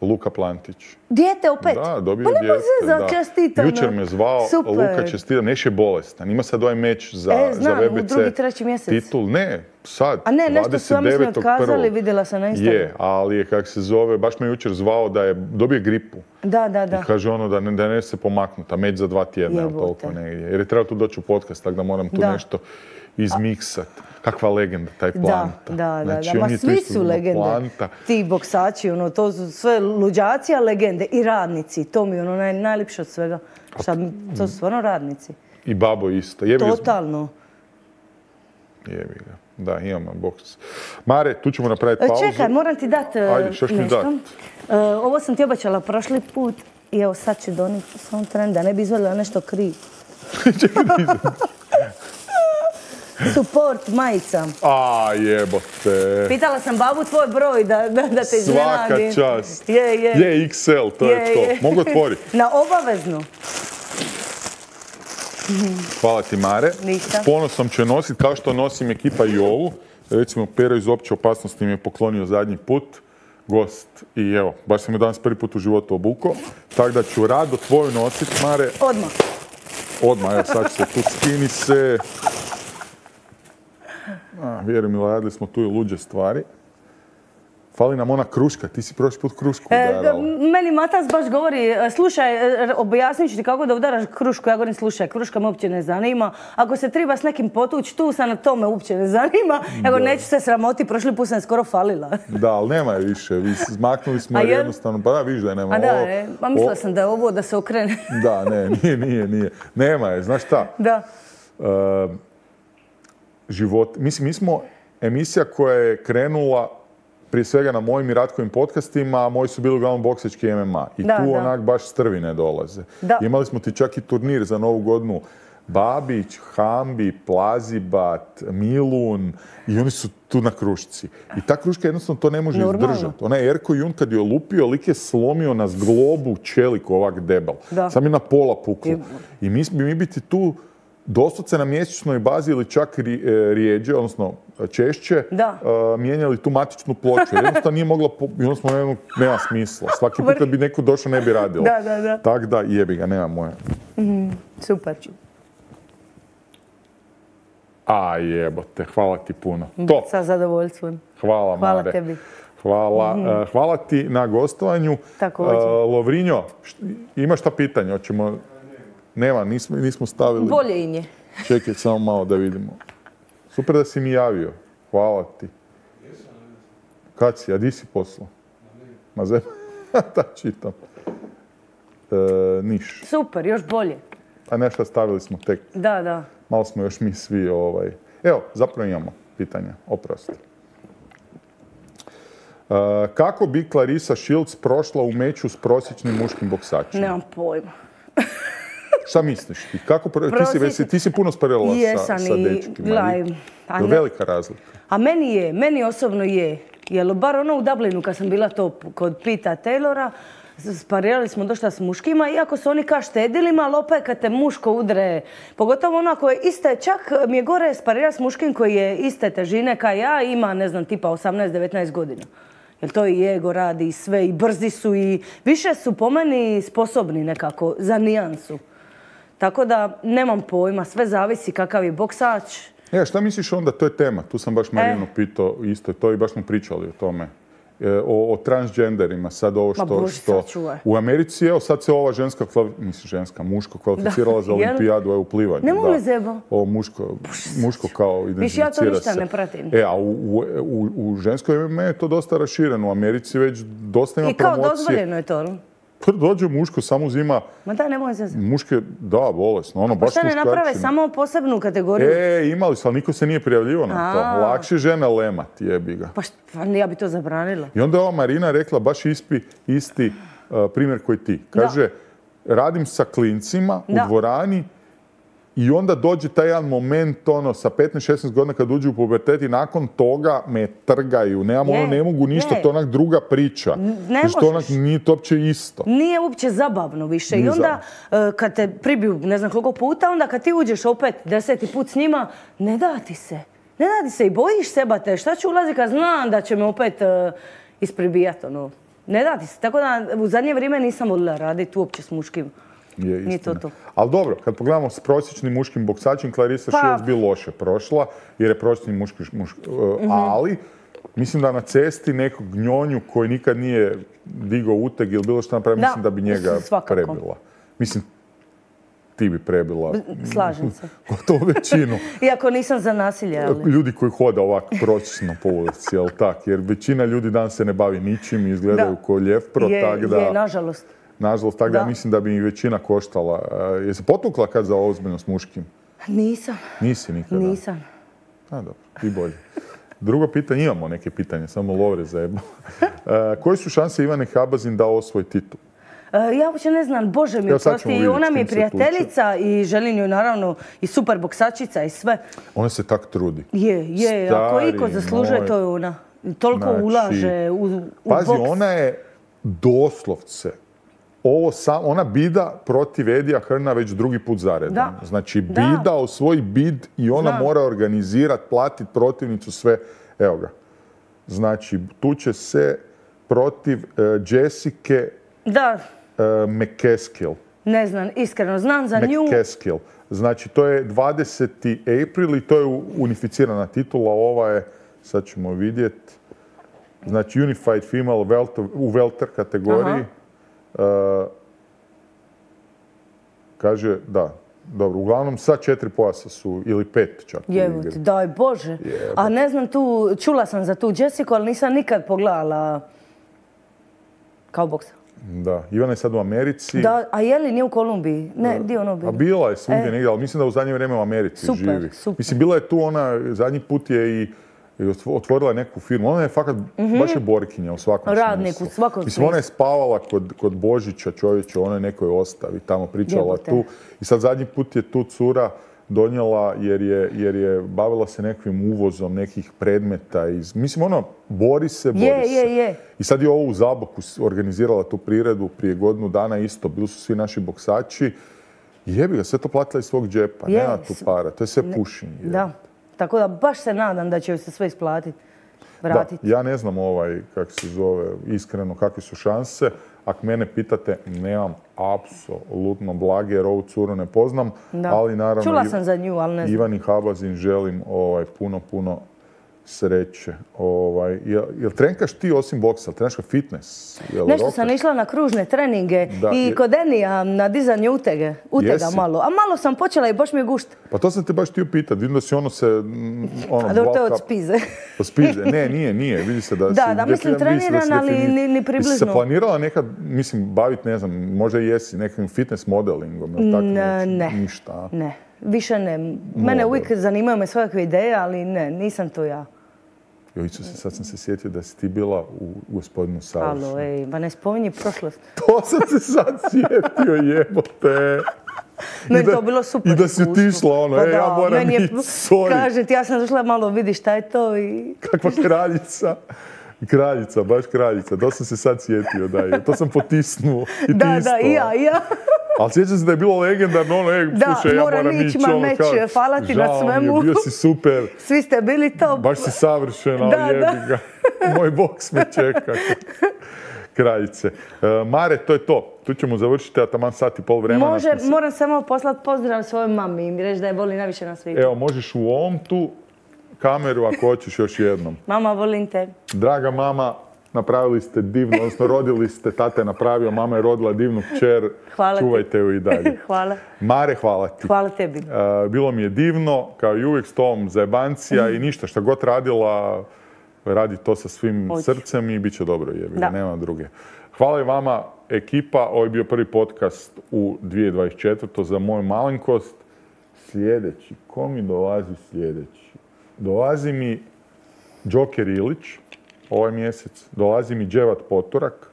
S1: Luka Plantić.
S2: Dijete opet?
S1: Da, dobio
S2: pa
S1: dijete.
S2: Pa ne čestitam.
S1: Jučer me zvao,
S2: super.
S1: Luka čestita, Neš je bolestan. Ima sad ovaj meč za,
S2: e, znam,
S1: za V B C.
S2: U drugi, treći mjesec.
S1: Titul, ne, sad.
S2: A ne, nešto su vam mislim otkazali, vidjela sam na Instagramu.
S1: Je, ali je, kak se zove, baš me jučer zvao da je dobio gripu.
S2: Da, da, da.
S1: I kaže ono da ne, da ne se pomaknuti, a meč za dva tjedna, ili toliko negdje. Jer je trebao tu doći u podcast, tako da moram tu da. nešto izmiksat. Kakva legenda, taj Planta.
S2: Da, da,
S1: znači,
S2: da. Ma svi su legende.
S1: Planta.
S2: Ti boksači, ono, to su sve luđaci, a legende. I radnici, to mi je ono naj, najljepše od svega. Šta, to su stvarno radnici.
S1: I Babo isto. Jebi
S2: Totalno.
S1: Jebi ga. Da, imamo boks. Mare, tu ćemo napraviti pauzu.
S2: Čekaj, moram ti dati uh,
S1: Ajde, što ću mi
S2: nešto.
S1: dati?
S2: Uh, ovo sam ti obećala prošli put i evo sad ću doniti sam trend, da ne bi izvalila nešto kriv.
S1: Čekaj,
S2: Support majica.
S1: A, jebote.
S2: Pitala sam babu tvoj broj da, da, da te iznenadim.
S1: Svaka čast.
S2: Je, je.
S1: Je iks el, to je, je to. Je. Mogu otvoriti?
S2: Na obavezno.
S1: Hvala ti, Mare.
S2: Ništa.
S1: S ponosom ću je nositi kao što nosim ekipa i ovu. Recimo, Pero iz Opće opasnosti mi je poklonio zadnji put. Gost. I evo, baš sam je danas prvi put u životu obukao. Tako da ću rado tvoju nositi, Mare.
S2: Odmah.
S1: Odmah, evo sad ću se tu skini se. A, vjerujem mi, radili smo tu i luđe stvari. Fali nam ona kruška, ti si prošli put krušku udarala.
S2: E, meni Matas baš govori, slušaj, objasnit ću ti kako da udaraš krušku. Ja govorim, slušaj, kruška me uopće ne zanima. Ako se treba s nekim potući tu, sa na to me uopće ne zanima. Evo, neću se sramoti, prošli put sam skoro falila.
S1: Da, ali nema je više. Vi zmaknuli smo je jednostavno, pa da, viš da je nema.
S2: A da, je, pa mislila sam da je ovo da se okrene.
S1: Da, ne, nije, nije, nije. Nema je, znaš šta?
S2: Da.
S1: Uh, život, mislim, mi smo emisija koja je krenula prije svega na mojim i Ratkovim podcastima, a moji su bili uglavnom boksački em em a. I
S2: da,
S1: tu
S2: da.
S1: onak baš strvine dolaze.
S2: Da.
S1: Imali smo ti čak i turnir za Novu godinu. Babić, Hambi, Plazibat, Milun i oni su tu na krušci. I ta kruška jednostavno to ne može
S2: Normalno.
S1: izdržati. Ona je Erko Jun kad je lupio, lik je slomio na zglobu čelik ovak debel.
S2: Da.
S1: Sam je na pola puklo. I, I mi, mi biti tu doslovce na mjesečnoj bazi ili čak rijeđe, odnosno češće, uh, mijenjali tu matičnu ploču. Jednostavno nije mogla, po... i onda smo nema, nema smisla. Svaki put kad bi neko došao ne bi radilo.
S2: Da, da, da.
S1: Tak da, jebi ga, nema moje.
S2: Mm, super.
S1: A jebote, hvala ti puno. To.
S2: Sa zadovoljstvom.
S1: Hvala,
S2: hvala
S1: Mare.
S2: Tebi.
S1: Hvala, mm-hmm. uh, hvala ti na gostovanju.
S2: Također. Uh,
S1: Lovrinjo, imaš šta pitanje? Hoćemo... Nema, nismo, nismo stavili...
S2: Bolje i nje.
S1: Čekaj, samo malo da vidimo. Super da si mi javio. Hvala ti. Kad si? A di si poslao? Ma zem... Da, čitam. E, Niš.
S2: Super, još bolje.
S1: A nešto stavili smo tek.
S2: Da, da.
S1: Malo smo još mi svi ovaj... Evo, zapravo imamo pitanja. Oprosti. E, kako bi Clarissa Shields prošla u meču s prosječnim muškim boksačima?
S2: Nemam pojma.
S1: Šta misliš ti? Kako, Prosjeći... ti, si, ti si puno sparila sa, sa dečkima.
S2: Gledaj,
S1: je velika razlika?
S2: A meni je, meni osobno je. Jer bar ono u Dublinu kad sam bila to kod Pita Taylora, sparirali smo dosta s muškima, iako su oni ka štedili, ali opet kad te muško udre, pogotovo ono ako je iste, čak mi je gore sparirati s muškim koji je iste težine kao ja, ima, ne znam, tipa osamnaest devetnaest godina. Jer to i ego radi i sve, i brzi su i više su po meni sposobni nekako za nijansu. Tako da nemam pojma, sve zavisi kakav je boksač.
S1: E, šta misliš onda, to je tema, tu sam baš Marinu e. pitao isto, to i baš smo pričali o tome. O, o transgenderima, sad ovo što...
S2: Ma bože,
S1: što u Americi, evo sad se ova ženska, mislim ženska, muško kvalificirala da, za olimpijadu, evo u plivanju.
S2: Ne mogu li zebo?
S1: Ovo muško, muško kao identificira se.
S2: Viš, ja to ništa ne pratim.
S1: E, a u, u, u ženskoj M M A je to dosta rašireno, u Americi već dosta ima promocije.
S2: I kao dozvoljeno je to, no?
S1: Dođe muško, samo uzima...
S2: Ma da, nemoj se...
S1: Muške, da, bolesno, ono, baš muškarčine.
S2: Pa šta ne naprave samo posebnu kategoriju?
S1: E, imali su, ali niko se nije prijavljivao na to. Lakše žena lemat, jebi ga.
S2: Pa šta, ja bi to zabranila.
S1: I onda je ova Marina rekla baš ispi, isti uh, primjer koji ti. Kaže, da. radim sa klincima u da. dvorani i onda dođe taj jedan moment, ono, sa petnaest šesnaest godina kad uđu u pubertet i nakon toga me trgaju. Nemam, ono, ne mogu ništa, je. to onak druga priča.
S2: Ne možeš.
S1: To onak nije to uopće isto.
S2: Nije uopće zabavno više. Nije I onda, uh, kad te pribiju ne znam koliko puta, onda kad ti uđeš opet deseti put s njima, ne da ti se. Ne da ti se i bojiš seba te. Šta ću ulaziti kad znam da će me opet uh, ispribijati, ono. Ne da ti se. Tako da u zadnje vrijeme nisam volila raditi uopće s muškim.
S1: Je Nije to to. Ali dobro, kad pogledamo s prosječnim muškim boksačem, Clarissa pa. Shields bi loše prošla, jer je prosječni muški, muški uh, mm-hmm. ali mislim da na cesti nekog gnjonju koji nikad nije digao uteg ili bilo što napravio, mislim da bi njega svakako. prebila. Mislim, ti bi prebila.
S2: Slažem se.
S1: Gotovo većinu.
S2: Iako nisam za nasilje, ali...
S1: Ljudi koji hoda ovako prosječno po ulici, jel tak? Jer većina ljudi danas se ne bavi ničim i izgledaju ko ljevpro,
S2: je,
S1: tak da...
S2: Je, nažalost.
S1: Nažalost, tako da. da mislim da bi mi većina koštala. Uh, jesi potukla kad za ozbiljno s muškim?
S2: Nisam.
S1: Nisi nikada?
S2: Nisam.
S1: A, dobro, i bolje. Drugo pitanje, imamo neke pitanje, samo Lovre zajeba. Uh, koje su šanse Ivane Habazin da osvoji titul?
S2: Uh, ja uopće ne znam, Bože mi oprosti, i ona mi je prijateljica i želim joj naravno i super boksačica i sve.
S1: Ona se tak trudi.
S2: Je, je, Stari, ako iko zaslužuje, moj... to je ona. Toliko znači, ulaže u, u
S1: pazi,
S2: boks.
S1: ona je doslovce ovo sam, ona bida protiv Edija Hearna već drugi put zaredom.
S2: Da.
S1: Znači, bida da. osvoji bid i ona Znam. mora organizirati, platiti protivnicu, sve. Evo ga. Znači, tu će se protiv uh, Jessica
S2: da.
S1: uh, McCaskill.
S2: Ne znam, iskreno, znam za nju.
S1: McCaskill. Znači, to je dvadeseti april i to je unificirana titula. Ova je, sad ćemo vidjeti, znači Unified Female welter, u welter kategoriji. Aha. Uh, kaže, da, dobro, uglavnom sa četiri pojasa su, ili pet čak.
S2: Jebut, daj Bože. Jebut. A ne znam tu, čula sam za tu Jessica, ali nisam nikad pogledala kao boksa.
S1: Da, Ivana je sad u Americi.
S2: Da, a je li nije u Kolumbiji? Ne, gdje ono bila?
S1: A bila je svugdje e. negdje, ali mislim da u zadnje vrijeme u Americi
S2: super,
S1: živi.
S2: Super.
S1: Mislim, bila je tu ona, zadnji put je i i otvorila neku firmu. Ona je fakat mm-hmm. baš je borkinja u svakom
S2: Radnik,
S1: smislu.
S2: u svakom
S1: Mislim, ona je spavala kod, kod Božića čovječa, ona je nekoj ostavi, tamo pričala Jebote. tu. I sad zadnji put je tu cura donijela jer je, jer je bavila se nekakvim uvozom nekih predmeta. Iz, mislim, ono, bori se, bori
S2: je,
S1: se.
S2: Je, je.
S1: I sad je ovo u Zaboku organizirala tu priredu prije godinu dana isto. Bili su svi naši boksači. Jebi ga, sve to platila iz svog džepa. Je, nema tu para, to je sve pušenje.
S2: Da. Tako da baš se nadam da će joj se sve isplatiti, vratiti.
S1: Da, ja ne znam ovaj, kako se zove, iskreno, kakve su šanse. Ako mene pitate, nemam apsolutno blage, jer ovu curu ne poznam.
S2: Da.
S1: Ali naravno,
S2: čula sam za nju, ali ne znam.
S1: Ivani Habazin želim ovaj, puno, puno sreće. Ovaj, jel, jel trenkaš ti osim boksa, trenaš ka fitness? Jel
S2: Nešto
S1: rokaš?
S2: sam išla na kružne treninge da, i je... kod Enija na dizanje utege, utega
S1: Jesi?
S2: malo. A malo sam počela i baš mi je gušt.
S1: Pa to sam te baš htio pitati. Vidim da si ono se... Ono,
S2: A dobro, to je od spize.
S1: Od spize? Ne, nije, nije. Vidi se da...
S2: Da,
S1: si,
S2: da, mislim treniran, ali ni, ni približno.
S1: Jesi se planirala nekad, mislim, baviti, ne znam, možda i jesi, nekim fitness modelingom ili tako
S2: ne,
S1: ne. Ništa, a?
S2: Ne, više ne. Mene no, uvijek zanimaju me svakakve ideje, ali ne, nisam to ja.
S1: Jo, Isuse, sad sam se sjetio da si ti bila u Gospodinu Savršenu.
S2: Alo, ej, ba ne spominji prošlost.
S1: To sam se sad sjetio, jebote.
S2: Meni da, to bilo super.
S1: I da si otišla ono,
S2: pa
S1: ej,
S2: da,
S1: ja moram ići, sorry.
S2: Kaže ti, ja sam došla malo vidi šta je to i...
S1: Kakva kraljica. Kraljica, baš kraljica. To sam se sad sjetio, da je. To sam potisnuo. I
S2: da,
S1: isto.
S2: Da, i ja, i ja.
S1: Ali sjećam se da je bilo legendarno, ono, e,
S2: da,
S1: slušaj, ja
S2: moram
S1: moram
S2: ići,
S1: ići, ono,
S2: meć,
S1: kao,
S2: hvala ti na
S1: žao mi je,
S2: svemu.
S1: bio si super.
S2: Svi ste bili top.
S1: Baš si savršena,
S2: Da,
S1: jebi
S2: da.
S1: ga. Moj boks me čeka. Kraljice. E, Mare, to je to. Tu ćemo završiti, a taman sat i pol vremena.
S2: Može,
S1: smo se-
S2: moram samo poslati pozdrav svojoj mami i mi reći da je voli najviše na svijetu.
S1: Evo, možeš u ovom tu kameru ako hoćeš još jednom.
S2: Mama, volim te.
S1: Draga mama, napravili ste divno, odnosno rodili ste, tata je napravio, mama je rodila divnu kćer,
S2: Hvala ti.
S1: čuvajte ju i dalje.
S2: Hvala.
S1: Mare, hvala ti.
S2: Hvala tebi.
S1: E, bilo mi je divno, kao i uvijek s tom zajebancija i ništa, šta god radila, radi to sa svim
S2: Hoću.
S1: srcem i bit će dobro, jebi,
S2: Da.
S1: nema druge. Hvala i vama, ekipa, ovo je bio prvi podcast u dvije tisuće dvadeset četvrtoj za moju malenkost. Sljedeći, ko mi dolazi sljedeći? Dolazi mi Džoker Ilić ovaj mjesec, dolazi mi Dževat Potorak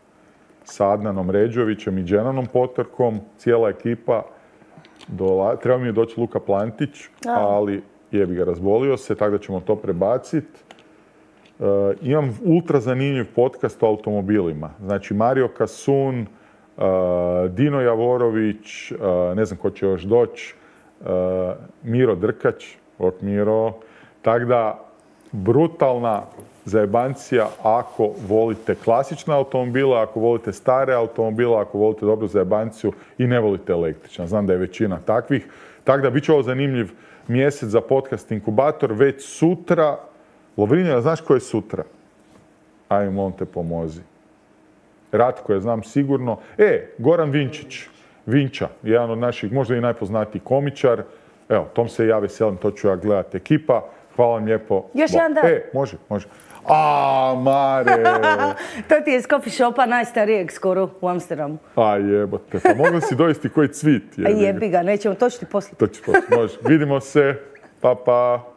S1: sa Adnanom Ređovićem i Dženanom Potorkom, cijela ekipa. Dola... Treba mi je doći Luka Plantić, ali jebi ga, razbolio se, tako da ćemo to prebaciti. Uh, imam ultra zanimljiv podcast o automobilima. Znači, Mario Kasun, uh, Dino Javorović, uh, ne znam ko će još doći, uh, Miro Drkač, ok Miro. Tako da, brutalna zajebancija ako volite klasične automobile, ako volite stare automobile, ako volite dobru zajebanciju i ne volite električne. Znam da je većina takvih. Tako da, bit će ovo zanimljiv mjesec za podcast Inkubator. Već sutra, Lovrinja, znaš ko je sutra? Ajme, molim te, pomozi. Ratko je, znam sigurno. E, Goran Vinčić. Vinča, jedan od naših, možda i najpoznatiji komičar. Evo, tom se ja veselim, to ću ja gledati. Ekipa, hvala vam lijepo.
S2: Još
S1: Bo-
S2: jedan dan.
S1: E, može, može. A, Mare!
S2: To ti je iz coffee shopa najstarijeg skoro u Amsterdamu.
S1: A jebote, pa mogla si dovesti koji cvit.
S2: A jebi ga, nećemo, to ću ti poslati.
S1: To ću poslati, može. Vidimo se, pa pa.